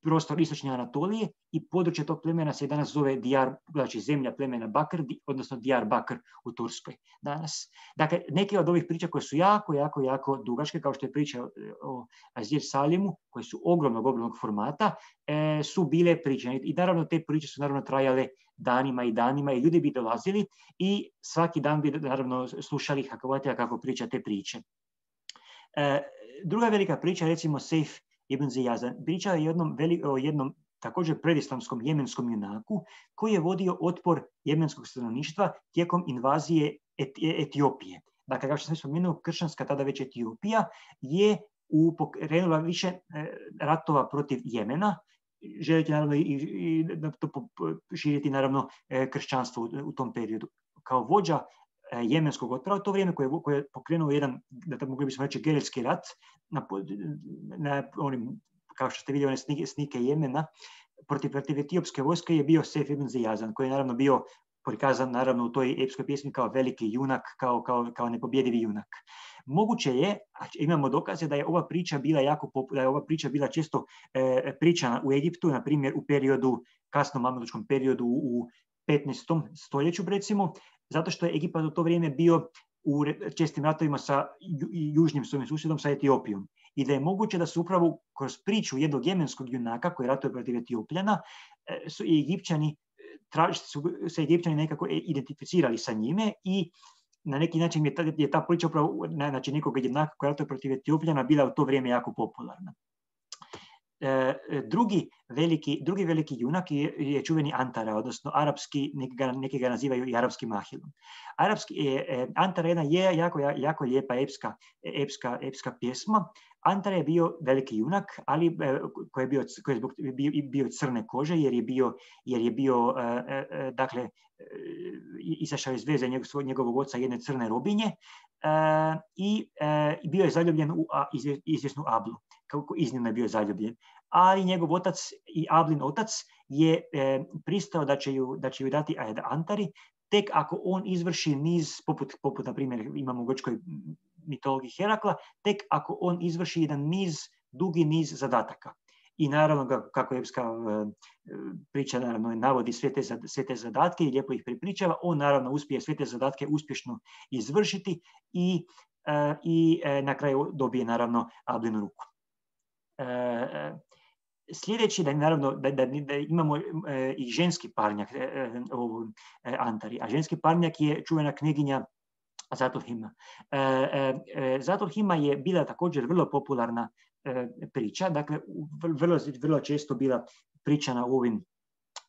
prostor istočne Anatolije i područje tog plemena se danas zove Diyar, znači zemlja plemena Bakr, odnosno Diyar Bakr u Turskoj danas. Dakle, neke od ovih priča koje su jako, jako, jako dugačke, kao što je priča o Azir Salimu, koje su ogromnog, ogromnog formata, e, su bile pričane. I naravno te priče su naravno trajale danima i danima i ljudi bi dolazili i svaki dan bi naravno slušali Hakavatija kako priča te priče. E, druga velika priča, recimo Sejf ibn Ziyazan, priča je jednom, o jednom također predislamskom jemenskom junaku koji je vodio otpor jemenskog stanovništva tijekom invazije Etiopije. Dakle, kao što sam spomenuo, kršćanska tada već Etiopija je pokrenula više ratova protiv Jemena, želite naravno i, i to širiti naravno kršćanstvo u, u tom periodu. Kao vođa jemenskog otpora u to vrijeme koje, koje je pokrenuo jedan, da mogli bismo reći, gerilski rat na, na onim, kao što ste vidjeli, one snike, snike Jemena protiv, protiv etiopske vojske je bio Sejf ibn Ziyazan, koji je naravno bio prikazan naravno u toj epskoj pjesmi kao veliki junak, kao, kao, kao nepobjedivi junak. Moguće je, a imamo dokaze da je ova priča bila jako da je ova priča bila često e, pričana u Egiptu, na primjer u periodu, kasnom mamelučkom periodu u petnaestom stoljeću recimo, zato što je Egipat u to vrijeme bio u čestim ratovima sa ju, južnim svojim susjedom, sa Etiopijom. I da je moguće da su upravo kroz priču jednog jemenskog junaka koji ratuje protiv Etiopljana e, su i Egipćani su se Egipćani nekako identificirali sa njime i na neki način je ta, je ta priča upravo znači nekog jednaka koja ratuje protiv Etiopljana bila u to vrijeme jako popularna. E, drugi, veliki, drugi veliki junak je, je čuveni Antara, odnosno arapski, neki ga, neki ga nazivaju i arapskim Ahilom. Arapski, e, Antara jedna je jako, jako lijepa epska, epska, epska pjesma. Antara je bio veliki junak, ali e, koji je, bio, koji je zbog, bio, bio crne kože, jer je bio, jer je bio e, e, dakle, e, izašao iz veze njegov, njegovog oca jedne crne robinje e, i e, bio je zaljubljen u a, izvje, izvjesnu Ablu. Kako iznimno je bio zaljubljen. Ali njegov otac i Ablin otac je e, pristao da će, ju, da će ju dati Antari, tek ako on izvrši niz, poput, poput na primjer imamo u grčkoj mitologiji Herakla, tek ako on izvrši jedan niz, dugi niz zadataka. I naravno, kako epska e, priča naravno, navodi sve te, sve te zadatke i lijepo ih prepričava, on naravno uspije sve te zadatke uspješno izvršiti i, e, i e, na kraju dobije naravno Ablinu ruku. E, sljedeći da naravno da, da, da imamo e, i ženski parnjak e, e, Antari, a ženski parnjak je čuvena knjiginja Zatulhima. E, e, Zatulhima je bila također vrlo popularna e, priča, dakle vrlo, vrlo često bila pričana u ovim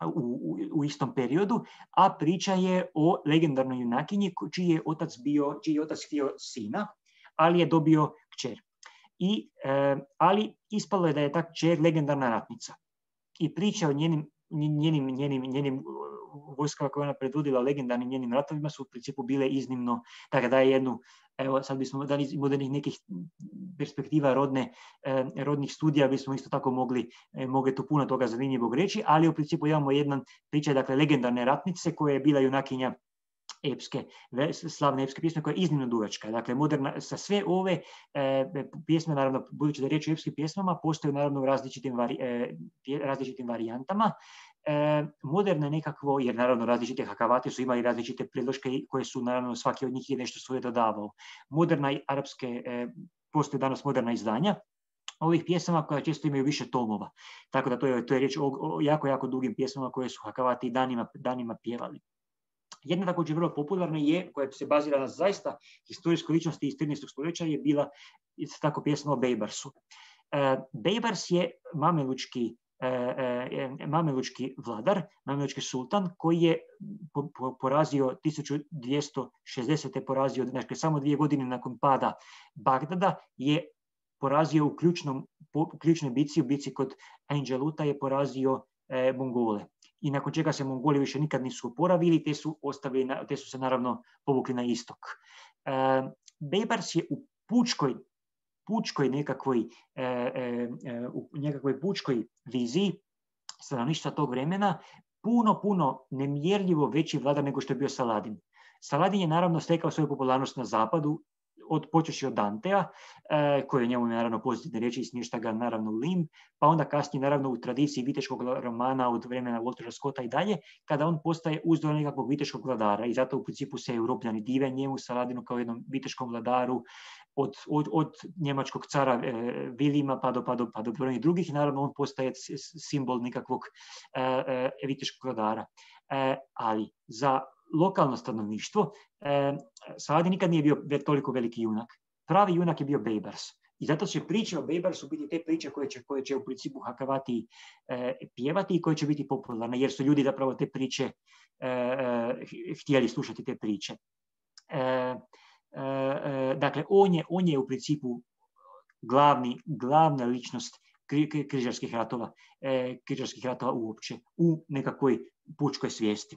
U, u, u istom periodu, a priča je o legendarnoj junakinji čiji je otac bio, čiji je otac htio sina, ali je dobio kćer. I, e, ali ispalo je da je ta kćer legendarna ratnica. I priča o njenim, njenim, njenim, njenim vojskama koje ona predvodila, legendarnim njenim ratovima su u principu bile iznimno, tako da je jednu, evo sad bismo dali iz modernih nekih perspektiva rodne, eh, rodnih studija, bismo isto tako mogli, eh, mogli tu puno toga zanimljivog reći, ali u principu imamo jedan pričaj, dakle, legendarne ratnice koja je bila junakinja epske, slavne epske pjesme koja je iznimno dugačka. Dakle, moderna, sa sve ove e, pjesme, naravno, budući da je riječ o epskim pjesmama, postoje naravno u različitim, vari, e, različitim varijantama. E, moderna nekakvo, jer naravno različite hakavati su imali različite predloške koje su, naravno, svaki od njih je nešto svoje dodavao. Moderna i arapske, e, postoje danas moderna izdanja ovih pjesama koja često imaju više tomova. Tako da to je, to je riječ o, o jako, jako dugim pjesmama koje su hakavati danima, danima pjevali. Jedna također vrlo popularna je, koja se bazira na zaista historijskoj ličnosti iz trinaestog stoljeća, je bila isto tako pjesma o Bejbarsu. E, Bejbars je mamelučki, e, e, mamelučki vladar, mamelučki sultan, koji je po, po, porazio tisuću dvjesto šezdesete porazio, znači samo dvije godine nakon pada Bagdada, je porazio u ključnom, po, ključnoj bici, u bici kod Anđeluta je porazio e, Mongole. I nakon čega se Mongoli više nikad nisu oporavili, te su, ostavili, te su se naravno povukli na istok. E, Bejbars je u pučkoj, pučkoj nekakvoj, e, e, u nekakvoj pučkoj viziji stanovništva tog vremena puno, puno nemjerljivo veći vladar nego što je bio Saladin. Saladin je naravno stekao svoju popularnost na zapadu, od počeši od Dantea, e, koji je njemu naravno pozitivne riječi i smješta ga naravno u limb, pa onda kasnije naravno u tradiciji viteškog romana od vremena Waltera Scotta i dalje, kada on postaje uzor nekakvog viteškog vladara i zato u principu se Europljani dive njemu, Saladinu kao jednom viteškom vladaru, od, od, od njemačkog cara e, Vilima pa do, pa do, pa do brojnih drugih, naravno on postaje simbol nekakvog e, e, viteškog vladara. E, ali za lokalno stanovništvo e, Saladin nikad nije bio toliko veliki junak. Pravi junak je bio Baybars. I zato će priče o Baybarsu biti te priče koje će, koje će u principu Hakavati e, pjevati i koje će biti popularne, jer su ljudi zapravo te priče e, e, htjeli slušati te priče. E, e, dakle, on je, on je u principu glavni, glavna ličnost kri, križarskih ratova, e, križarskih ratova uopće, u nekakvoj pučkoj svijesti.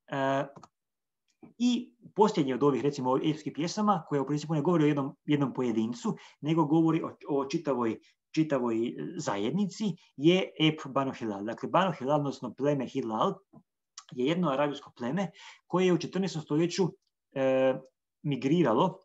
E, I posljednji od ovih, recimo, epskih pjesama, koja u principu ne govori o jednom, jednom pojedincu, nego govori o, o čitavoj, čitavoj zajednici, je ep Banu Hilal. Dakle, Banu Hilal, odnosno pleme Hilal, je jedno arabijsko pleme koje je u četrnaestom stoljeću e, migriralo,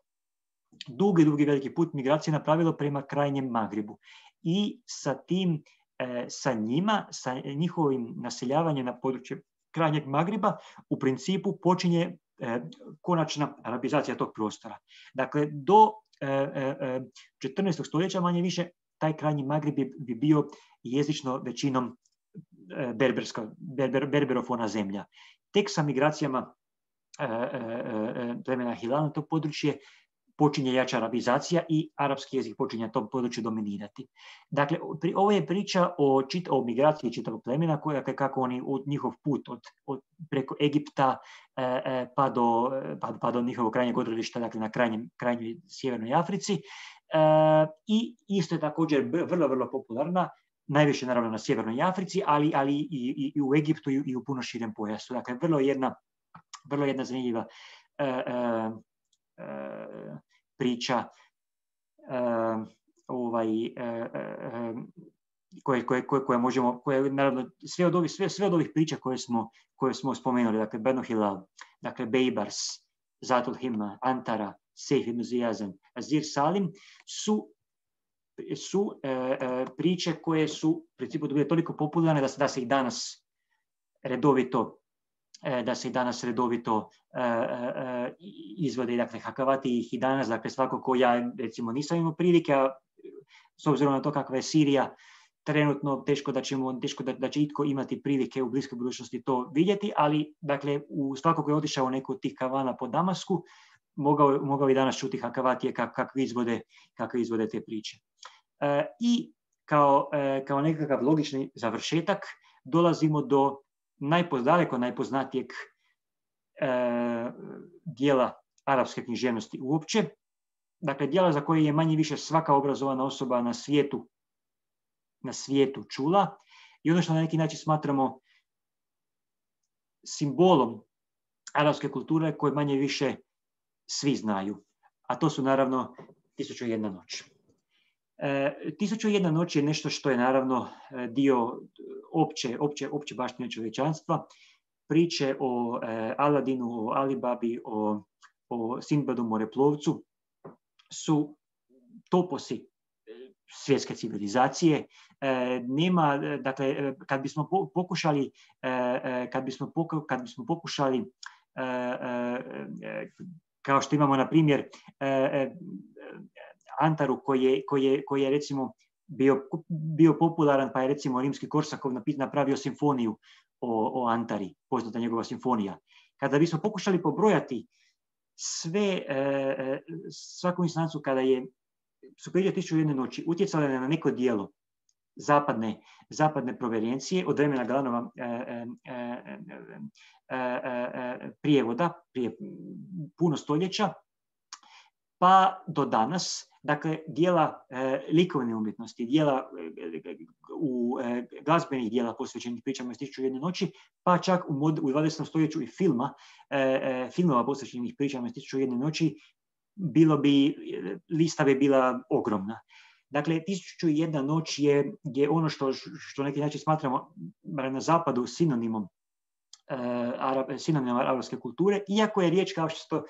dugi, dugi veliki put migracije napravilo prema krajnjem Magribu. I sa tim, e, sa njima, sa njihovim naseljavanjem na područje krajnjeg Magriba, u principu počinje e, konačna arabizacija tog prostora. Dakle, do e, e, četrnaestog stoljeća manje više taj krajnji Magrib bi, bi bio jezično većinom e, berberska, berber, berberofona zemlja. Tek sa migracijama e, e, plemena Hilal na to područje počinje jača arabizacija i arapski jezik počinje na tom području dominirati. Dakle, pri, ovo je priča o, čit, o migraciji čitavog plemena, koja, kako oni od njihov put od, od, preko Egipta e, pa, do, pa, pa do njihovog krajnjeg odredišta, dakle na krajnjem, krajnjoj sjevernoj Africi. E, I isto je također vrlo, vrlo popularna, najviše naravno na sjevernoj Africi, ali, ali i, i, i u Egiptu i, i u puno širem pojasu. Dakle, vrlo jedna, vrlo jedna zanimljiva e, e, priča uh, ovaj, uh, uh, koje, koje, koje, koje možemo, koje, naravno, sve od ovih, sve, sve od ovih priča koje smo, koje smo spomenuli, dakle, Banu Hilal, dakle, Baybars, Zatul Himma, Antara, Sejf ibn Ziyazan, Azir Salim, su, su uh, uh, priče koje su, u principu, bile toliko popularne da se, da se i danas redovito da se i danas redovito uh, uh, izvode, dakle, Hakavati ih i danas, dakle, svako ko ja, recimo, nisam imao prilike, a s obzirom na to kakva je Sirija, trenutno teško da ćemo, teško da, da će itko imati prilike u bliskoj budućnosti to vidjeti, ali, dakle, u svako ko je otišao u neku od tih kavana po Damasku, mogao, mogao i danas čuti Hakavatije kak, kakvi, izvode, kakvi izvode te priče. Uh, I kao, uh, kao nekakav logični završetak dolazimo do najpozdaleko najpoznatijeg e, dijela arapske književnosti uopće. Dakle, dijela za koje je manje više svaka obrazovana osoba na svijetu, na svijetu čula i ono što na neki način smatramo simbolom arapske kulture koje manje više svi znaju. A to su naravno Tisuću i jedna noć. E, Tisuću i jedna noć je nešto što je naravno dio opće, opće, opće baštine čovječanstva. Priče o e, Aladinu, o Alibabi, o, o Sinbadu moreplovcu su toposi svjetske civilizacije. E, nema, dakle, kad bismo pokušali, e, kad bismo, poku, kad bismo pokušali e, e, kao što imamo na primjer e, Antaru koji je, koji je, koji je recimo bio, bio popularan, pa je recimo rimski Korsakov napravio simfoniju o, o Antari, poznata njegova simfonija. Kada bismo pokušali pobrojati sve, e, svaku instancu kada je su priče Tisuću i jedne noći utjecale na neko dijelo zapadne, zapadne provenijencije od vremena Galanova e, e, e, e, prijevoda, prije puno stoljeća, pa do danas, dakle, dijela e, likovne umjetnosti, dijela e, u e, glazbenih dijela posvećenih pričama iz Tisuću i jedne noći, pa čak u, mod, u dvadesetom stoljeću i filma, e, e, filmova posvećenih pričama iz Tisuću i jedne noći, bilo bi, lista bi bila ogromna. Dakle, Tisuću i jedna noć je, je ono što, što neki način smatramo na zapadu sinonimom uh, sinonim arapske kulture, iako je riječ, kao što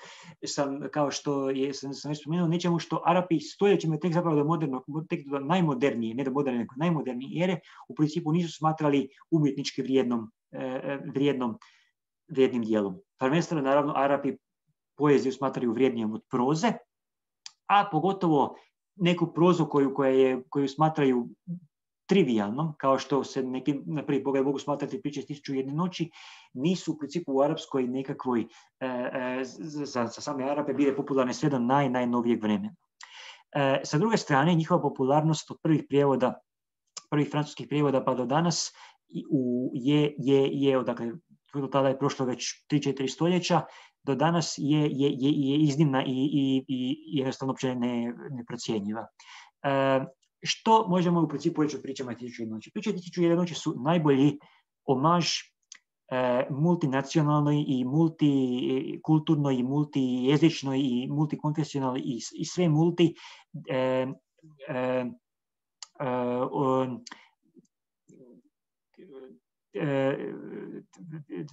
sam, kao što je, sam, sam već spomenuo, nečemu što Arapi stoljećima tek zapravo do modernog, tek do najmodernije, ne do moderne, nego najmodernije ere, u principu nisu smatrali umjetnički vrijednom, uh, vrijednom, vrijednim dijelom. Prvenstveno, naravno, Arapi poeziju smatraju vrijednijom od proze, a pogotovo neku prozu koju, koja je, koju smatraju trivijalnom, kao što se neki na prvi pogled mogu smatrati priče Tisuću i jedne noći, nisu u principu u arapskoj nekakvoj, e, e, za, za same Arape bile popularne sve do naj, najnovijeg vremena. E, sa druge strane, njihova popularnost od prvih prijevoda, prvih francuskih prijevoda pa do danas u, je, je, je, dakle, do tada je prošlo već tri četiri stoljeća, do danas je, je, je, je iznimna i, i, i jednostavno uopće ne, neprocjenjiva. E, što možemo u principu reći o pričama Tisuću i jedne noći? Priče Tisuću i jedne noći su najbolji omaž e, multinacionalnoj i multikulturnoj i multijezičnoj i multikonfesionalnoj i, i sve multi e, e, e, e,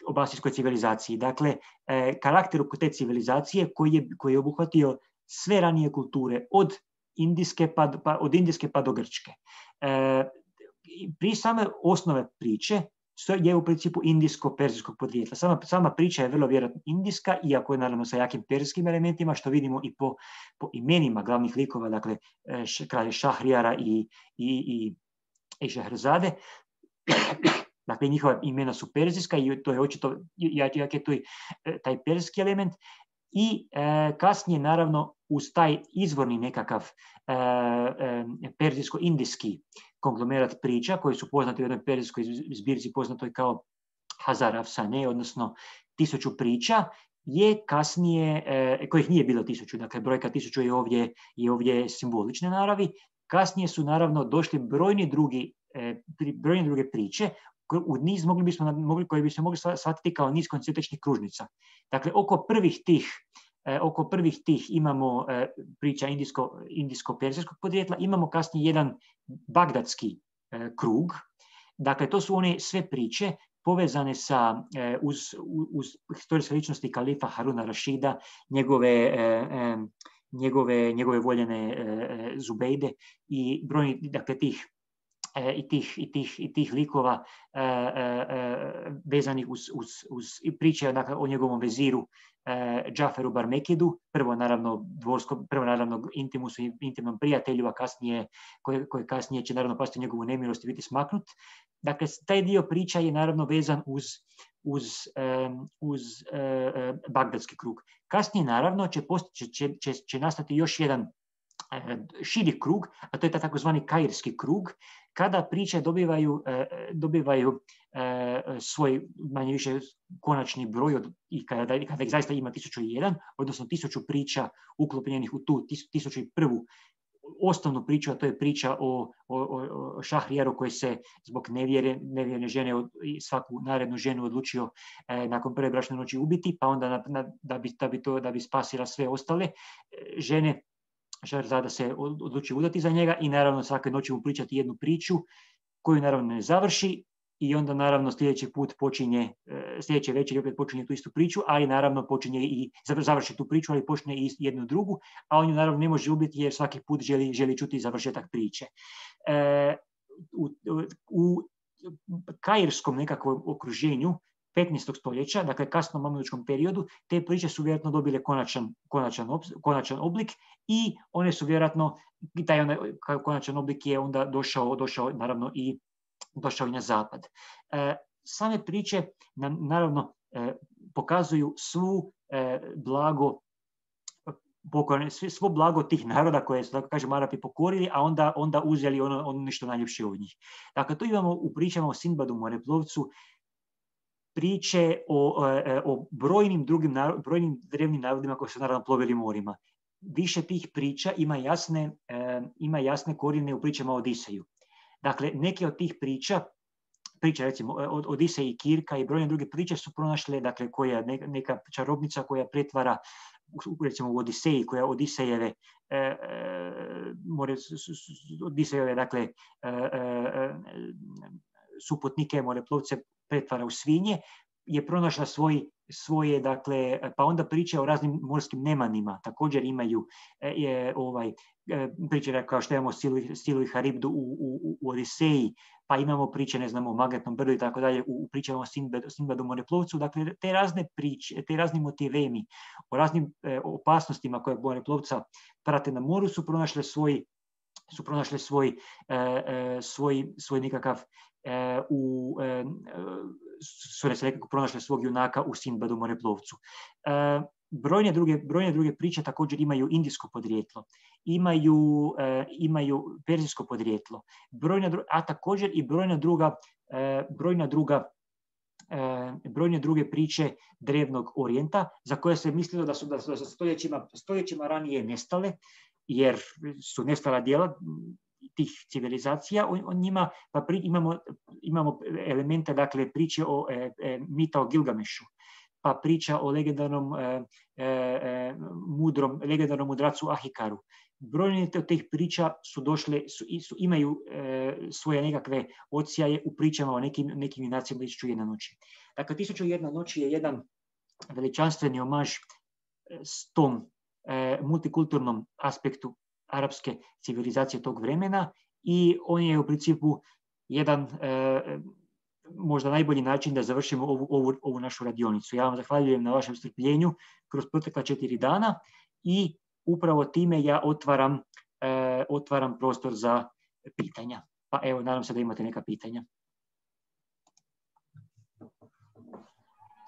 obasijskoj civilizaciji. Dakle, e, karakter te civilizacije koji je, koji je obuhvatio sve ranije kulture, od indijske pa, pa, od indijske pa do grčke. E, pri same osnove priče je u principu indijsko-perzijskog podrijetla. Sama, sama priča je vrlo vjerojatno indijska, iako je naravno sa jakim perzijskim elementima, što vidimo i po, po imenima glavnih likova, dakle kralje Šahrijara i, i, i, i Šehrazade. Dakle, njihova imena su perzijska i to je očito, jak je to i taj perzijski element. I e, kasnije, naravno, uz taj izvorni nekakav e, e, perzijsko-indijski konglomerat priča, koji su poznati u jednoj perzijskoj zbirci poznatoj kao Hazar Afsane, odnosno tisuću priča, je kasnije, e, kojih nije bilo tisuću, dakle brojka tisuću je ovdje, je ovdje simbolične naravi, kasnije su naravno došli brojni drugi, e, brojne druge priče, u niz mogli bismo, mogli, koji bi se mogli shvatiti kao niz koncentričnih kružnica. Dakle, oko prvih tih, eh, oko prvih tih imamo eh, priča indijsko, indijsko-perzijskog podrijetla, imamo kasnije jedan bagdadski eh, krug. Dakle, to su one sve priče povezane sa, eh, uz, uz historijske ličnosti kalifa Haruna Rašida, njegove, eh, eh, njegove, njegove voljene eh, Zubejde i brojni, dakle, tih I tih, i, tih, i tih likova e, e, vezanih uz, uz, uz priče, dakle, o njegovom veziru e, Džaferu Barmekidu, prvo naravno dvorsko, prvo naravno intimusu i intimnom prijatelju, a kasnije, koje, koje kasnije će naravno pasti njegovu nemilost i biti smaknut. Dakle, taj dio priča je naravno vezan uz, uz, um, uz uh, bagdadski krug. Kasnije naravno će, posti, će, će, će nastati još jedan širi krug, a to je takozvani kairski krug, kada priče dobivaju, dobivaju svoj manje više konačni broj od, i kada, kada ih zaista ima tisuću i jedan, odnosno tisuću priča uklopljenih u tu tisuću i prvu osnovnu priču, a to je priča o, o, o Šahrijaru koji se zbog nevjere, nevjerne žene i svaku narednu ženu odlučio eh, nakon prve bračne noći ubiti, pa onda na, na, da, bi, da, bi to, da bi spasila sve ostale žene. Šehrazada se odluči udati za njega i naravno svake noći mu pričati jednu priču koju naravno ne završi i onda naravno sljedeći put počinje, sljedeće večer opet počinje tu istu priču, ali naravno počinje i završi tu priču, ali počne i jednu drugu, a on ju naravno ne može ubiti jer svaki put želi, želi čuti završetak priče. E, u, u kairskom nekakvom okruženju petnaestog stoljeća, dakle kasno mamelučkom periodu, te priče su vjerojatno dobile konačan, konačan, konačan oblik i one su vjerojatno, taj onaj konačan oblik je onda došao, došao naravno i došao i na zapad. E, same priče nam naravno e, pokazuju svu e, blago svo blago tih naroda koje su, tako kažem, Arapi pokorili, a onda, onda uzeli ono, ono nešto najljepše od njih. Dakle, to imamo u pričama o Sindbadu moreplovcu, priče o, o brojnim drugim brojnim drevnim narodima koji su naravno plovili morima. Više tih priča ima jasne, e, ima jasne korijene u pričama o Odiseju. Dakle, neke od tih priča, priča recimo od Odiseja i Kirka i brojne druge priče su pronašle, dakle, koja neka, neka čarobnica koja pretvara, recimo u Odiseji, koja Odisejeve, e, e, more, Odisejeve, dakle, e, e, suputnike, moreplovce, pretvara u svinje, je pronašla svoj, svoje, dakle, pa onda priča o raznim morskim nemanima, također imaju je, ovaj, priče kao što imamo Stilu i Haribdu u, u, u Odiseji, pa imamo priče, ne znamo, o Magnetnom brdu i tako dalje, u pričama o Sinbadu, Sinbadu moreplovcu, dakle, te razne priče, te razni motivemi o raznim e, opasnostima koje moreplovca prate na moru su pronašle svoj, su pronašle svoj, e, e, svoj, svoj nekakav e, u e, su se nekako pronašle svog junaka u Sinbadu moreplovcu. E, brojne, druge, brojne druge priče također imaju indijsko podrijetlo, imaju, e, imaju perzijsko podrijetlo, brojna, a također i brojna druga, e, brojna druga e, brojne druge priče drevnog orijenta, za koje se mislilo da su, da su stoljećima, stoljećima ranije nestale, jer su nestala dijela tih civilizacija o, o njima, pa pri, imamo, imamo elemente, dakle, priče o e, e, mita o Gilgamešu, pa priča o legendarnom e, e, mudrom, legendarnom mudracu Ahikaru. Brojne od tih priča su došle, su, su, imaju e, svoje nekakve odsjaje u pričama o nekim, nekim junacima Tisuću i jedna noći. Dakle, Tisuću i jedna noći je jedan veličanstveni omaž s tom e, multikulturnom aspektu arapske civilizacije tog vremena i on je u principu jedan e, možda najbolji način da završimo ovu, ovu, ovu našu radionicu. Ja vam zahvaljujem na vašem strpljenju kroz protekla četiri dana i upravo time ja otvaram, e, otvaram prostor za pitanja. Pa evo, nadam se da imate neka pitanja.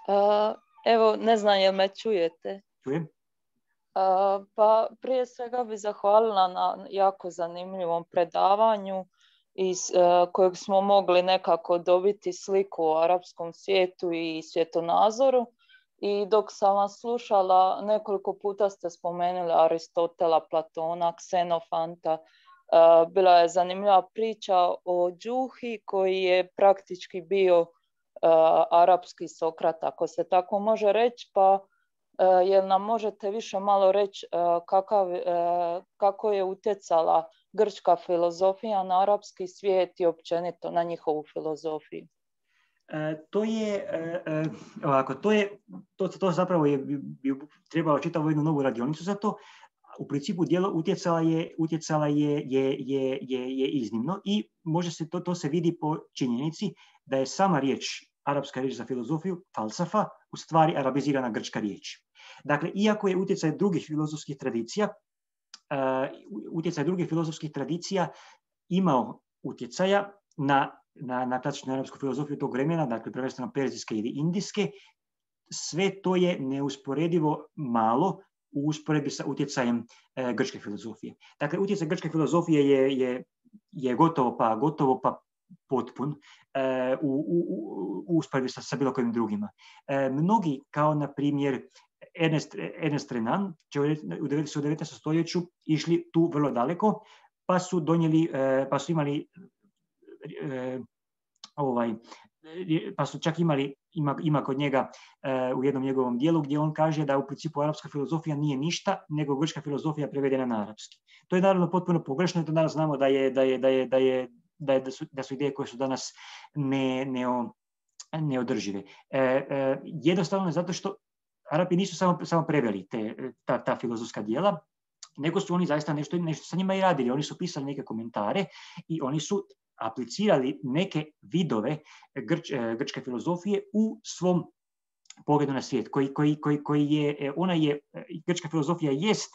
Uh, evo, ne znam jel me čujete. Čujem. Uh, pa prije svega bih zahvalila na jako zanimljivom predavanju iz uh, kojeg smo mogli nekako dobiti sliku o arapskom svijetu i svjetonazoru. I dok sam vas slušala, nekoliko puta ste spomenuli Aristotela, Platona, Ksenofanta. Uh, bila je zanimljiva priča o Džuhi koji je praktički bio uh, arapski Sokrat, ako se tako može reći, pa uh, jel nam možete više malo reći uh, kakav, uh, kako je utjecala grčka filozofija na arapski svijet i općenito na njihovu filozofiju? E, to je e, e, ovako, to je to, to zapravo je bi, bi trebalo čitavo jednu novu radionicu za to. U principu djelo utjecala je utjecala je, je, je, je, je iznimno i može se to, to se vidi po činjenici da je sama riječ, arapska riječ za filozofiju, falsafa, u stvari arabizirana grčka riječ. Dakle, iako je utjecaj drugih filozofskih tradicija, uh, utjecaj drugih filozofskih tradicija imao utjecaja na na, na klasičnu arapsku filozofiju tog vremena, dakle prvenstveno perzijske ili indijske, sve to je neusporedivo malo u usporedbi sa utjecajem e, grčke filozofije. Dakle, utjecaj grčke filozofije je, je, je gotovo pa gotovo pa potpun e, u, u, u usporedbi sa, sa bilo kojim drugima. E, mnogi, kao na primjer Ernest, Ernest Renan, će u devetnaestom stoljeću išli tu vrlo daleko, pa su donijeli, e, pa su imali E, ovaj, pa su čak imali, ima, ima kod njega e, u jednom njegovom dijelu gdje on kaže da u principu arapska filozofija nije ništa, nego grčka filozofija prevedena na arapski. To je naravno potpuno pogrešno i to danas znamo da, je, da, je, da, je, da, je, da, je, da, su, da su ideje koje su danas ne, neo, neodržive. E, e, jednostavno zato što Arapi nisu samo, samo preveli te, ta, ta filozofska dijela, nego su oni zaista nešto, nešto sa njima i radili. Oni su pisali neke komentare i oni su aplicirali neke vidove grč, grčke filozofije u svom pogledu na svijet, koji, koji, koji, koji je, ona je, grčka filozofija jest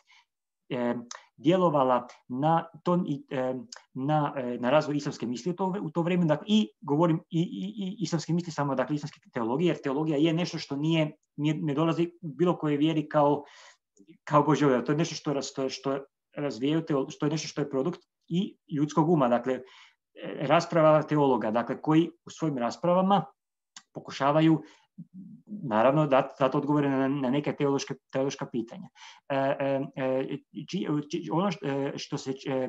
e, djelovala na, ton, e, na, na razvoj islamske misli u to, u to vrijeme, dakle, i govorim i, i, i islamske misli samo, dakle, islamske teologije, jer teologija je nešto što nije, nije ne dolazi bilo koje vjeri kao, kao Božja, to je nešto što, što, što razvijaju, što je nešto što je produkt i ljudskog uma, dakle, rasprava teologa, dakle, koji u svojim raspravama pokušavaju naravno dati, dati odgovore na, na neke teološke, teološka pitanja. E, e, či, či, ono što, što se e,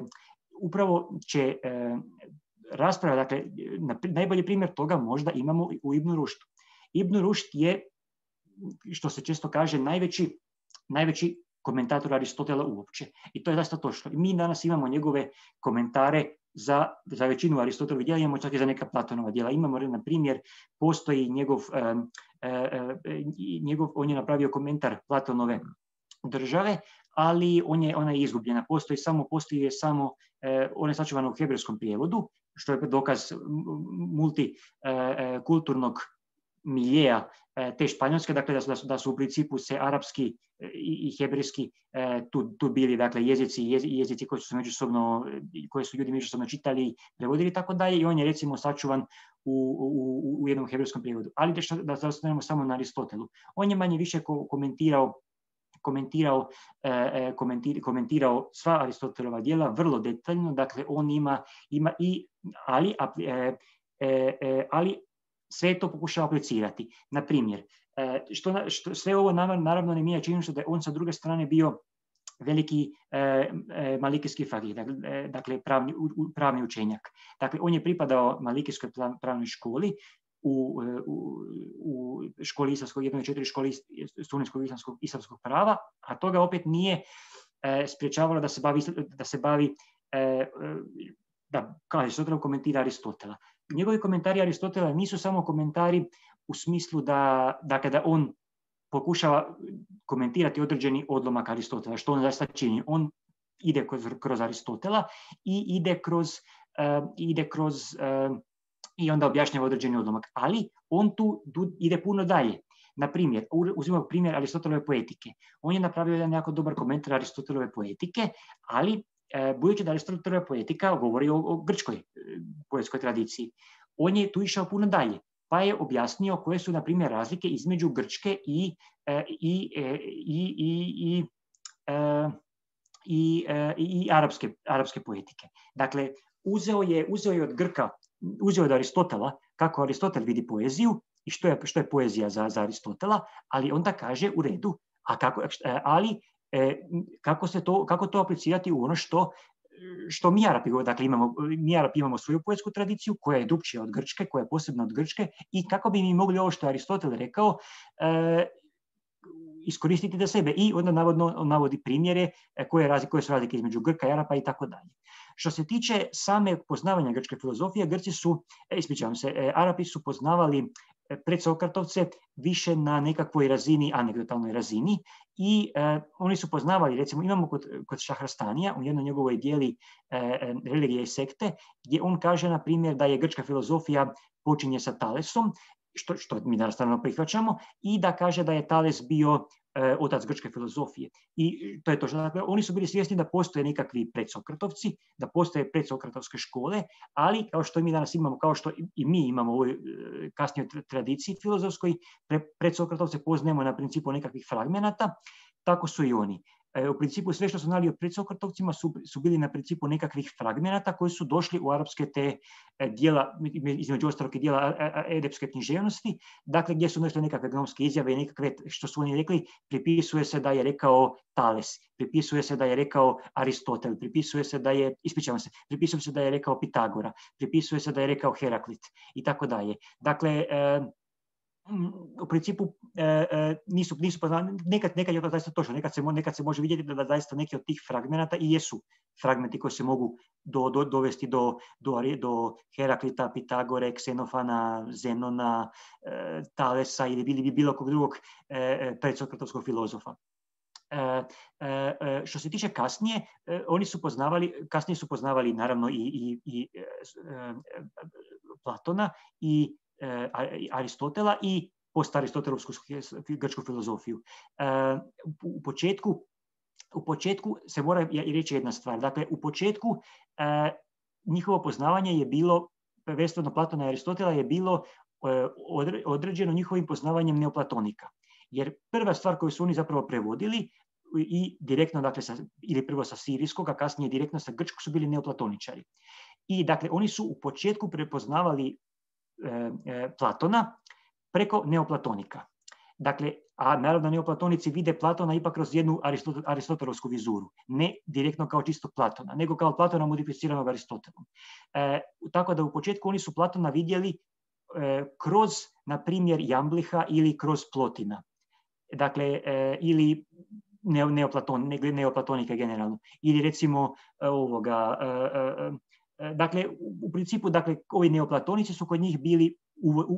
upravo će e, rasprava, dakle, na, najbolji primjer toga možda imamo u Ibn Rušdu. Ibn Rušd je, što se često kaže, najveći, najveći komentator Aristotela uopće. I to je zaista točno. Mi danas imamo njegove komentare za, za većinu Aristotelovih djela, imamo čak i za neka Platonova djela. Imamo, na primjer, postoji njegov, um, uh, njegov, on je napravio komentar Platonove države, ali on je, ona je izgubljena. Postoji samo, postoji je samo, uh, on je sačuvan u hebrejskom prijevodu, što je dokaz multikulturnog uh, miljeja te Španjolske, dakle da su, da su u principu se arapski i, i hebrejski tu, tu bili, dakle jezici, jezici koji su međusobno, koje su ljudi međusobno čitali, prevodili i tako dalje, i on je recimo sačuvan u, u, u jednom hebrejskom prijevodu. Ali da, da se ostanemo samo na Aristotelu. On je manje više komentirao komentirao, eh, komentir, komentirao sva Aristotelova djela vrlo detaljno, dakle on ima, ima i, ali, eh, eh, ali sve to pokušava aplicirati. Na primjer, što, što, sve ovo naravno ne mijenja činjenicu da je on sa druge strane bio veliki eh, malikijski faqih, dakle pravni, pravni učenjak. Dakle, on je pripadao malikijskoj pravnoj školi, u, u, u školi islamskog, jednoj četiri školi studentskog islamskog, islamskog prava, a toga opet nije eh, spriječavalo da se bavi, da se bavi eh, da, kao Aristotel komentira Aristotela. Njegovi komentari Aristotela nisu samo komentari u smislu da, dakle, da on pokušava komentirati određeni odlomak Aristotela, što on zaista čini. On ide kroz, kroz Aristotela i ide kroz, uh, ide kroz uh, i onda objašnjava određeni odlomak. Ali on tu, tu ide puno dalje. Na primjer, uzimamo primjer Aristotelove poetike. On je napravio jedan jako dobar komentar Aristotelove poetike, ali budući da Aristotelova poetika govori o, o grčkoj poetskoj tradiciji, on je tu išao puno dalje, pa je objasnio koje su, na primjer, razlike između grčke i, i, i, i, i, i, i, i arapske, arapske poetike. Dakle, uzeo je, uzeo je od Grka, uzeo je od Aristotela kako Aristotel vidi poeziju i što je, što je poezija za, za Aristotela, ali onda kaže u redu, a kako, ali kako, se to, kako to aplicirati u ono što, što mi Arapi, dakle imamo, mi Arapi imamo svoju poetsku tradiciju koja je drukčija od grčke, koja je posebna od grčke, i kako bi mi mogli ovo što je Aristotel rekao eh, iskoristiti za sebe. I onda navodno navodi primjere koje, razlike, koje su razlike između Grka i Arapa i tako dalje. Što se tiče same poznavanja grčke filozofije, Grci su, ispričavam se, eh, Arapi su poznavali predsokratovce više na nekakvoj razini, anegdotalnoj razini, i eh, oni su poznavali, recimo imamo kod, kod Šahrastanija u jednoj njegovoj dijeli eh, Religije i sekte, gdje on kaže, na primjer, da je grčka filozofija počinje sa Talesom, što, što mi naravno prihvaćamo, i da kaže da je Tales bio eh, otac grčke filozofije. I to je to. Dakle, oni su bili svjesni da postoje nekakvi predsokratovci, da postoje predsokratovske škole, ali kao što mi danas imamo, kao što i mi imamo u ovoj kasnijoj tradiciji filozofskoj, pre, predsokratovce poznajemo na principu nekakvih fragmenata, tako su i oni. U principu sve što su znali o predsokratovcima su, su bili na principu nekakvih fragmenata koji su došli u arapske te dijela, između ostalog i dijela edepske književnosti, dakle gdje su došle nekakve gnomske izjave i nekakve, što su oni rekli, pripisuje se da je rekao Tales, pripisuje se da je rekao Aristotel, pripisuje se da je, ispričavam se, pripisuje se da je rekao Pitagora, pripisuje se da je rekao Heraklit i tako dalje. Dakle, u principu e, nisu, nisu poznali, nekad, nekad je to zaista točno, nekad se, nekad se može vidjeti da, da zaista neki od tih fragmenata i jesu fragmenti koji se mogu do, do, dovesti do, do, do Heraklita, Pitagore, Ksenofana, Zenona, e, Talesa ili bili bi bilo kog drugog e, predsokratovskog filozofa. E, e, što se tiče kasnije, e, oni su poznavali, kasnije su poznavali naravno i, i, i e, e, Platona i Aristotela i post-aristotelovsku grčku filozofiju. U početku, u početku se mora reći jedna stvar. Dakle, u početku njihovo poznavanje je bilo, prvenstveno Platona i Aristotela, je bilo određeno njihovim poznavanjem neoplatonika. Jer prva stvar koju su oni zapravo prevodili i direktno, dakle, sa, ili prvo sa sirijskog, a kasnije direktno sa grčkog, su bili neoplatoničari. I dakle, oni su u početku prepoznavali Platona preko neoplatonika. Dakle, a naravno neoplatonici vide Platona ipak kroz jednu aristotelovsku vizuru, ne direktno kao čisto Platona, nego kao Platona modificiranog Aristotelom. E, tako da u početku oni su Platona vidjeli e, kroz, na primjer, Jambliha ili kroz Plotina. Dakle, e, ili neoplaton, ne, neoplatonika generalno. Ili recimo ovoga... E, e, dakle, u principu, dakle, ovi neoplatonici su kod njih bili u, u,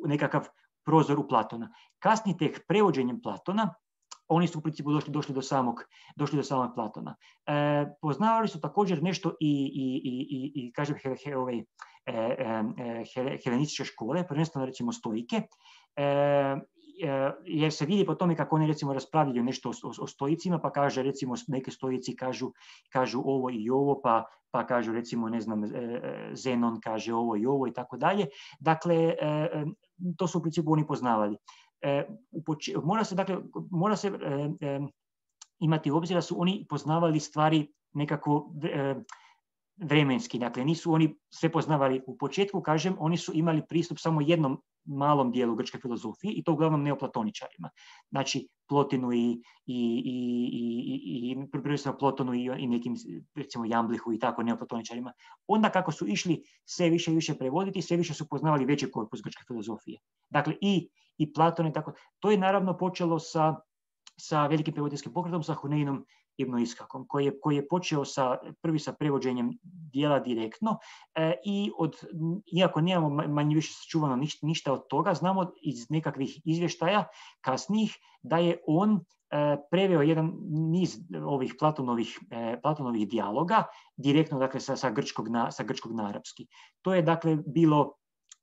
u nekakav prozor u Platona. Kasnije tek prevođenjem Platona, oni su u principu došli, došli, do, samog, došli do samog Platona. E, poznavali su također nešto i, i, i, i, i kažem, he, he, ove, e, e, he, helenističke škole, prvenstveno recimo stoike, e, jer se vidi po tome kako oni recimo raspravljaju nešto o, o, o stoicima, pa kaže recimo neke stoici kažu, kažu ovo i ovo, pa, pa kažu recimo ne znam Zenon kaže ovo i ovo i tako dalje. Dakle, to su u principu oni poznavali. Mora se, dakle, mora se imati u obzir da su oni poznavali stvari nekako vremenski, dakle nisu oni sve poznavali u početku, kažem, oni su imali pristup samo jednom malom dijelu grčke filozofije i to uglavnom neoplatoničarima. Znači Plotinu i, i, i, i, i prvenstveno Plotonu i, i nekim, recimo Jamblihu i tako neoplatoničarima. Onda kako su išli sve više i više prevoditi, sve više su poznavali veći korpus grčke filozofije. Dakle i, i Platon i tako. To je naravno počelo sa, sa velikim prevoditeljskim pokretom, sa Huneinom Ibn Ishakom, koji je, koji je počeo sa, prvi sa prevođenjem dijela direktno e, i od, iako nemamo manje više sačuvano ništa, ništa od toga, znamo iz nekakvih izvještaja kasnijih da je on e, preveo jedan niz ovih Platonovih, e, Platonovih dijaloga direktno, dakle, sa, sa, grčkog na, sa grčkog na arapski. To je dakle bilo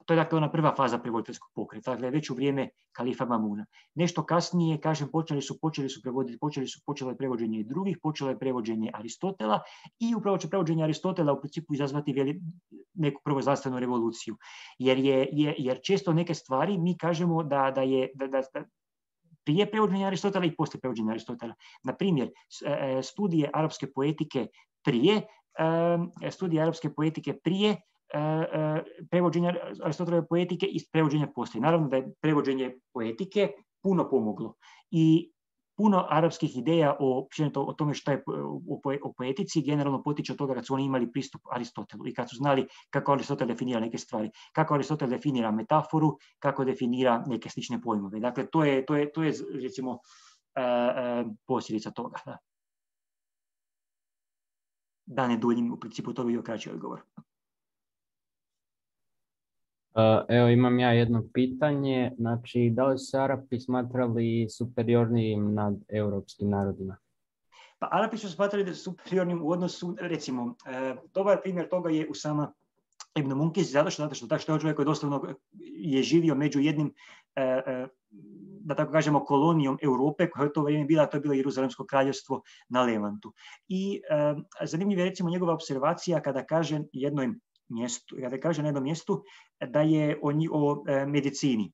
To je dakle ona prva faza prevoditeljskog pokreta, dakle već u vrijeme kalifa Mamuna. Nešto kasnije, kažem, počeli su, počeli su prevoditi, počeli su, počelo je prevođenje i drugih, počelo je prevođenje Aristotela i upravo će prevođenje Aristotela u principu izazvati veli, neku prvozdravstvenu revoluciju. Jer, je, je, jer često neke stvari mi kažemo da, da je da, da, da prije prevođenja Aristotela i poslije prevođenja Aristotela. Na primjer, studije arapske poetike prije, studije arapske poetike prije prevođenja Aristotelove poetike i prevođenja poslije. Naravno da je prevođenje poetike puno pomoglo i puno arapskih ideja o, o tome što je o, o poetici generalno potiče od toga kad su oni imali pristup Aristotelu i kad su znali kako Aristotel definira neke stvari, kako Aristotel definira metaforu, kako definira neke slične pojmove. Dakle, to je, to je, to je recimo uh, uh, posljedica toga. Da. da ne duljim, u principu to bi bio kraći odgovor. Evo imam ja jedno pitanje, znači da li su Arapi smatrali superiornijim nad europskim narodima? Pa Arapi su smatrali superiornim u odnosu, recimo, e, dobar primjer toga je Usama ibn Munkis, zato što, zato što, zato što je čovjek koji doslovno je živio među jednim, e, e, da tako kažemo, kolonijom Europe, koja je to vrijeme bila, to je bilo Jeruzalemsko kraljevstvo na Levantu. I e, zanimljiva je recimo njegova observacija kada kaže jednoj mjestu, kada kaže na jednom mjestu da je o, o e, medicini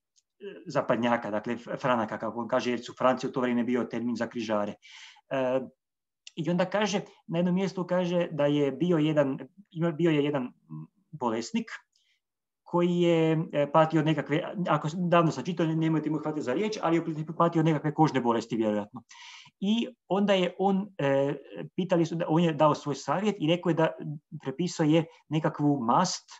zapadnjaka, dakle Franaka, kako on kaže, jer su Franci u to vrijeme bio termin za križare. E, I onda kaže, na jednom mjestu kaže da je bio jedan, bio je jedan bolesnik koji je patio od nekakve, ako davno sam čitao, nemojte mu hvatiti za riječ, ali je patio od nekakve kožne bolesti, vjerojatno. I onda je on, e, pitali su, da on je dao svoj savjet i rekao je da prepisao je nekakvu mast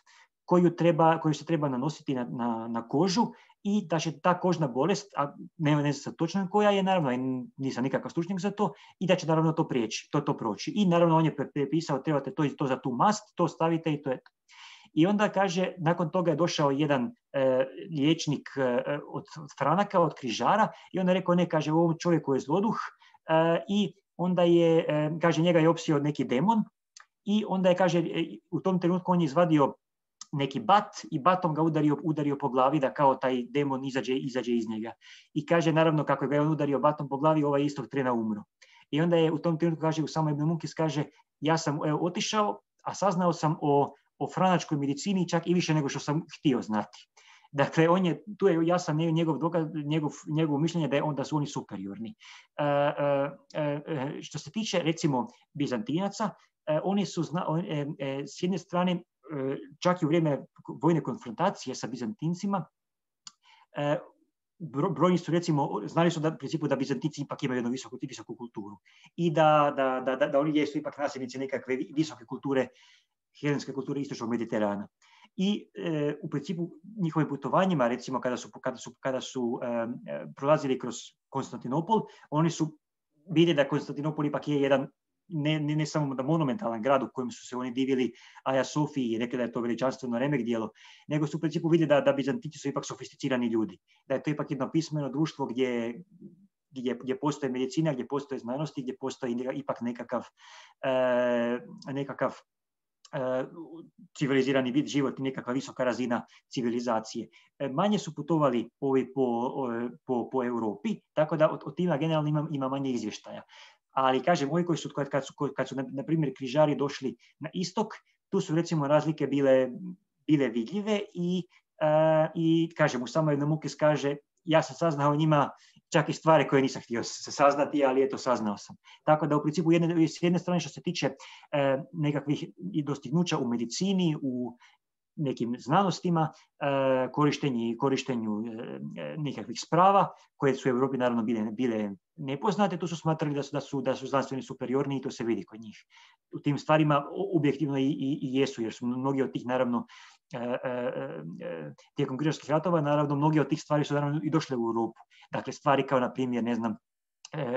koju, treba, koju se treba nanositi na, na, na kožu i da će ta kožna bolest, a ne, ne znam točno koja je, naravno, nisam nikakav stručnjak za to, i da će naravno to prijeći, to, to proći. I naravno on je prepisao, trebate to i to za tu mast, to stavite i to je to. I onda kaže, nakon toga je došao jedan e, liječnik e, od, od Franaka, od križara, i onda je rekao, ne, kaže, u ovom čovjeku je zloduh, e, i onda je, e, kaže, njega je opsio neki demon, i onda je, kaže, u tom trenutku on je izvadio neki bat i batom ga udario, udario po glavi da kao taj demon izađe, izađe iz njega. I kaže, naravno, kako ga je on udario batom po glavi, ovaj istog trena umro. I onda je u tom trenutku, kaže, Usama ibn Munkis, kaže, ja sam evo, otišao, a saznao sam o o franačkoj medicini čak i više nego što sam htio znati. Dakle, on je, tu je jasan njegov dokaz, njegov, njegov mišljenje da, je on, da su oni superiorni. E, e, e, što se tiče, recimo, Bizantinaca, e, oni su, zna, e, e, s jedne strane, e, čak i u vrijeme vojne konfrontacije sa Bizantincima, e, brojni su, recimo, znali su da, u principu, da Bizantinci ipak imaju jednu visoku, visoku kulturu i da, da, da, da, da oni jesu ipak nasljednici nekakve visoke kulture, helenske kulture istočnog Mediterana. I e, u principu njihovim putovanjima, recimo kada su, kada su, kada su e, prolazili kroz Konstantinopol, oni su vidjeli da Konstantinopol ipak je jedan ne, ne, ne samo da monumentalan grad u kojem su se oni divili Aja Sofiji i rekli da je to veličanstveno remek djelo, nego su u principu vidjeli da, da Bizantinci su ipak sofisticirani ljudi, da je to ipak jedno pismeno društvo gdje, gdje, gdje postoje medicina, gdje postoje znanosti, gdje postoji ipak nekakav, e, nekakav civilizirani vid život i nekakva visoka razina civilizacije. Manje su putovali ovi po, po, po Europi, tako da od tima generalno ima, ima manje izvještaja. Ali kažem, ovi koji su, kad su, kad su na primjer križari došli na istok, tu su recimo razlike bile, bile vidljive i, uh, i kažem, u samoj Mukis kaže, ja sam saznao o njima čak i stvari koje nisam htio se saznati, ali eto, saznao sam. Tako da u principu jedne, s jedne strane što se tiče eh, nekakvih dostignuća u medicini, u nekim znanostima, eh, korištenju, korištenju eh, nekakvih sprava, koje su u Europi naravno bile, bile nepoznate, tu su smatrali da su, da su, da su znanstveni superiorni i to se vidi kod njih. U tim stvarima objektivno i, i, i jesu, jer su mnogi od tih naravno tijekom križarskih ratova, naravno, mnogi od tih stvari su naravno i došle u Europu. Dakle, stvari kao, na primjer, ne znam,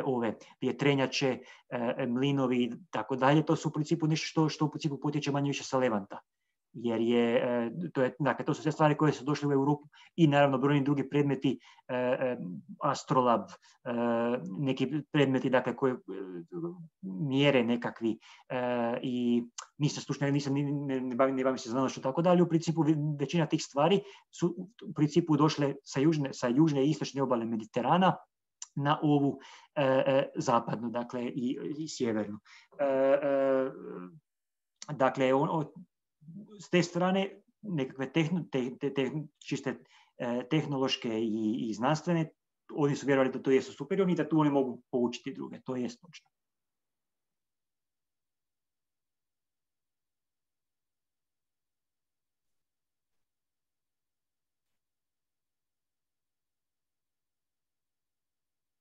ove vjetrenjače, mlinovi, tako dalje, to su u principu nešto što, što u principu potječe manje više sa Levanta. Jer je, to je, dakle, to su sve stvari koje su došle u Europu i naravno brojni drugi predmeti, astrolab, neki predmeti, dakle, koje mjere nekakvi i nisam stručnjak, nisam, ne, ne, bavim, ne bavim se znanošću, tako dalje. U principu većina tih stvari su u principu došle sa južne, sa južne i istočne obale Mediterana na ovu e, zapadnu, dakle, i, i sjevernu. E, e, dakle, on, on, s te strane nekakve tehno, te, te, te, čiste eh, tehnološke i, i znanstvene, oni su vjerovali da to jesu superiorni i da tu oni mogu poučiti druge. To je točno.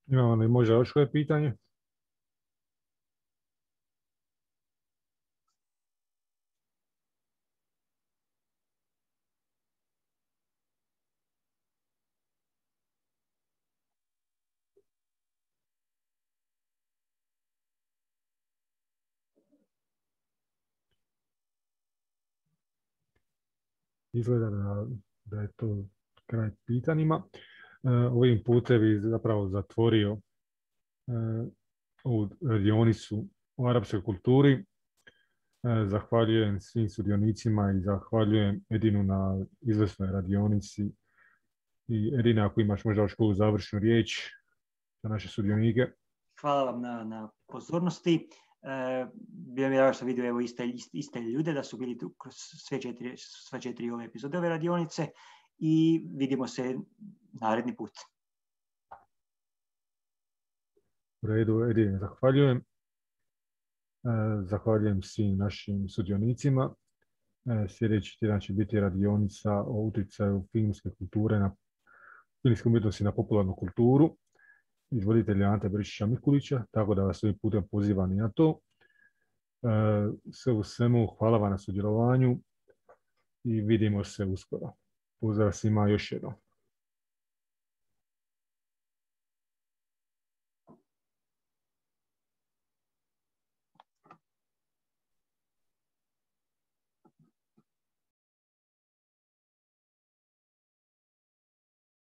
Imamo li možda još koje pitanje? Izgleda da, da je to kraj pitanjima. E, ovim putem bi zapravo zatvorio e, ovu radionicu o arapskoj kulturi. E, zahvaljujem svim sudionicima i zahvaljujem Edinu na izvrsnoj radionici. I Edina, ako imaš možda još koju završnu riječ za naše sudionike. Hvala vam na, na pozornosti. E, bilo mi je što vidio evo iste, iste, iste ljude da su bili tu kroz sve četiri, sve četiri ove epizode ove radionice i vidimo se naredni put. U redu, Edine, zahvaljujem. E, zahvaljujem svim našim sudionicima. E, sljedeći tjedan će biti radionica o utjecaju filmske kulture na filmske umjetnosti na popularnu kulturu izvoditelja Ante Brišića Mikulića, tako da vas ovim putem pozivam i na to. E, sve u svemu, hvala vam na sudjelovanju i vidimo se uskoro. Pozdrav svima još jednom.